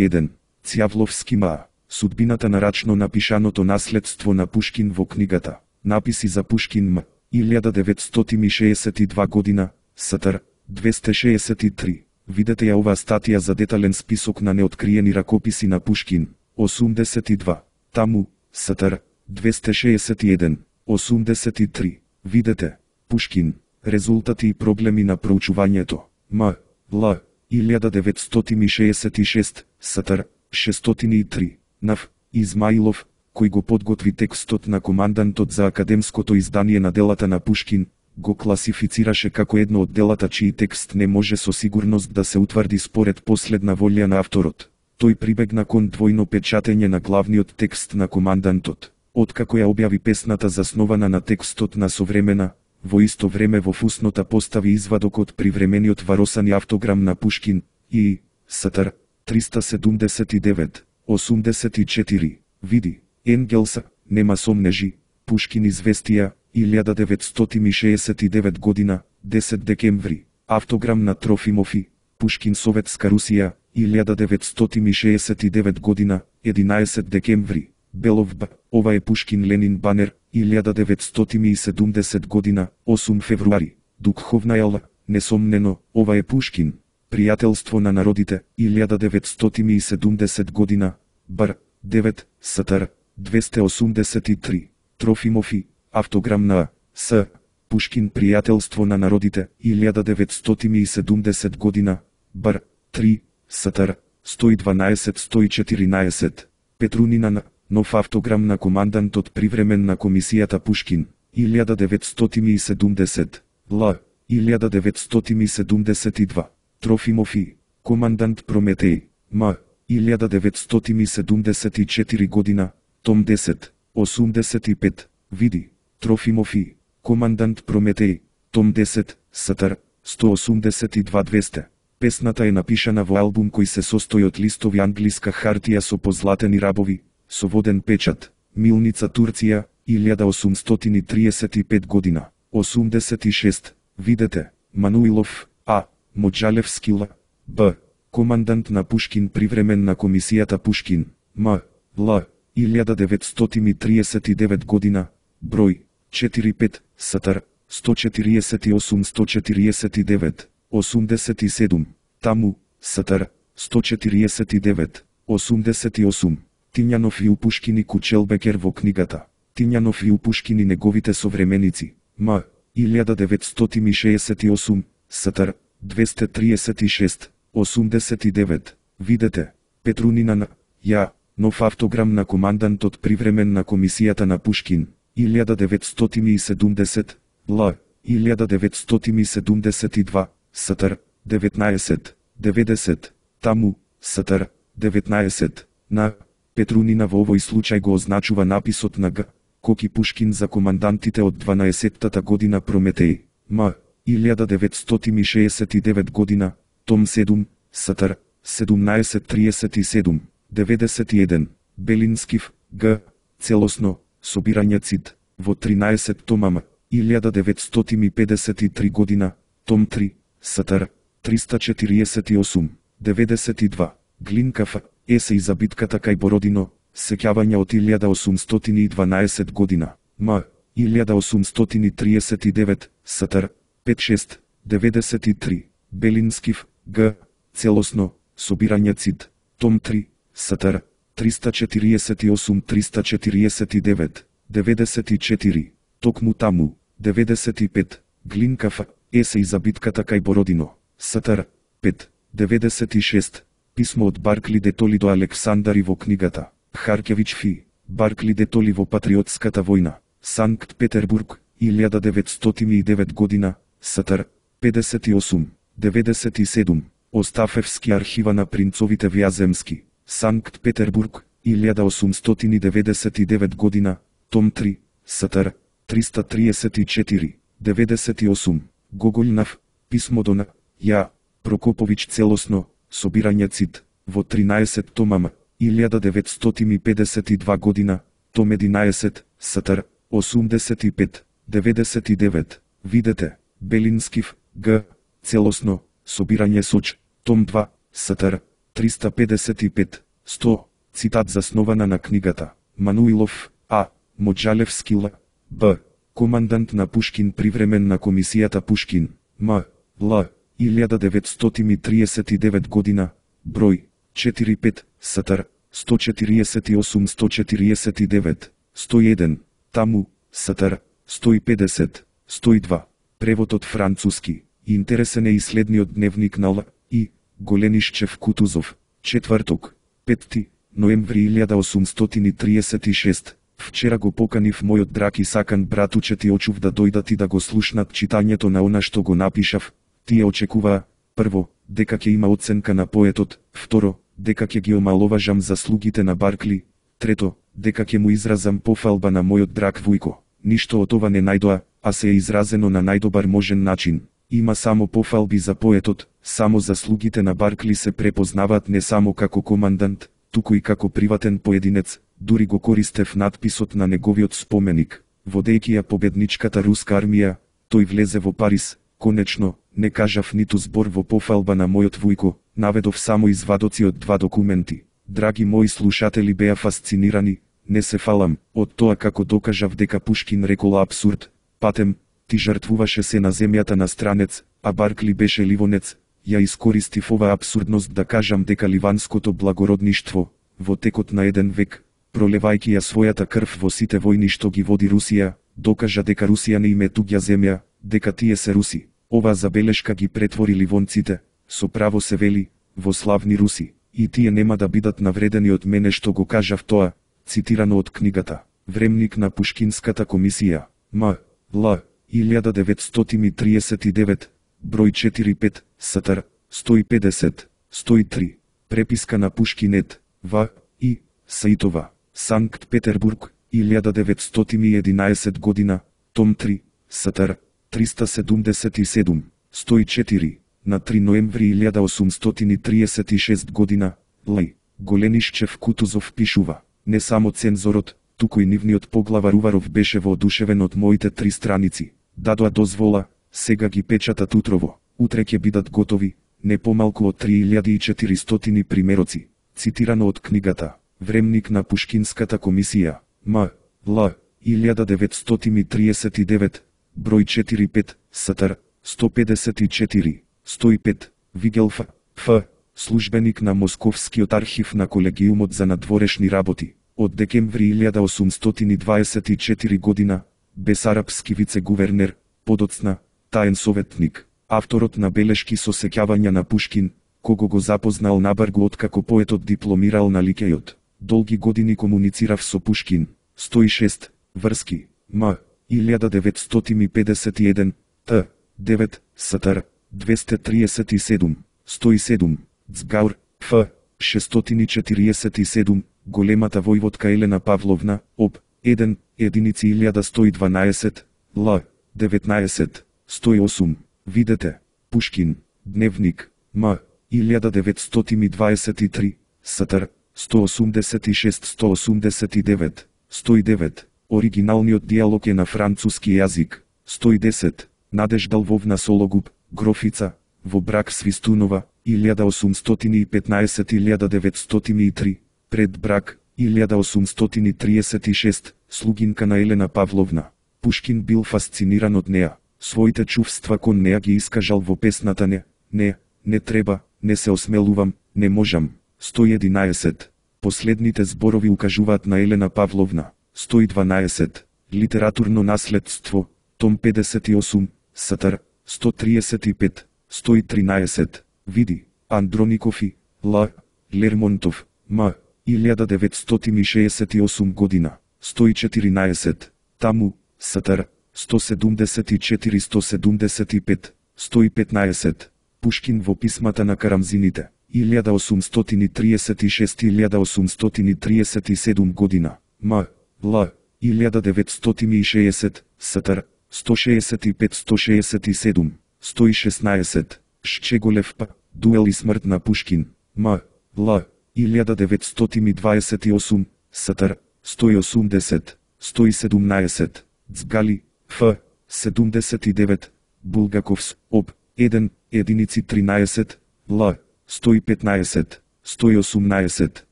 еден. Цјавловски Ма. Судбината на рачно напишаното наследство на Пушкин во книгата Написи за Пушкин М. илјада деветстотини и шеесет и два година, СТР, двесте шеесет и три. Видете ја оваа статија за детален список на неоткриени ракописи на Пушкин, осумдесет и два. Таму, СТР, двесте шеесет и еден, осумдесет и три. Видете, Пушкин, резултати и проблеми на проучувањето, М. Л. илјада деветстотини и шеесет и шест, СТР, шестстотини и три. Нав. Измаилов, кој го подготви текстот на командантот за академското издание на делата на Пушкин, го класифицираше како едно од делата чиј текст не може со сигурност да се утврди според последна волја на авторот. Тој прибегна кон двојно печатење на главниот текст на командантот. Откако ја објави песната заснована на текстот на Современа, во исто време во фуснота постави извадок од привремениот варосани автограм на Пушкин и СТР триста седумдесет и девет, осумдесет и четири. Види, Енгелса, нема сомнежи, Пушкин известија, илјада деветстотини и шеесет и девет година, десет декември. Автограм на Трофимов и Пушкин Советска Русија, илјада деветстотини и шеесет и девет година, единаесет декември. Белов Б. Ова е Пушкин Ленин банер, илјада деветстотини и седумдесет година, осум февруари. Духовна Л. Несомнено, ова е Пушкин. Пријателство на народите, илјада деветстотини и седумдесет година, Бр. девет, СТР, двесте осумдесет и три. Трофимов и автограм на С. Пушкин Пријателство на народите, илјада деветстотини и седумдесет година, Бр. три, СТР, сто и дванаесет сто и четиринаесет. Петрунина на нов автограм на командантот привремен на комисијата Пушкин, илјада деветстотини и седумдесет. Л. илјада деветстотини и седумдесет и два. Трофимов и командант Прометеј, М. илјада деветстотини и седумдесет и четири година, том десет, осумдесет и пет. Види, Трофимов и командант Прометеј, том десет, СТР, сто осумдесет и два двесте. Песната е напишана во албум кој се состои од листови англиска хартија со позлатени рабови, со воден печат. Милница, Турција, илјада осумстотини триесет и пет година, осумдесет и шест. Видете, Мануилов, А. Моджалевски Л. Б. Командант на Пушкин привремен на комисијата Пушкин, М. Л. илјада деветстотини триесет и девет година, број четири пет, СТР, сто четириесет и осум сто четириесет и девет, осумдесет и седум. Таму, СТР, сто четириесет и девет, осумдесет и осум. Тињанов и Пушкин и Кучелбекер во книгата Тињанов и Пушкин и неговите современици, М. илјада деветстотини и шеесет и осум, СТР, двесте триесет и шест, осумдесет и девет. Видете, Петрунина на Ја, нов автограм на командантот привремен на комисијата на Пушкин, илјада деветстотини и седумдесет, Л. илјада деветстотини и седумдесет и два, СТР, деветнаесет, деветдесет. Таму, СТР, деветнаесет. На Петрунина во овој случај го означува написот на Г. Коки Пушкин за командантите од дванаесеттата година Прометеј, М. илјада деветстотини и шеесет и девет година, том седум, СТР, седумнаесет триесет и седум, деветдесет и еден. Белинскив, Г. Целосно, собирање цит, во тринаесет томама, илјада деветстотини и педесет и три година, том три, СТР, триста четириесет и осум, деветдесет и два. Глинкав, есеј за битката кај Бородино, сеќавање од илјада осумстотини и дванаесет година, М. илјада осумстотини триесет и девет, СТР, пет шест, деветдесет и три. Белинскив, Г. Целосно, собирање цит, том три, СТР, триста четириесет и осум триста четириесет и девет, деветдесет и четири. Токму таму, деветдесет и пет. Глинкав, есеј за битката кај Бородино, СТР, пет, деветдесет и шест. Писмо од Баркли де Толи до Александари во книгата Харкевич Фи, Баркли де Толи во патриотската војна, Санкт Петербург, илјада деветстотини и девет година, СТР, педесет и осум, деветдесет и седум. Остафевски архива на принцовите Вјаземски, Санкт Петербург, илјада осумстотини деветдесет и девет година, том три, СТР, триста триесет и четири, деветдесет и осум. Гоголјнав, писмо до на Ја, Прокоповиќ целосно, собирање цит, во тринаесет томама, илјада деветстотини педесет и два година, том единаесет, СТР, осумдесет и пет, деветдесет и девет. Видете, Белинскив, Г. Целосно, собирање соч, том два, СТР, триста педесет и пет, сто. Цитат заснована на книгата Мануилов, А. Моджалевски Л. Б. Командант на Пушкин привремен на комисијата Пушкин, М. Л. илјада деветстотини триесет и девет година, број четири пет, Сатар, сто четириесет и осум сто четириесет и девет, сто и еден, таму, Сатар, сто и педесет, сто и два. Превод од француски. Интересен е и следниот дневник на Л. И. Голенишчев Кутузов. Четврток, петти ноември илјада осумстотини триесет и шест. Вчера го поканив мојот драг и сакан братучет и очув да дојдат и да го слушнат читањето на она што го напишав. Тие очекуваа, прво, дека ќе има оценка на поетот, второ, дека ќе ги омаловажам заслугите на Баркли, трето, дека ќе му изразам пофалба на мојот драг Вујко. Ништо од ова не најдоа, а се е изразено на најдобар можен начин. Има само пофалби за поетот, само заслугите на Баркли се препознаваат не само како командант, туку и како приватен поединец. Дури го користев надписот на неговиот споменик. Водејќи ја победничката руска армија, тој влезе во Париз. Конечно, не кажав ниту збор во пофалба на мојот Вујко, наведов само извадоци од два документи. Драги мои слушатели беа фасцинирани, не се фалам, од тоа како докажав дека Пушкин рекол апсурд. Патем, ти жртвуваше се на земјата на странец, а Баркли беше ливонец. Ја искористив ова апсурдност да кажам дека ливанското благородништво, во текот на еден век, пролевајќи ја својата крв во сите војни што ги води Русија, докажа дека Русија не им е туѓа земја, дека тие се руси. Оваа забелешка ги претвори ливонците, со право се вели, во славни руси, и тие нема да бидат навредени од мене што го кажав тоа, цитирано од книгата Времник на Пушкинската комисија, М. Л. илјада деветстотини триесет и девет, број четири пет, Сатар, сто и педесет, сто и три. Преписка на Пушкинет, В. И. Саитова, Санкт Петербург, илјада деветстотини и единаесет година, том три, Сатар, триста седумдесет и седум, сто и четири, на три ноември илјада осумстотини триесет и шест година, Лај. Голенишчев Кутузов пишува, не само цензорот, туку и нивниот поглавар Уваров беше воодушевен од моите три страници. Дадоа дозвола, сега ги печатат утрово, утре ќе бидат готови, не помалку од три илјади и четиристотини примероци, цитирано од книгата Времник на Пушкинската комисија, М. Л. илјада деветстотини триесет и девет, број четири пет, Сатар, сто педесет и четири, сто и пет, Вигел Ф. Ф. Службеник на Московскиот архив на Колегиумот за надворешни работи. Од декември илјада осумстотини дваесет и четврта година, бесарапски вице-гувернер, подоцна, таен советник, авторот на белешки со сеќавања на Пушкин, кого го запознал набргу откако поетот дипломирал на Ликејот. Долги години комуницирав со Пушкин. сто и шест, врски, М. илјада деветстотини педесет и еден, Т. девет, Сатар, двесте триесет и седум, сто и седум, Цгаур, Ф. шестстотини четириесет и седум, големата војводка Елена Павловна, Об. еден, единици илјада сто и дванаесет, Л. деветнаесет, сто и осум. Видете, Пушкин, дневник, М. илјада деветстотини дваесет и три, Сатар, сто осумдесет и шест сто осумдесет и девет, сто и девет. Оригиналниот диалог е на француски јазик, сто и десет. Надежда Лвовна Сологуб, Грофица, во брак Свистунова, илјада осумстотини и петнаесет илјада деветстотини и три, пред брак, илјада осумстотини триесет и шест, слугинка на Елена Павловна. Пушкин бил фасциниран од неа, своите чувства кон неа ги искажал во песната Не, не, не треба, не се осмелувам, не можам. сто и единаесет. Последните зборови укажуваат на Елена Павловна. сто и дванаесет. Литературно наследство, том педесет и осум, Сатар, сто триесет и пет, сто и тринаесет. Види, Андроников и Л. Лермонтов, М. илјада деветстотини шеесет и осум година, сто и четиринаесет. Таму, Сатар, сто седумдесет и четири сто седумдесет и пет, сто и петнаесет. Пушкин во писмата на Карамзините, илјада осумстотини триесет и шест илјада осумстотини триесет и седум година, М. Л. илјада деветстотини и шеесет, Сатар, сто шеесет и пет сто шеесет и седум, сто и шеснаесет. Шчеголев П. Дуел и смрт на Пушкин, М. Л. илјада деветстотини дваесет и осум, Сатар, сто и осумдесет, сто и седумнаесет. Цгали, Ф. седумдесет и девет, Булгаковс, Об. еден, единици тринаесет, Л. сто и петнаесет, сто и осумнаесет,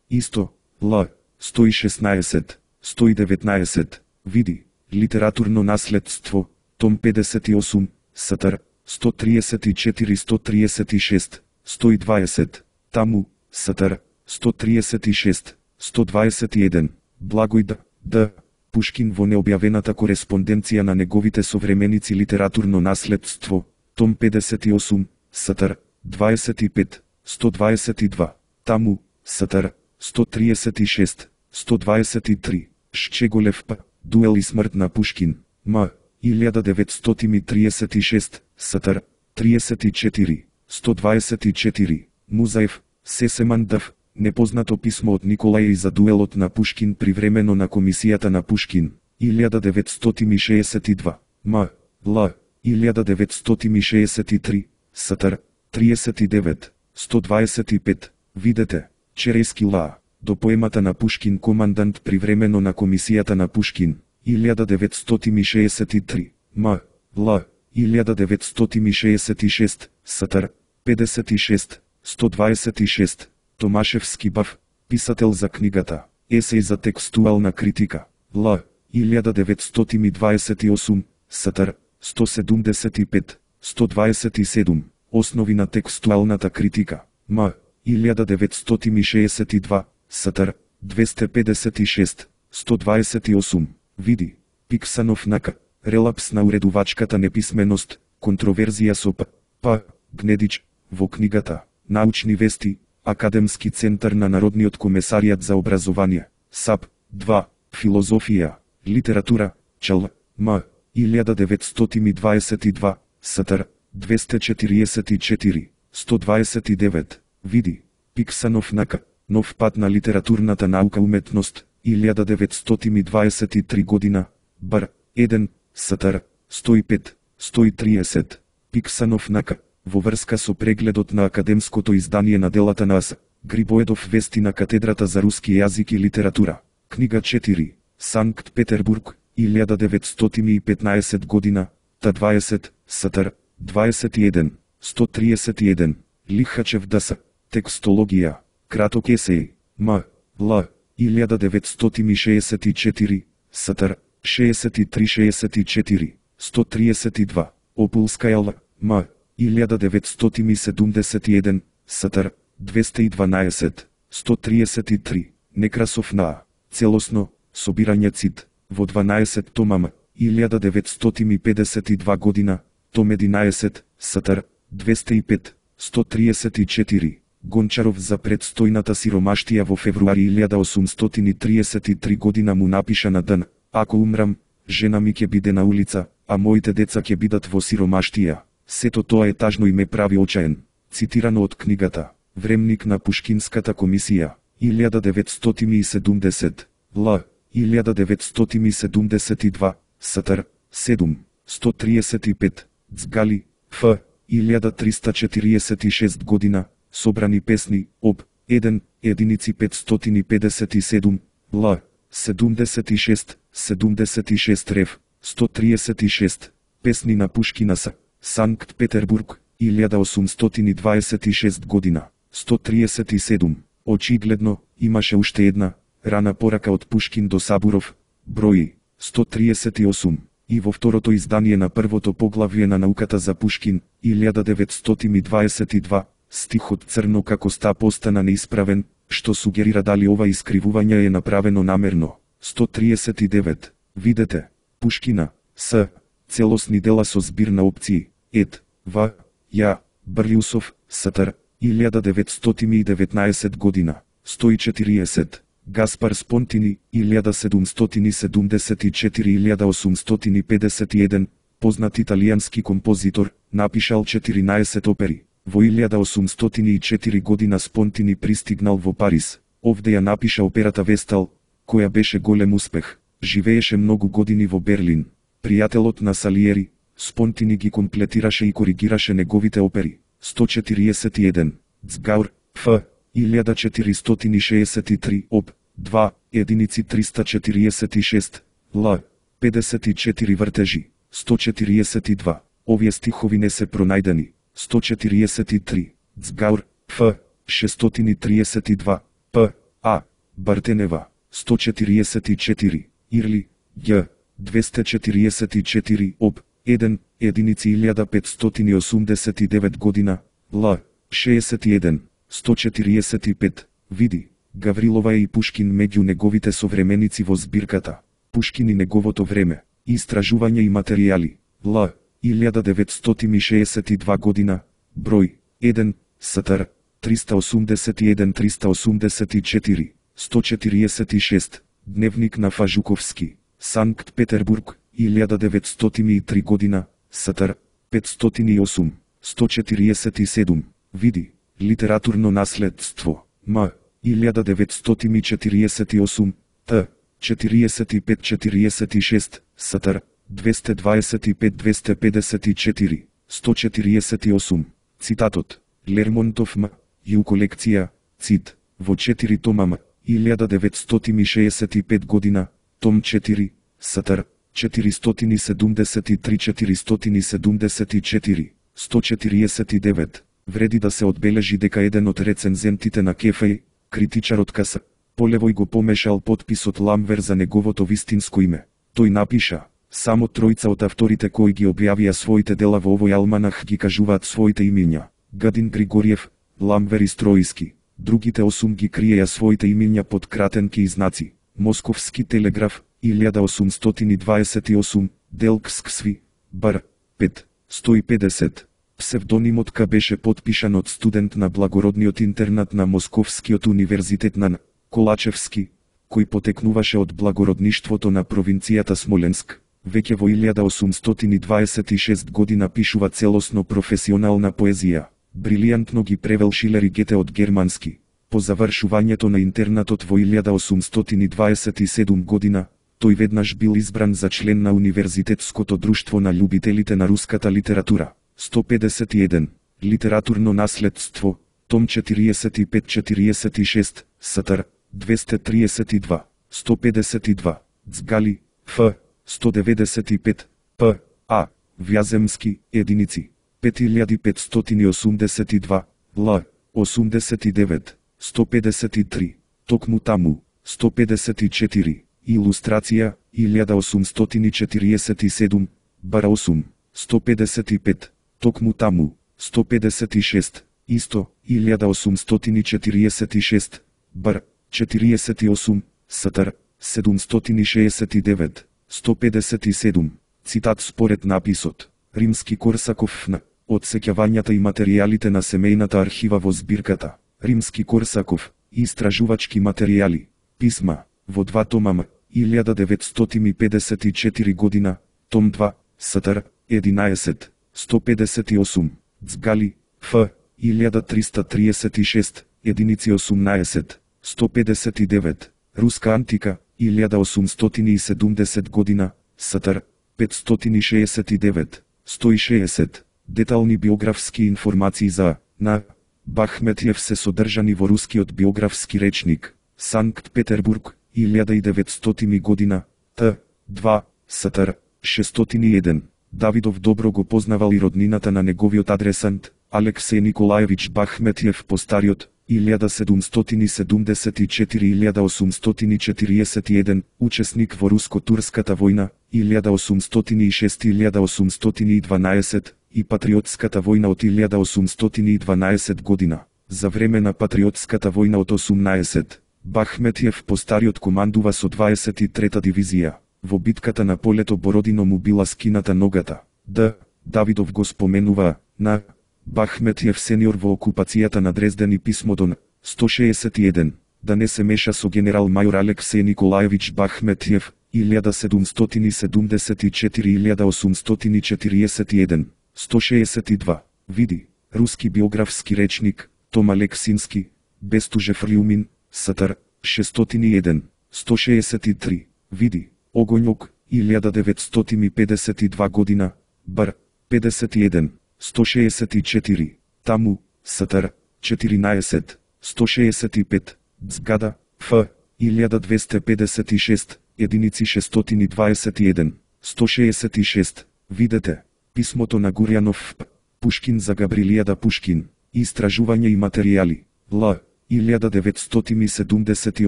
исто, Л. сто и шеснаесет, сто и деветнаесет. Види, Литературно наследство, том педесет и осум, Сатар, сто триесет и четири сто триесет и шест, сто и дваесет, таму, Сатар, сто триесет и шест, сто дваесет и еден, Благој Д. Д. Пушкин во необјавената кореспонденција на неговите современици Литературно наследство, том педесет и осум, Сатар, дваесет и пет, сто дваесет и два, таму, Сатар, сто триесет и шест, сто дваесет и три, Шчеголев П. Дуел и смрт на Пушкин, М. илјада деветстотини триесет и шест, Сатар, триесет и четири, сто дваесет и четири, Музаев, Сесеман Д. Непознато писмо од Николај за дуелот на Пушкин привремено на комисијата на Пушкин, илјада деветстотини шеесет и два, М. Л. илјада деветстотини шеесет и три, Сатар, триесет и девет, сто дваесет и пет, видете, Черески Ла, до поемата на Пушкин командант привремено на комисијата на Пушкин, илјада деветстотини шеесет и три, М. Л. илјада деветстотини шеесет и шест, Сатар, педесет и шест, сто дваесет и шест, Томашевски Бав, писател за книгата, есеј за текстуална критика, Л. илјада деветстотини дваесет и осум, Сатар, сто седумдесет и пет, сто дваесет и седум, Основи на текстуалната критика, М. илјада деветстотини шеесет и два, Сатар, двесте педесет и шест, сто дваесет и осум, види, Пиксанов Нака, релапс на уредувачката неписменост, контроверзија со П. П. Гнедич, во книгата, Научни вести, Академски центар на Народниот комесаријат за образование, САП, два, Филозофија, литература, Чл. М. илјада деветстотини дваесет и два, Сатар, двесте четириесет и четири, сто дваесет и девет, види, Пиксанов Нака, Нов пат на литературната наука уметност, илјада деветстотини дваесет и три година, Бр. еден, Сатар, сто и пет, сто и триесет, Пиксанов Нака, во врска со прегледот на академското издание на делата на С. Грибоедов вести на Катедрата за руски јазик и литература, книга четири, Санкт Петербург, илјада деветстотини и петнаесет година, Т дваесет, Сатар, дваесет и еден, сто триесет и еден, Лихачев Д С. Текстологија, краток есеј, М. Л. илјада деветстотини шеесет и четири, Сатар, шеесет и три шеесет и четири, сто триесет и два, Опулскаја Л. М. илјада деветстотини седумдесет и еден, Сатар, двесте и дванаесет, сто триесет и три, Некрасов на целосно, собирање цит, во дванаесет томама, илјада деветстотини педесет и два година, том единаесет, Сатар, двесте и пет, сто триесет и четири, Гончаров за предстојната сиромаштија во февруари илјада осумстотини триесет и три година му напиша на ден, ако умрам, жена ми ќе биде на улица, а моите деца ќе бидат во сиромаштија. Сето тоа е тажно и ме прави очаен. Цитирано од книгата, Времник на Пушкинската комисија, илјада деветстотини и седумдесет, Л. илјада деветстотини седумдесет и два, Сатар, седум, сто триесет и пет, Цгали, Ф. илјада триста четириесет и шест година, Собрани песни, Об. еден, единици петстотини педесет и седум, Л. седумдесет и шест, седумдесет и шест Рев, сто триесет и шест, Песни на Пушкина С. Санкт Петербург, илјада осумстотини дваесет и шест година, сто триесет и седум. Очигледно, имаше уште една, рана порака од Пушкин до Сабуров, број сто триесет и осум, и во второто издание на првото поглавје на науката за Пушкин, илјада деветстотини дваесет и два, стихот Црно како ста постана неисправен, што сугерира дали ова искривување е направено намерно. сто триесет и девет, видете, Пушкина, С. Целосни дела со збир на опции, Ед. В. Ја. Брлиусов, Сатар, илјада деветстотини и деветнаесет година, сто и четириесет, Гаспар Спонтини, илјада седумстотини седумдесет и четири до илјада осумстотини педесет и еден, познат италијански композитор, напишал четиринаесет опери. Во илјада осумстотини и четири година Спонтини пристигнал во Париз. Овде ја напиша операта Вестал, која беше голем успех. Живееше многу години во Берлин. Пријателот на Салиери, Спонтини ги комплетираше и коригираше неговите опери. сто четириесет и еден, Цгаур, Ф. илјада четиристотини шеесет и три, Об. два, единици триста четириесет и шест, Л. педесет и четири вртежи, сто четириесет и два. Овие стихови не се пронајдени. сто четириесет и три, Цгаур, Ф. шестстотини триесет и два, П. А. Бартенева, сто четириесет и четири, Ирли, Ѓ. двесте четириесет и четири, об, еден, единици илјада петстотини и осумдесет и девет година, Л, шеесет и еден, сто четириесет и пет, види, Гаврилова е и Пушкин меѓу неговите современици во збирката. Пушкин и неговото време, истражување и материјали, Л, илјада деветстотини шеесет и два година, број, еден, СТР, триста осумдесет и еден триста осумдесет и четири, сто четириесет и шест, Дневник на Фажуковски, Санкт Петербург, илјада деветстотини и три година, СТР, петстотини и осум, сто четириесет и седум, види, Литературно наследство, М, илјада деветстотини четириесет и осум, Т, четириесет и пет четириесет и шест, СТР, двесте дваесет и пет двесте педесет и четири, сто четириесет и осум. Цитатот, Лермонтов М, Ју колекција, цит, во четири тома М, илјада деветстотини шеесет и пет година, том четири, СТР, четиристотини седумдесет и три четиристотини седумдесет и четири, сто четириесет и девет. Вреди да се одбележи дека еден од рецензентите на Кефеј, критичарот К С. Полевој го помешал потписот Ламвер за неговото вистинско име. Тој напиша, само тројца од авторите кои ги објавија своите дела во овој алманах ги кажуваат своите имиња. Гадин Григориев, Ламвер и Строиски. Другите осум ги криеја своите имиња под кратенки и знаци. Московски телеграф, илјада осумстотини дваесет и осум, Делксксви, Бар, пет, сто и педесет. Псевдонимот К беше потпишан од студент на благородниот интернат на Московскиот универзитет на Колачевски, кој потекнуваше од благородништвото на провинцијата Смоленск. Веќе во илјада осумстотини дваесет и шест година пишува целосно професионална поезија. Брилијантно ги превел Шилер и Гете од германски. По завршувањето на интернатот во илјада осумстотини дваесет и седум година, тој веднаш бил избран за член на Универзитетското друштво на љубителите на руската литература. сто педесет и еден. Литературно наследство, том четириесет и пет четириесет и шест, СТР, двесте триесет и два, сто педесет и два, Цгали, Ф, сто деветдесет и пет, П, А, Вјаземски, единици, пет илјади петстотини осумдесет и два, Л, осумдесет и девет, сто педесет и три, токму таму, сто педесет и четири, илустрација, илјада осумстотини четириесет и седум, Бар осум, сто педесет и пет, токму таму, сто педесет и шест, исто, илјада осумстотини четириесет и шест, Бар, четириесет и осум, СТР, седумстотини шеесет и девет, сто педесет и седум. Цитат според написот, Римски Корсаков на одсеќавањата и материјалите на семејната архива во збирката, Римски Корсаков, истражувачки материјали, писма, во два тома М, илјада деветстотини педесет и четири година, том два, СТР, единаесет, сто педесет и осум, Цгали, Ф, илјада триста триесет и шест, единици осумнаесет, сто педесет и девет, Руска антика, илјада осумстотини и седумдесет година, СТР, петстотини шеесет и девет, сто и шеесет. Детални биографски информации за на Бахметјев се содржани во Рускиот биографски речник, Санкт Петербург, илјада деветстотини година, Т, два, СТР, шестстотини и еден. Давидов добро го познавал и роднината на неговиот адресант, Алексеј Николаевич Бахметјев постариот, илјада седумстотини седумдесет и четири до илјада осумстотини четириесет и еден, учесник во Руско-турската војна, илјада осумстотини и шест до илјада осумстотини и дванаесет, и Патриотската војна од илјада осумстотини и дванаесет година. За време на Патриотската војна од осумнаесет, Бахметјев постариот командува со дваесет и трета дивизија. Во битката на полето Бородино му била скината ногата. Д. Давидов го споменува на Бахметјев сениор во окупацијата на Дрезден и писмото на сто шеесет и еден, да не се меша со генерал мајор Алексеј Николаевич Бахметјев, илјада седумстотини седумдесет и четири до илјада осумстотини четириесет и еден, сто шеесет и два. Види, Руски биографски речник, Том Алексински, Бестужев Рјумин, СТР, шестстотини и еден, сто шеесет и три. Види, Огоњок, илјада деветстотини педесет и два година, Бар, педесет и еден, сто шеесет и четири, таму, СТР, четиринаесет, сто шеесет и пет, Цгада, Ф, илјада двесте педесет и шест, единици шестстотини дваесет и еден, сто шеесет и шест. Видете, писмото на Гурјанов П. Пушкин за Габрилијада Пушкин, истражување и материјали, Л, илјада деветстотини седумдесет и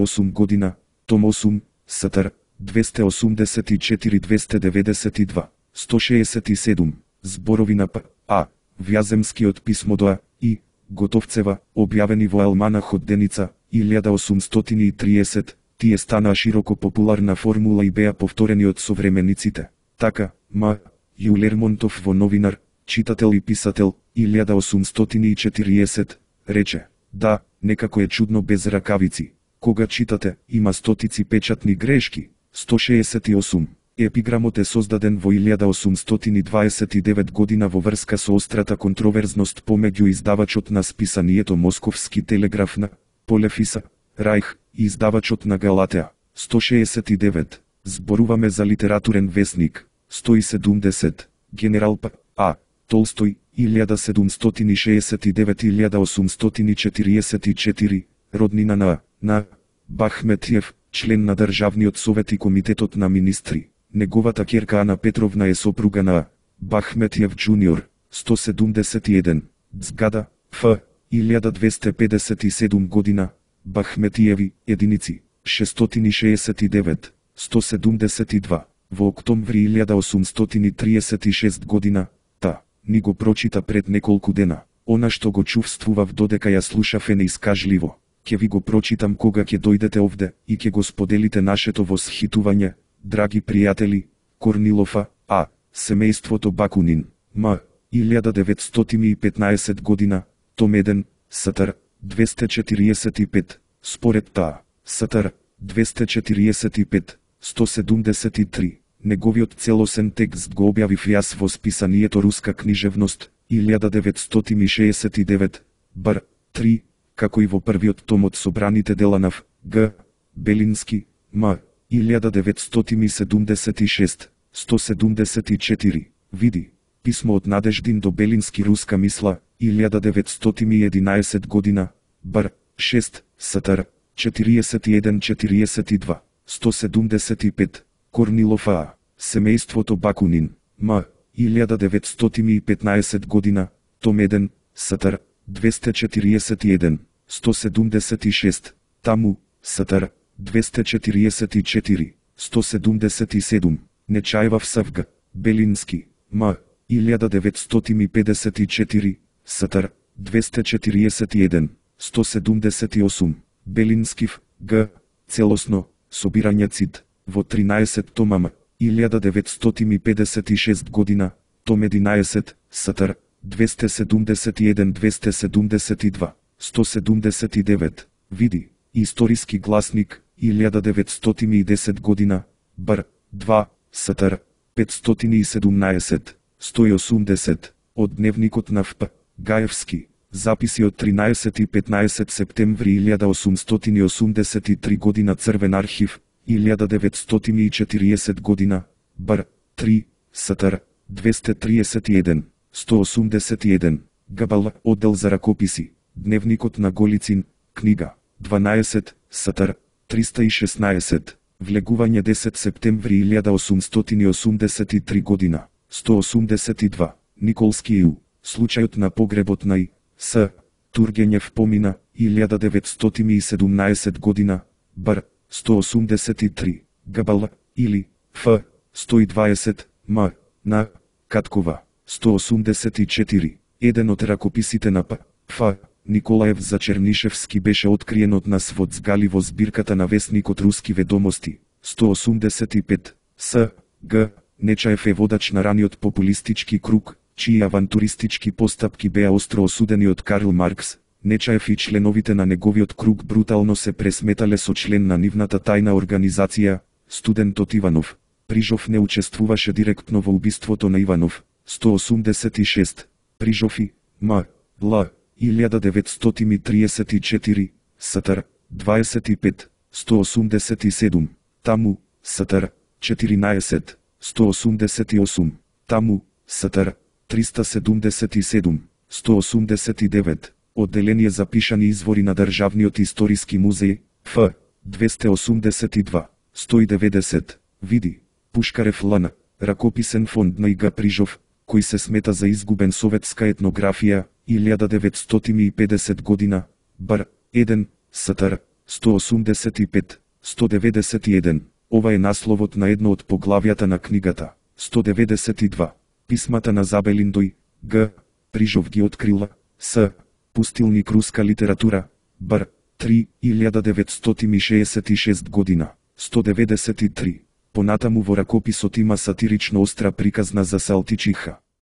осум година, том осум, СТР, двесте осумдесет и четири двесте деветдесет и два сто шеесет и седум зборови на П. А. Вјаземскиот писмо до А. И. Готовцева, објавени во Алманахот Деница, илјада осумстотини и триесет, тие станаа широко популарна формула и беа повторени од современиците. Така, М. Ју Лермонтов во Новинар, читател и писател, илјада осумстотини и четириесет, рече: да, некако е чудно без ракавици. Кога читате, има стотици печатни грешки. сто шеесет и осум. Епиграмот е создаден во илјада осумстотини дваесет и девет година во врска со острата контроверзност помеѓу издавачот на списанието Московски телеграф на Полефиса, Рајх, и издавачот на Галатеа. сто шеесет и девет. Зборуваме за литературен весник. сто и седумдесет. Генерал П. А. Толстој, илјада седумстотини шеесет и девет до илјада осумстотини четириесет и четири, роднина на на Бахметиев, член на Државниот совет и Комитетот на министри. Неговата ќерка Ана Петровна е сопруга на Бахметиев джуниор. сто седумдесет и еден. Згада, Ф. илјада двесте педесет и седум година. Бахметиеви, единици, шестстотини шеесет и девет, сто седумдесет и два. Во октомври илјада осумстотини триесет и шест година. Та, ни го прочита пред неколку дена. Она што го чувствував додека ја слушав е неискажливо. Ке ви го прочитам кога ќе дојдете овде и ќе го споделите нашето восхитување, драги пријатели. Корнилов А. Семејството Бакунин. М. илјада деветстотини и петнаесет година. Том еден. Сатар. двесте четириесет и пет. Според таа. Сатар. двесте четириесет и пет. сто седумдесет и три. Неговиот целосен текст го објавив јас во списанието Руска книжевност, илјада деветстотини шеесет и девет, бар три, како и во првиот том од собраните дела на Ф. Г. Белински, М. илјада деветстотини седумдесет и шест, сто седумдесет и четири. Види, писмо од Надеждин до Белински Руска мисла, илјада деветстотини и единаесет година, бар шест, Сатар, четириесет и еден четириесет и два, сто седумдесет и пет. Корнилов А. Семејството Бакунин. М. илјада деветстотини и петнаесет година. Том еден. Сатар. двесте четириесет и еден. сто седумдесет и шест. Таму. Сатар. двесте четириесет и четири. сто седумдесет и седум. Нечаевав Савга. Белински. М. илјада деветстотини и педесет и четири. Сатар. двесте четириесет и еден. сто седумдесет и осум. Белинскив. Г. Целосно. Собирање цит. Во тринаесет томама, илјада деветстотини и педесет и шест година, том единаесет, Сатар, двесте седумдесет и еден двесте седумдесет и два, сто седумдесет и девет. Види, историски гласник, илјада деветстотини и десет година, бар два, Сатар, петстотини и седумнаесет, сто и осумдесет, од дневникот на Ф. П. Гаевски, записи од тринаесет и петнаесет септември илјада осумстотини и осумдесет и три година Црвен архив, илјада деветстотини и четириесет година, бар три, Сатар, двесте триесет и еден, сто осумдесет и еден, Габала, оддел за ракописи, дневникот на Голицин, книга, дванаесет, Сатар, триста и шеснаесет, влегување десет септември илјада осумстотини и осумдесет и три година, сто осумдесет и два, Николски Ю, случајот на погребот на И. С. Тургенев помина, илјада деветстотини и седумнаесет година, бар сто осумдесет и три, Габала, или Ф. сто и дваесет, М. на Каткова, сто осумдесет и четири. Еден од ракописите на П. Ф. Николаев за Чернишевски беше откриен од нас во Цгали во збирката на весникот Руски ведомости, сто осумдесет и пет. С. Г. Нечаев е водач на раниот популистички круг, чии авантуристички постапки беа остро осудени од Карл Маркс. Нечаев и членовите на неговиот круг брутално се пресметале со член на нивната тајна организација, студентот Иванов. Прижов не учествуваше директно во убиството на Иванов, сто осумдесет и шест. Прижов и М. Л. илјада деветстотини триесет и четири, Сатар, дваесет и пет, сто осумдесет и седум. Таму, Сатар, четиринаесет, сто осумдесет и осум. Таму, Сатар, триста седумдесет и седум, сто осумдесет и девет. Одделение за пишани извори на Државниот историски музеј, Ф. двесте осумдесет и два, сто и деветдесет. Види, Пушкарев Лана, ракописен фонд на Ига Прижов, кој се смета за изгубен советска етнографија, илјада деветстотини и педесет година, бар еден, Сатар, сто осумдесет и пет, сто деветдесет и еден. Ова е насловот на едно од поглавјата на книгата. сто деветдесет и два. Писмата на Забелиндој, Г. Прижов ги открила, С. Пустилник руска литература, Бр. три илјада деветстотини шеесет и шеста година. сто деветдесет и три. Понатаму во ракописот има сатирично остра приказна за Салтичиха.